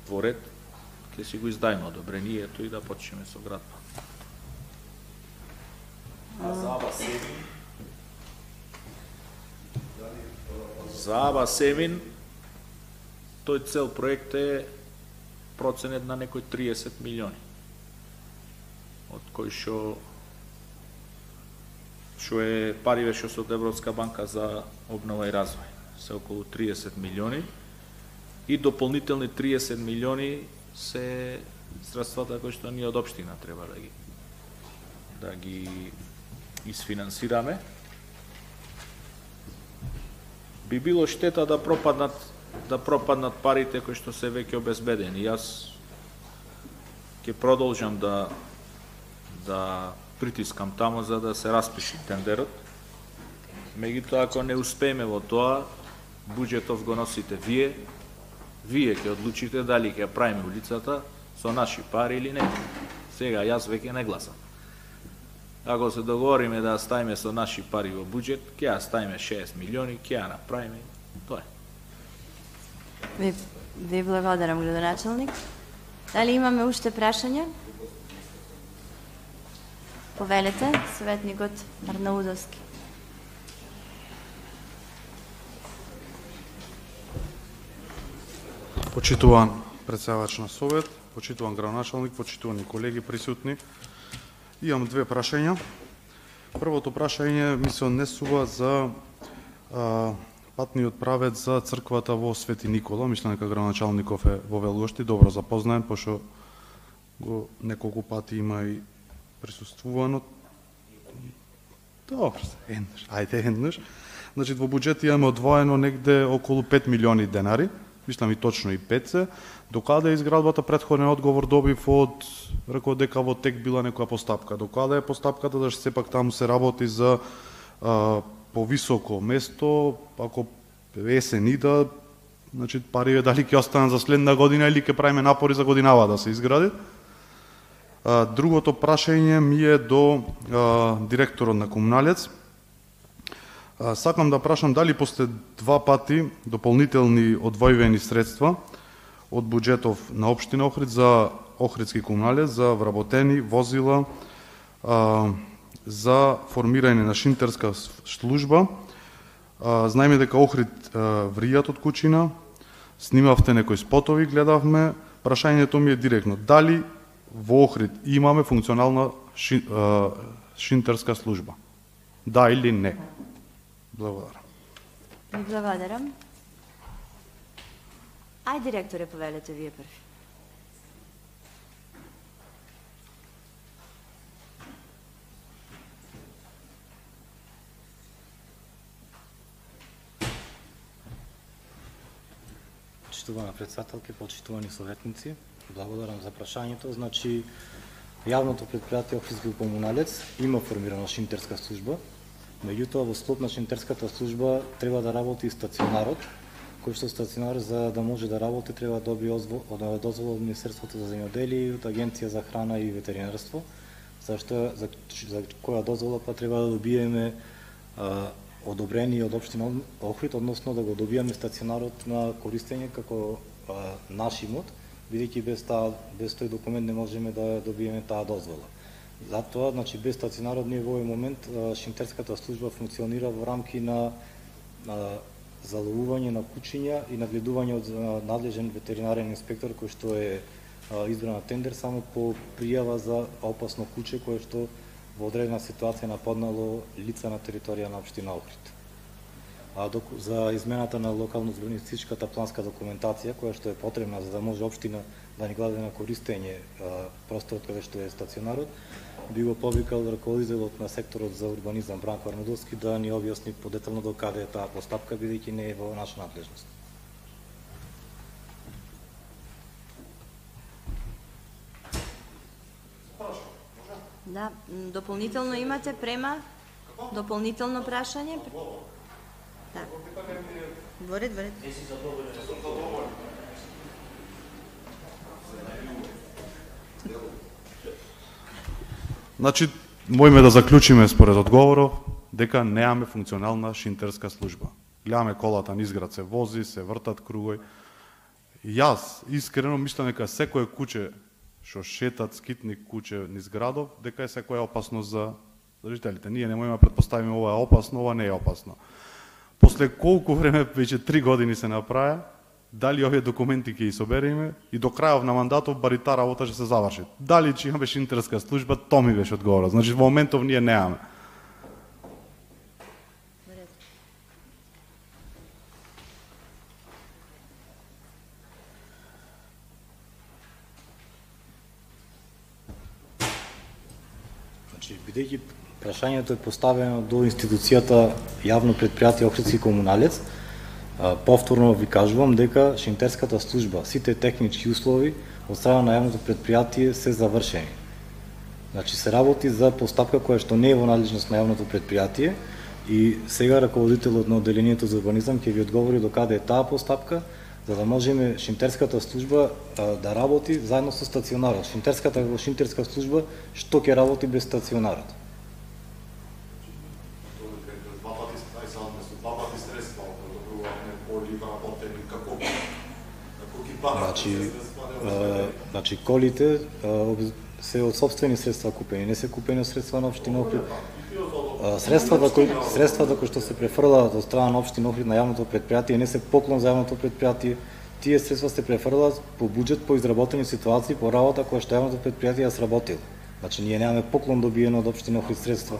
во ред, ќе си го издајме одобрението и да почнеме со градба. За Аба Семин, тој цел проект е проценет на некој 30 милиони, од кој што е париве што се од Европска банка за обнова и развој, се околу 30 милиони, и дополнителни 30 милиони се средствата кои што ние од општина треба да ги изфинансираме. Би било штета да пропаднат парите кои што се веќе обезбедени. Јас ќе продолжам да притискам тамо за да се распиши тендерот. Меѓутоа, ако не успееме во тоа, буџетов го носите вие. Вие ќе одлучите дали ќе правиме улицата со наши пари или не. Сега јас веќе не гласам. Ако се договориме да ставиме со наши пари во буџет, ќе ја ставиме 6 милиони, ќе ја направиме. Тоа е. Ви благодарам, градоначалник. Дали имаме уште прашања? Повелете, советникот Арнаудовски. Почитуван председавач на Совет, почитуван градоначалник, почитувани колеги присутни, имам две прашања. Првото прашање ми се однесува за патниот правец за црквата во Свети Никола. Мислам дека градоначалников е во Велгошти, добро запознаен, пошто го неколку пати има и присуствувано. Добро, еднаш. Значи, во буџет имаме одвоено негде околу 5 милиони денари, мислам и точно и 5 се. Докаде е изградбата, претходен одговор добив од, рекол дека во тек била некоја постапка. Докаде е постапката, да што сепак таму се работи за повисоко место, ако есен ида, значи пари дали ќе останат за следна година или ќе правиме напори за годинава да се изгради. Другото прашање ми е до директорот на Комуналец. Сакам да прашам дали после 2 пати дополнителни одвојени средства од буџетов на општина Охрид за Охридски Комуналец, за вработени возила, за формирање на шинтерска служба. Знаеме дека Охрид вријат од кучина, снимавте некои спотови, гледавме. Прашањето ми е директно. Дали во Охрид имаме функционална шинтерска служба? Да или не? Благодарам. Благодарам. Ај, директоре, повелете вие први. Почитувана председателке, почитувани советници, благодарам за прашањето. Значи, јавното предпријатие Охридски Комуналец има формирана шинтерска служба, меѓутоа во склоп на шинтерската служба треба да работи и стационарот, кој што стационар за да може да работи треба да добие дозвола од Министерството за земјоделие и од Агенција за храна и ветеринарство, зашто за која дозвола па треба да добиеме одобрение од општина Охрид, односно да го добиеме стационарот на користење како наш имот, бидејќи без тој документ не можеме да добиеме таа дозвола. Затоа, значи, без стационарот ние во овој момент Шинтерската служба функционира во рамки на заловување на кучиња и нагледување од надлежен ветеринарен инспектор кој што е избран на тендер само по пријава за опасно куче кое што во одредена ситуација нападнало лица на територија на општина Охрид. За измената на локално-урбанистичката планска документација која што е потребна за да може општина да ни даде на користење просторот каде што е стационарот, би го повикал раководителот на секторот за урбанизам Бранко Арнудовски да ни објасни подетално до каде е таа постапка, бидејќи не е во наша надлежност. Да, дополнително имате према? Дополнително прашање? Да. Во ред. Значи, мојме да заклучиме според одговоров дека неаме функционална шинтерска служба. Гледаме колата низ град се вози, се вртат кругој. Јас искрено мислам дека секое куче што шетат скитник куче низ градов, дека е секоја опасно за жителите. Ние не можеме да претпоставиме ова е опасно, ова не е опасно. После колку време, веќе 3 години се направи, дали овие документи ќе ги собереме и до крајот на мандатот бари таа работа ќе се заврши. Дали ќе имаме шинтерска служба, тоа ми беше одговорот. Значи во моментов ние немаме. Значи, бидејќи прашањето е поставено до институцијата јавно предпријатие Охридски комуналец, повторно ви кажувам дека шинтерската служба, сите технички услови од страна на јавното предпријатие се завршени. Значи се работи за постапка која што не е во надлежност на јавното предпријатие и сега раководителот на одделението за урбанизам ќе ви одговори до каде е таа постапка, за да можеме шинтерската служба да работи заедно со стационарот. Шинтерска служба што ќе работи без стационарот? Значи колите се од собствени средства купени, не се купени од средства на општина Охрид. Средствата кои што се префрлаат од страна на општина Охрид на јавното предпријатие не се поклон за јавното предпријатие. Тие средства се префрлаат по буџет, по изработени ситуации, по работа која што јавното предпријатие ја сработило. Значи ние немаме поклон добиено од општина Охрид средства.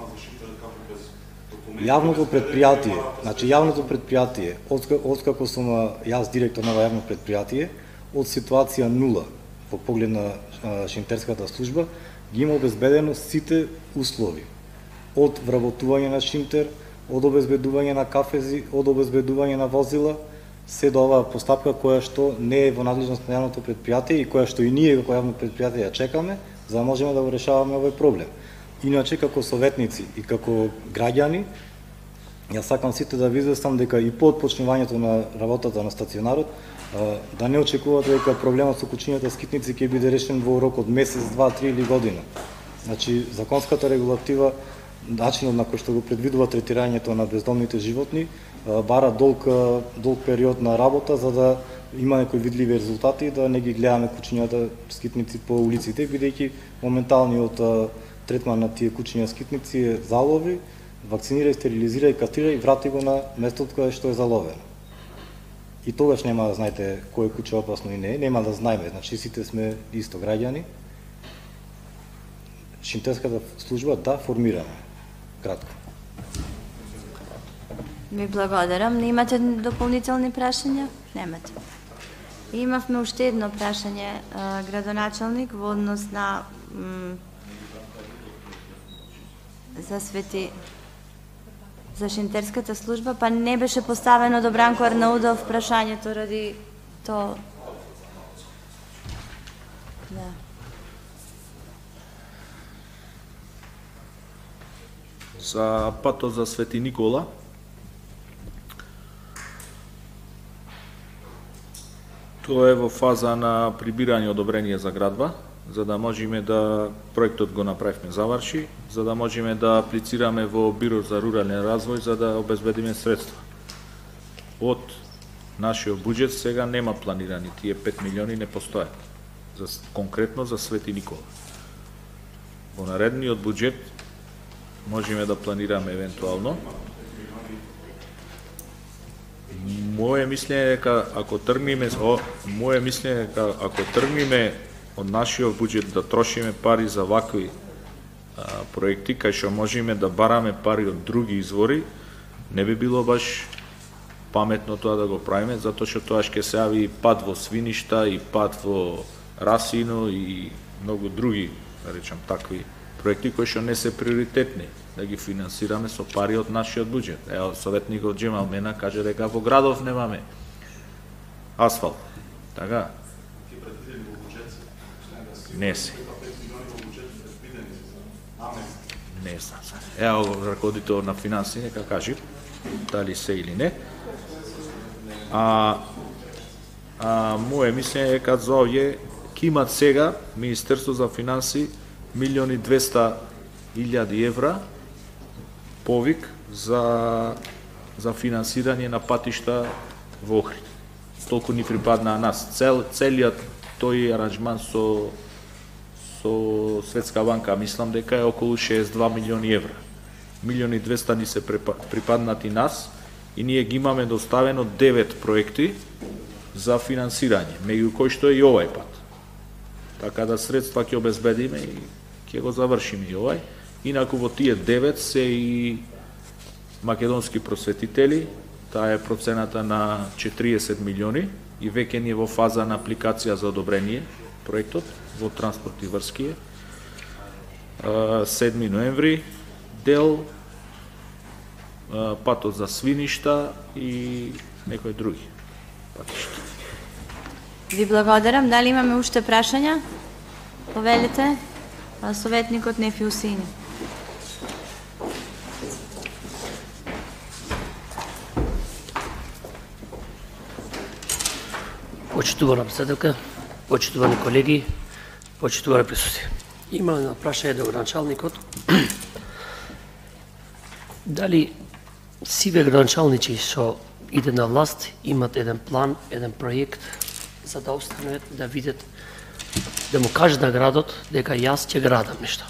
Јавното предпријатие, откако сум јас директор на јавно предпријатие, од ситуација нула по поглед на шинтерската служба, ги има обезбедено сите услови. Од вработување на шинтер, од обезбедување на кафези, од обезбедување на возила, се до оваа постапка која што не е во надлежност на јавното предпријатие и која што и ние како јавно предпријатие ја чекаме, за да можеме да го решаваме овој проблем. Иначе, како советници и како граѓани, јас сакам сите да ви известам дека и по отпочнувањето на работата на стационарот, да не очекувате дека проблемот со кучињата скитници ќе биде решен во рок од месец, 2, 3 или година. Значи, законската регулатива, начинот на кој што го предвидува третирањето на бездомните животни, бара долг период на работа за да има некои видливи резултати и да не ги гледаме кучињата скитници по улиците, бидејќи моменталниот третман на тие кучиња скитници е залови, вакцинирај, стерилизирај, кастрирај и врати го на местото каде што е заловено. И тогаш нема да знаете кој куче опасно и не е, нема да знаеме, значи сите сме исто граѓани. Шинтерската служба да формираме. Кратко. Ви благодарам. Не имате дополнителни прашања? Немате. Имавме уште едно прашање, градоначалник, во однос на за шинтерската служба, па не беше поставено до Бранко Арнаудов прашањето ради тоа. Да. За патот за Свети Никола, Тоа е во фаза на прибирање одобрение за градба, за да можеме да проектот го направиме заврши, за да можеме да аплицираме во Биро за рурален развој за да обезбедиме средства. Од нашиот буџет сега нема планирани, тие 5 милиони не постојат, конкретно за Свети Никола. Во наредниот буџет можеме да планираме евентуално. Моје мислење е дека ако тргнеме од нашиот буџет да трошиме пари за вакви проекти, кај што можеме да бараме пари од други извори, не би било баш паметно тоа да го правиме, затоа што тоа ќе се јави и пат во свиништа, и пат во расино, и многу други, да речам, такви проекти кои што не се приоритетни, да ги финансираме со пари од нашиот буџет. Ево, советникот Джемал Мена каже дека во градов немаме асфалт. Така? Не се. Не знам. Ево, раководител на финанси, нека кажи дали се или не. Моје мислење е дека за овие ќе имат сега Министерство за финанси 1.200.000 евра повик за финансирање на патишта во Охрид. Толку ни припадна на нас. Целиот тој аранжман со Светска банка, мислам дека е околу 62 милиони евра. 1.200.000 ни се припаднати нас и ние ги имаме доставено 9 проекти за финансирање, меѓу кои што е и овај пат. Така да средства ќе обезбедиме и ќе го завршиме и овај. Инаку во тие 9 се и македонски просветители, таа е процената на 40 милиони и веќе ни е во фаза на апликација за одобрение проектот во транспорт и врски. 7 ноември дел, патот за свиништа и некои други патишта. Ви благодарам. Дали имаме уште прашања? Повелите, советникот Нефи Усини. Почитувана председателка, почитувани колеги, почитувани присутни. Има едно прашање до градоначалникот. Дали сиве градоначалници што иде на власт имат еден план, еден проект за да останат да видат, да му кажат на градот дека јас ќе градам нешто.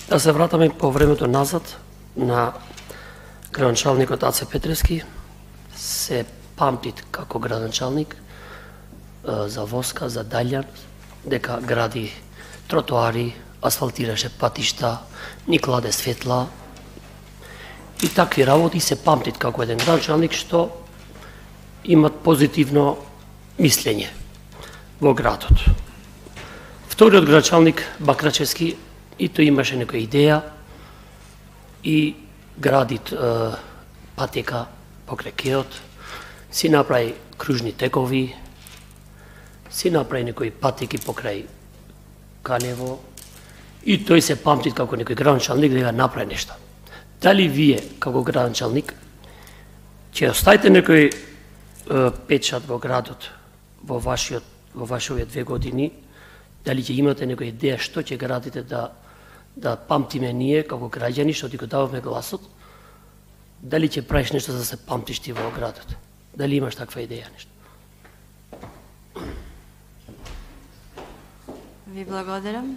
Да се вратаме по времето назад на градоначалникот Аце Петрески, се памти како градоначалник за Воска, за Даљан, дека гради тротоари, асфалтираше патишта, ни кладе светла и такви работи се памтит како еден градоначалник што имат позитивно мислење во градот. Вториот градоначалник Бакрачевски и тој имаше некоја идеја и гради патека покрај кеот, си направи кружни текови, си направи некои патеки покрај Калево и тој се памти како некој градоначалник дека направи нешто. Дали вие, како градоначалник, ќе оставите некој печат во градот во вашите 2 години, дали ќе имате некоја идеја што ќе градите да памтиме ние како граѓани што ти го даваме гласот, дали ќе правиш нешто за да се памтиш ти во градот? Дали имаш таква идеја нешто? Ви благодарам.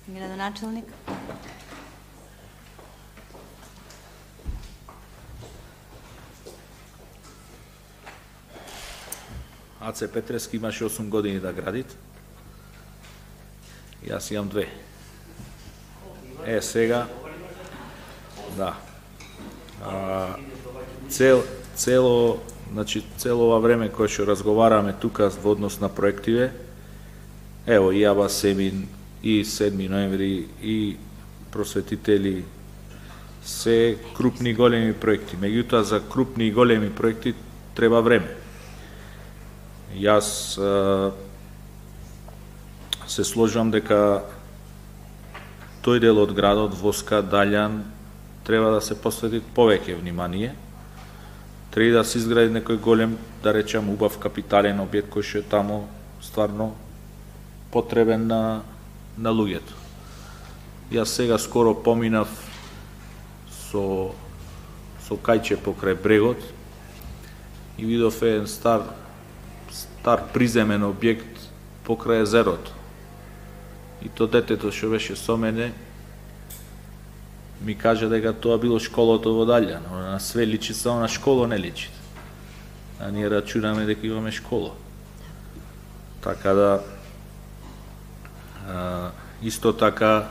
Градоначалник. Аце Петрески имаше 8 години да градит. Јас имам 2. Сега, да. Цело ова време кое што разговараме тука во однос на проективе, ево и Аба Семин, и 7 ноември, и просветители, се крупни и големи проекти. Меѓутоа, за крупни и големи проекти треба време. Јас се сложувам дека тој дел од градот, Воска, Даљан, треба да се посвети повеќе внимание, треба да се изгради некој голем, да речем, убав капитален објект кој што е таму стварно потребен на луѓето. Јас сега скоро поминав со кајче покрај брегот и видов еден стар приземен објект покрај езерото. И то детето што беше со мене ми кажа дека тоа било школото во Далја, но на све личи, само на школо не личи. А ние рачунаме дека имаме школа. Така да исто така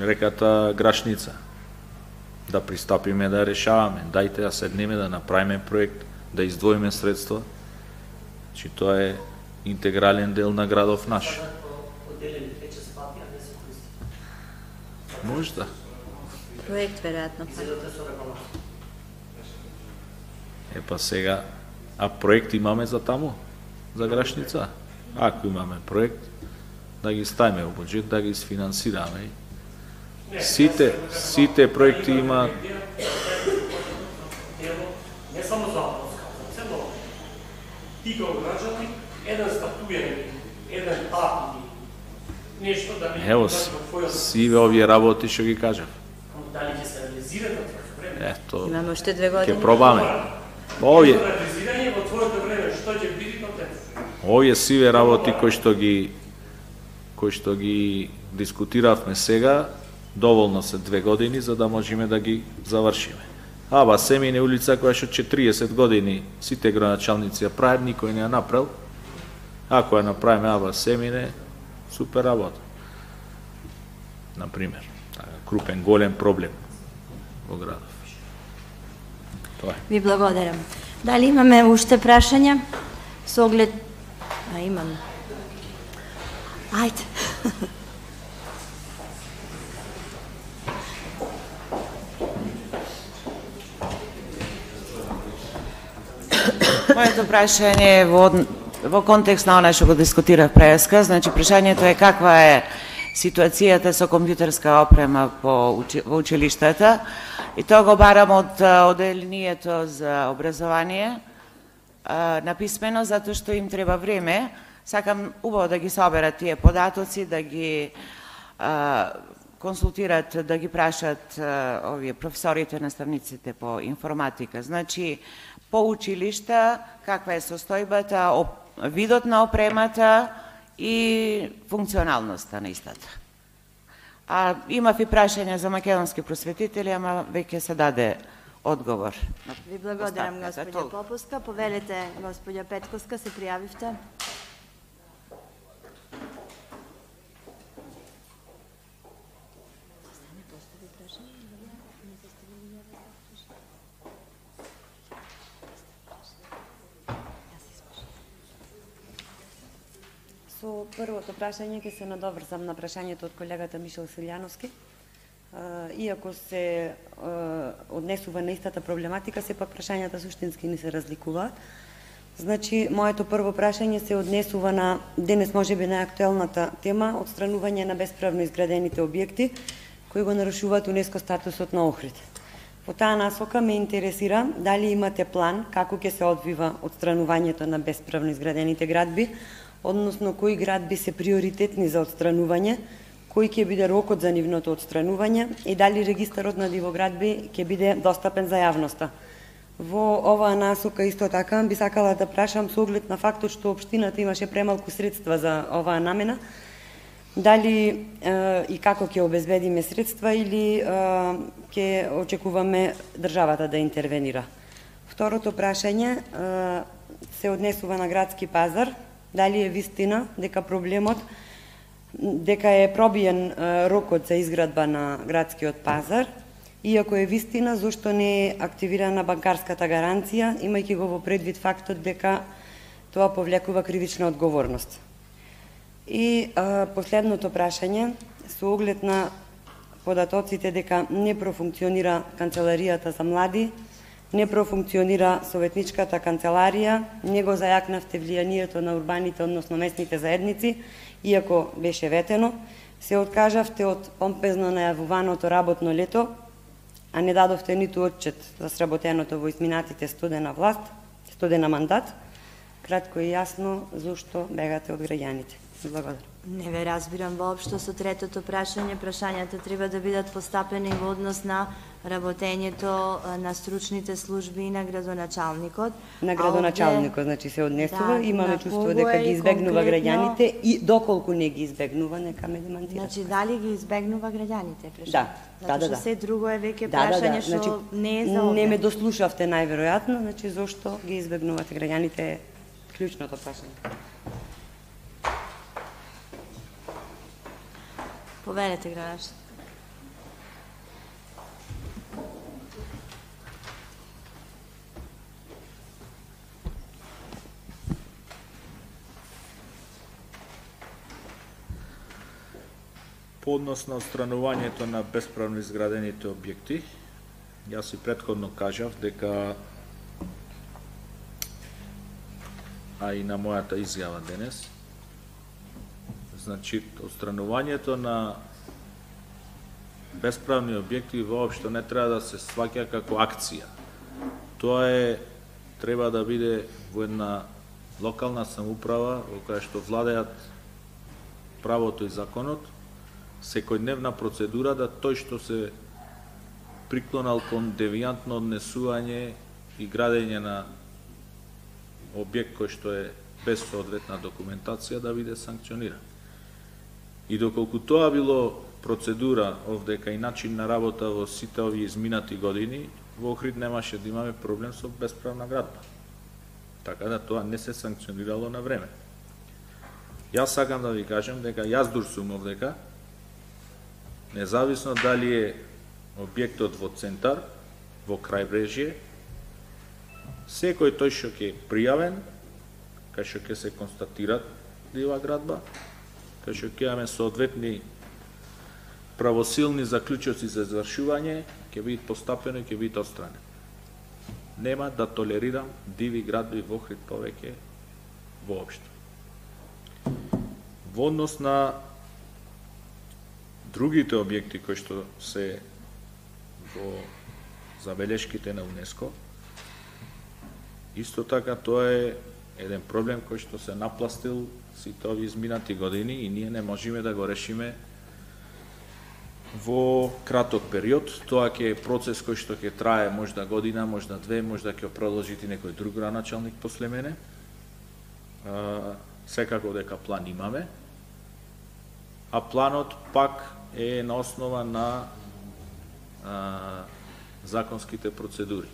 реката Грашница. Да пристапиме да решаваме, дајте да седнеме да направиме проект, да издвоиме средства. Че тоа е интегрален дел на градов наш. Можда. Проект, веројатно. Епа сега, а проект имаме за таму, за Грашница. Ако имаме проект, да ги ставиме во буџет, да ги сфинансираме. Сите проекти имаат. Не само за цело. Ти како граѓани, еден статуен, еден акт, нешто да не... Ево, сиве овие работи што ги кажав. Дали ќе се реализираат во твоето време? Ето, Имаме уште 2 години. ќе пробаме. Овие Реализирање во твоето време, што ќе биде на тема? Овие сиве работи кои што ги дискутиравме сега, доволно се 2 години за да можеме да ги завршиме. Аба Семине улица која што 40 години сите градоначалници ја прават, никој не ја направил. Ако ја направиме Аба Семине, супер работа. Например, крупен, голем проблем во градов. Тоа е. Ви благодарам. Дали имаме уште прашања? Со оглед... имаме. Ајде. Моето прашање е во контекст на она што го дискутирав преска, значи прашањето е каква е ситуацијата со компјутерска опрема во училиштата и тоа го барам од Оделението за образование написмено, затоа што им треба време. Сакам убаво да ги соберат тие податоци, да ги консултират, да ги прашат овие професорите, наставниците по информатика. Значи, по училишта, каква е состојбата, видот на опремата и функционалноста на истата. Имав и прашање за македонски просветители, ама веќе се даде одговор. Ви благодарам, господја Попуска. Повелете, господја Петковска, се пријавивте. Со првото прашање ќе се надоврзам на прашањето од колегата Мишел Силјановски. Иако се однесува на истата проблематика, сепак прашањата суштински не се разликуваат. Значи, моето прво прашање се однесува на денес можеби најактуелната тема отстранување на бесправно изградените објекти кои го нарушуваат УНЕСКО статусот на Охрид. По таа насока ме интересира дали имате план како ќе се одвива отстранувањето на бесправно изградените градби, односно кои градби се приоритетни за отстранување, кој ќе биде рокот за нивното отстранување и дали регистарот на дивоградби ќе биде достапен за јавноста. Во оваа насока исто така би сакала да прашам со оглед на фактот што општината имаше премалку средства за оваа намена, дали и како ќе обезбедиме средства или ќе очекуваме државата да интервенира. Второто прашање се однесува на градски пазар. Дали е вистина дека проблемот, дека е пробиен рокот за изградба на градскиот пазар, иако е вистина, зошто не е активирана банкарската гаранција, имајќи го во предвид фактот дека тоа повлекува кривична одговорност. И последното прашање, со оглед на податоците дека не профункционира канцеларијата за млади, не профункционира советничката канцеларија, не го зајакнавте влијанието на урбаните, односно местните заедници, иако беше ветено, се откажавте од помпезно најавуваното работно лето а не дадовте ниту отчет за сработеното во изминатите студена мандат, кратко и јасно зошто бегате од граѓаните. Благодарам. Не ве разбирам воопшто со третото прашање. Прашањата треба да бидат постапени во однос на работењето на стручните служби и на градоначалникот. На градоначалникот, значи се однесува, Да, имаме на чувство кого дека е ги избегнува конкретно? граѓаните и доколку не ги избегнува, нека ме демантира. Значи, дали ги избегнува граѓаните? Да, Затоа да. што се друго е веќе прашање што не е за овде. Не ме дослушавте најверојатно, значи зошто ги избегнувате граѓаните е клучното прашање. Повелете, градоначалник. По однос на отстранувањето на бесправно изградените објекти, јас и претходно кажав дека, а и на мојата изјава денес, значи, отстранувањето на бесправни објекти воопшто не треба да се сваќа како акција. Тоа треба да биде во една локална самоуправа во која што владеат правото и законот, секојдневна процедура да тој што се приклонал кон девијантно однесување и градење на објект кој што е без соодветна документација да биде санкциониран. И доколку тоа било процедура овдека и начин на работа во сите овие изминати години, во Охрид немаше да имаме проблем со бесправна градба. Така да тоа не се санкционирало на време. Јас сакам да ви кажам дека јас дур сум овдека, независно дали е објектот во центар, во крајбрежје, секој тој што ќе пријавен, кај што ќе се констатира дива градба, кај што ќе имаме соодветни правосилни заклучоци за извршување, ќе биде постапено и ќе биде отстранен. Нема да толерирам диви градби во Охрид повеќе воопшто. Во однос на другите објекти кои што се во забелешките на УНЕСКО, исто така тоа е еден проблем кој што се напластил сите овие изминати години и ние не можеме да го решиме во краток период. Тоа ќе е процес кој што ќе трае можда година, можда две, можда ќе продолжи некој друг градоначалник после мене. Секако дека план имаме, а планот пак е на основа на законските процедури.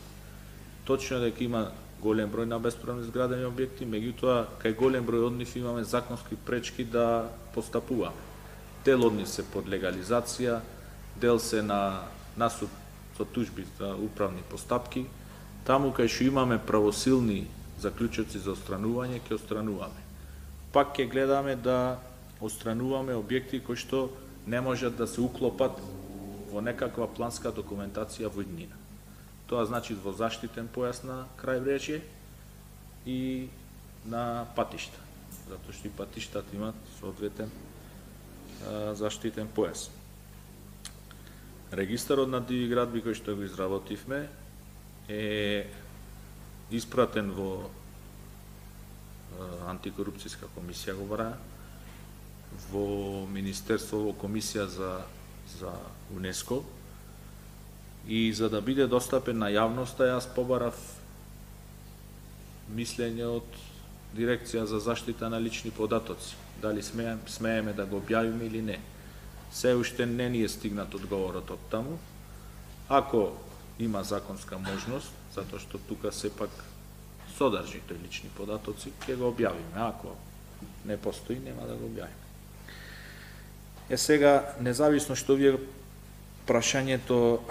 Точно дека има голем број на бесправно изградени објекти, меѓутоа кај голем број од нив имаме законски пречки да постапуваме. Дел од нив се под легализација, дел се на насуд со тужби за управни постапки. Таму кај што имаме правосилни заклучоци за отстранување, ќе отстрануваме. Пак ќе гледаме да отстрануваме објекти кои што не можат да се уклопат во некаква планска документација во иднина. Тоа значи во заштитен појас на крајбрежје и на патишта, затоа што и патиштата имат соодветен заштитен појас. Регистарот на диви градби кој што го изработивме е испратен во антикорупцијска комисија, го бара, во Министерство, во комисија за УНЕСКО, и за да биде достапен на јавноста, јас побарав мислење од Дирекција за заштита на лични податоци. Дали смееме да го објавиме или не. Се уште не ни е стигнат одговорот од таму. Ако има законска можност, затоа што тука сепак содржи тој лични податоци, ќе го објавиме. Ако не постои, нема да го објавиме. Сега, независно што вие прашањето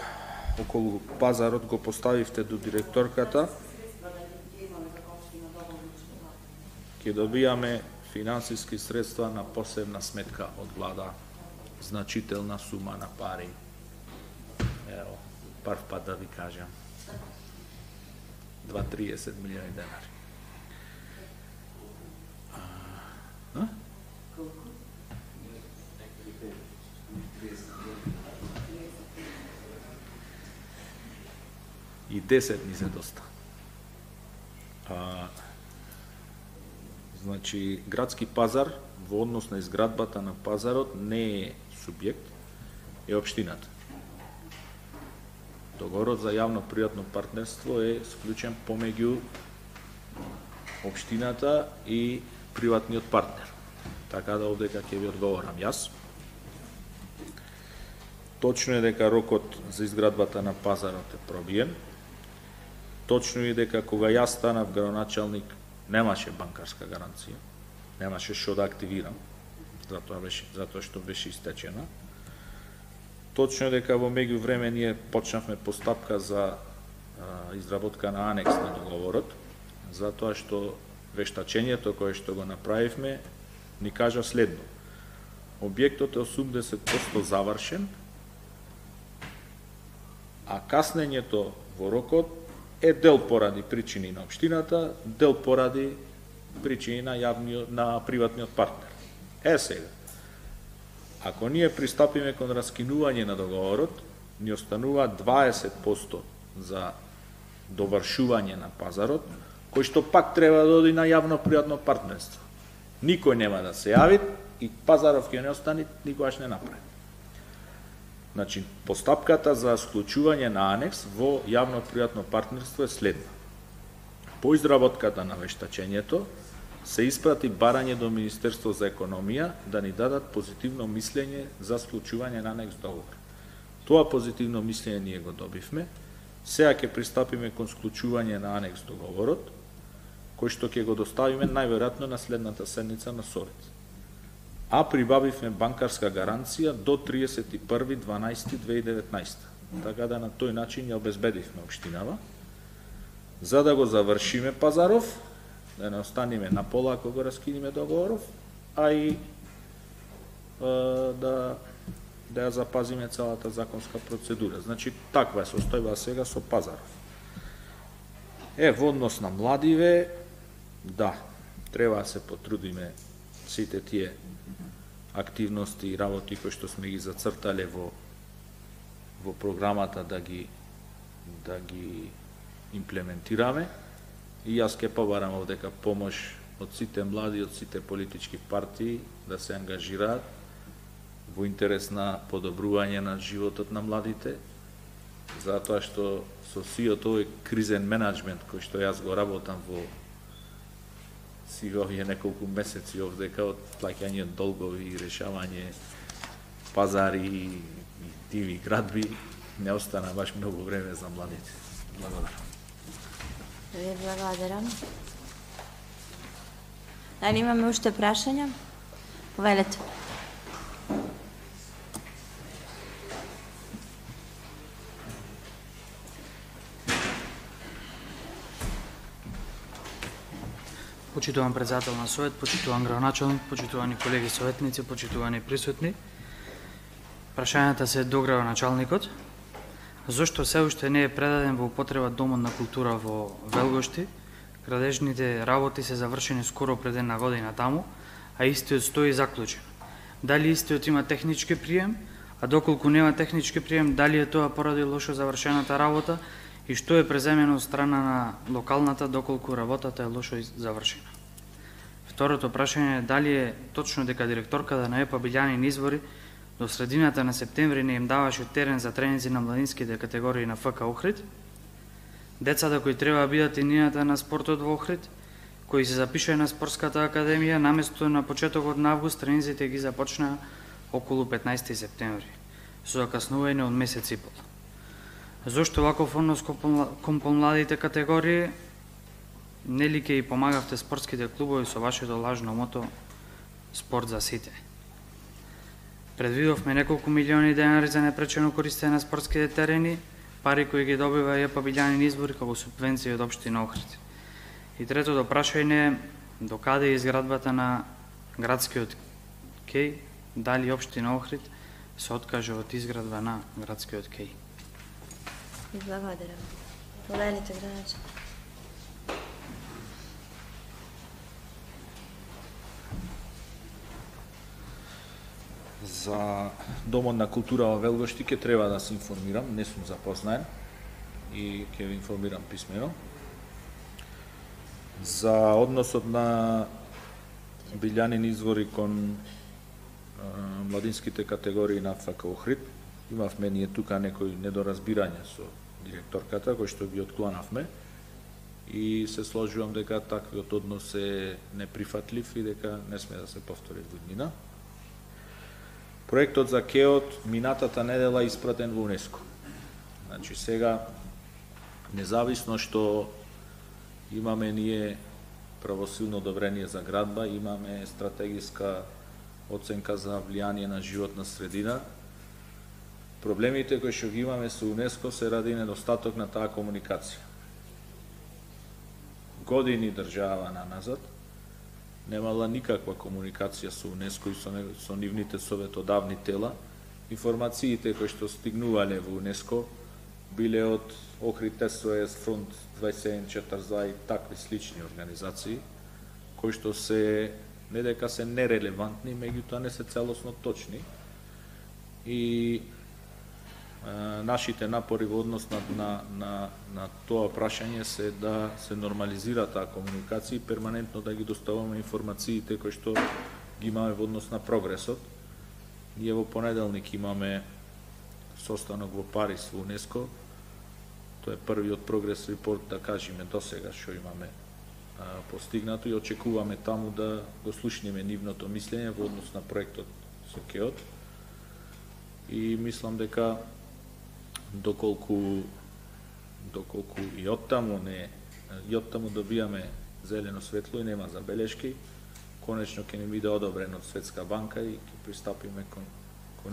околу пазарот го поставивте до директорката, ќе добијаме финансиски средства на посебна сметка од влада, значителна сума на пари. Ево, прв пат да ви кажам. 2-30 милиони денари. 10 ни се доста. Значи, градски пазар во однос на изградбата на пазарот не е субјект, е општината. Договорот за јавно-приватно партнерство е склучен помеѓу општината и приватниот партнер. Така да овдека ќе ви одговорам јас. Точно е дека рокот за изградбата на пазарот е пробиен. Точно е дека кога јас станав градоначалник немаше банкарска гаранција, немаше што да активирам, затоа што беше истечена. Точно е дека во меѓувреме ние почнавме постапка за изработка на анекс на договорот, затоа што вештачењето кое што го направивме ни кажа следно. Објектот е 80% завршен, а каснењето во рокот е дел поради причини на општината, дел поради причини на приватниот партнер. Сега, ако ние пристапиме кон раскинување на договорот, ни останува 20% за довршување на пазарот, кој што пак треба да оди на јавно-приватно партнерство. Никој нема да се јави и пазаров ќе не остане никогаш не направи. Значи, постапката за склучување на анекс во јавно-приватно партнерство е следна. По изработката на вештачењето се испрати барање до Министерство за економија да ни дадат позитивно мислење за склучување на анекс договор. Тоа позитивно мислење ние го добивме. Сега ќе пристапиме кон склучување на анекс договорот, кој што ќе го доставиме најверојатно на следната седница на Совет. А прибавивме банкарска гаранција до 31.12.2019. Така да на тој начин ја обезбедивме општинава, за да го завршиме пазаров, да не останеме на пола ако го раскиниме договоров, а и да ја запазиме целата законска процедура. Значи, таква е состојба сега со пазаров. Во однос на младиве, да, треба да се потрудиме сите тие активности и работи кои што сме ги зацртале во програмата да ги имплементираме. И јас ке побарам овдека помош од сите млади, од сите политички партии да се ангажираат во интерес на подобрување на животот на младите, затоа што со сиот овој кризен менеджмент кој што јас го работам во овие неколку месеци овдека, од плаќање долгови и решавање пазари и диви градби, не остана баш многу време за младите. Благодарам. Ви благодарам. Дали имаме уште прашања? Повелете. Почитуван председател на Совет, почитуван градоначалник, почитувани колеги советници, почитувани присутни. Прашањата се до градоначалникот. Зошто се уште не е предаден во употреба Домот на култура во Велгошти? Градежните работи се завршени скоро пред една година таму, а истиот стои заклучен. Дали истиот има технички прием, а доколку нема технички прием, дали е тоа поради лошо завршената работа и што е преземено од страна на локалната доколку работата е лошо завршена. Второто прашање е дали е точно дека директорката на ЕПА Билјанин Извори до средината на септември не им даваше терен за тренинзи на младинските категории на ФК Охрид, децата кои треба да бидат инината на спортот во Охрид, кои се запишаа на спортската академија, наместо на почетокот на август, тренинзите ги започнаа околу 15 септември, со закаснување од месец и пол. Зошто ваков однос кон помладите категории? Нели ќе и помагавте спортските клубови со вашето лажно мото спорт за сите? Предвидовме неколку милиони денари за непречено користење на спортските терени, пари кои ги добива ЕПА Билјанин Извори како субвенција од општина Охрид. И третото прашање е до каде е изградбата на градскиот кеј, дали општина Охрид се откаже од изградба на градскиот кеј? Благодарам. Повелите, градоначалник. За Домот на култура во Велгошти ќе треба да се информирам, не сум запознаен и ќе ви информирам писмено. За односот на Билјанин извори кон младинските категории на ФК Охрид, имавме ние тука некои недоразбирања со директорката, кои што ги отклонавме, и се сложувам дека таквиот однос е неприфатлив и дека не сме да се повтори во иднина. Проектот за КЕОТ минатата недела испратен во УНЕСКО. Значи сега, независно што имаме ние правосилно одобрение за градба, имаме стратегиска оценка за влијание на животна средина, проблемите кои што ги имаме со УНЕСКО се ради недостаток на таа комуникација. Години држава назад немала никаква комуникација со УНЕСКО и со нивните советодавни тела. Информациите кои што стигнувале во УНЕСКО биле од Охрид СОС, Фронт 2742 и такви слични организации, кои што се не дека се нерелевантни, меѓутоа не се целосно точни. И нашите напори во однос на тоа прашање се да се нормализира таа комуникација и перманентно да ги доставуваме информациите кои што ги имаме во однос на прогресот. Ние во понеделник имаме состанок во Париз во УНЕСКО. Тоа е првиот прогрес репорт, да кажеме, досега што имаме постигнато и очекуваме таму да го слушнеме нивното мислење во однос на проектот со КЕОТ. И мислам дека доколку и оттаму добијаме зелено светло и нема забелешки, конечно ќе ни биде одобрен од Светска банка и ќе пристапиме кон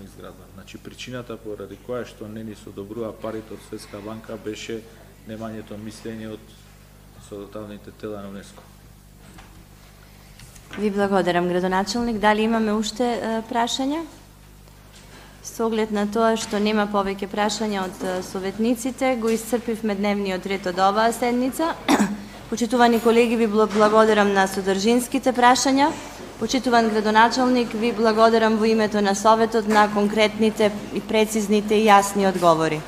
изградба. Значи причината поради која што не ни одобрува парите од Светска банка беше немањето мислење од советодавните тела на УНЕСКО. Ви благодарам, градоначалник. Дали имаме уште прашања? Со оглед на тоа што нема повеќе прашања од советниците, го исцрпивме дневниот ред од оваа седница. Почитувани колеги, ви благодарам на содржинските прашања. Почитуван градоначалник, ви благодарам во името на Советот на конкретните и прецизните и јасни одговори.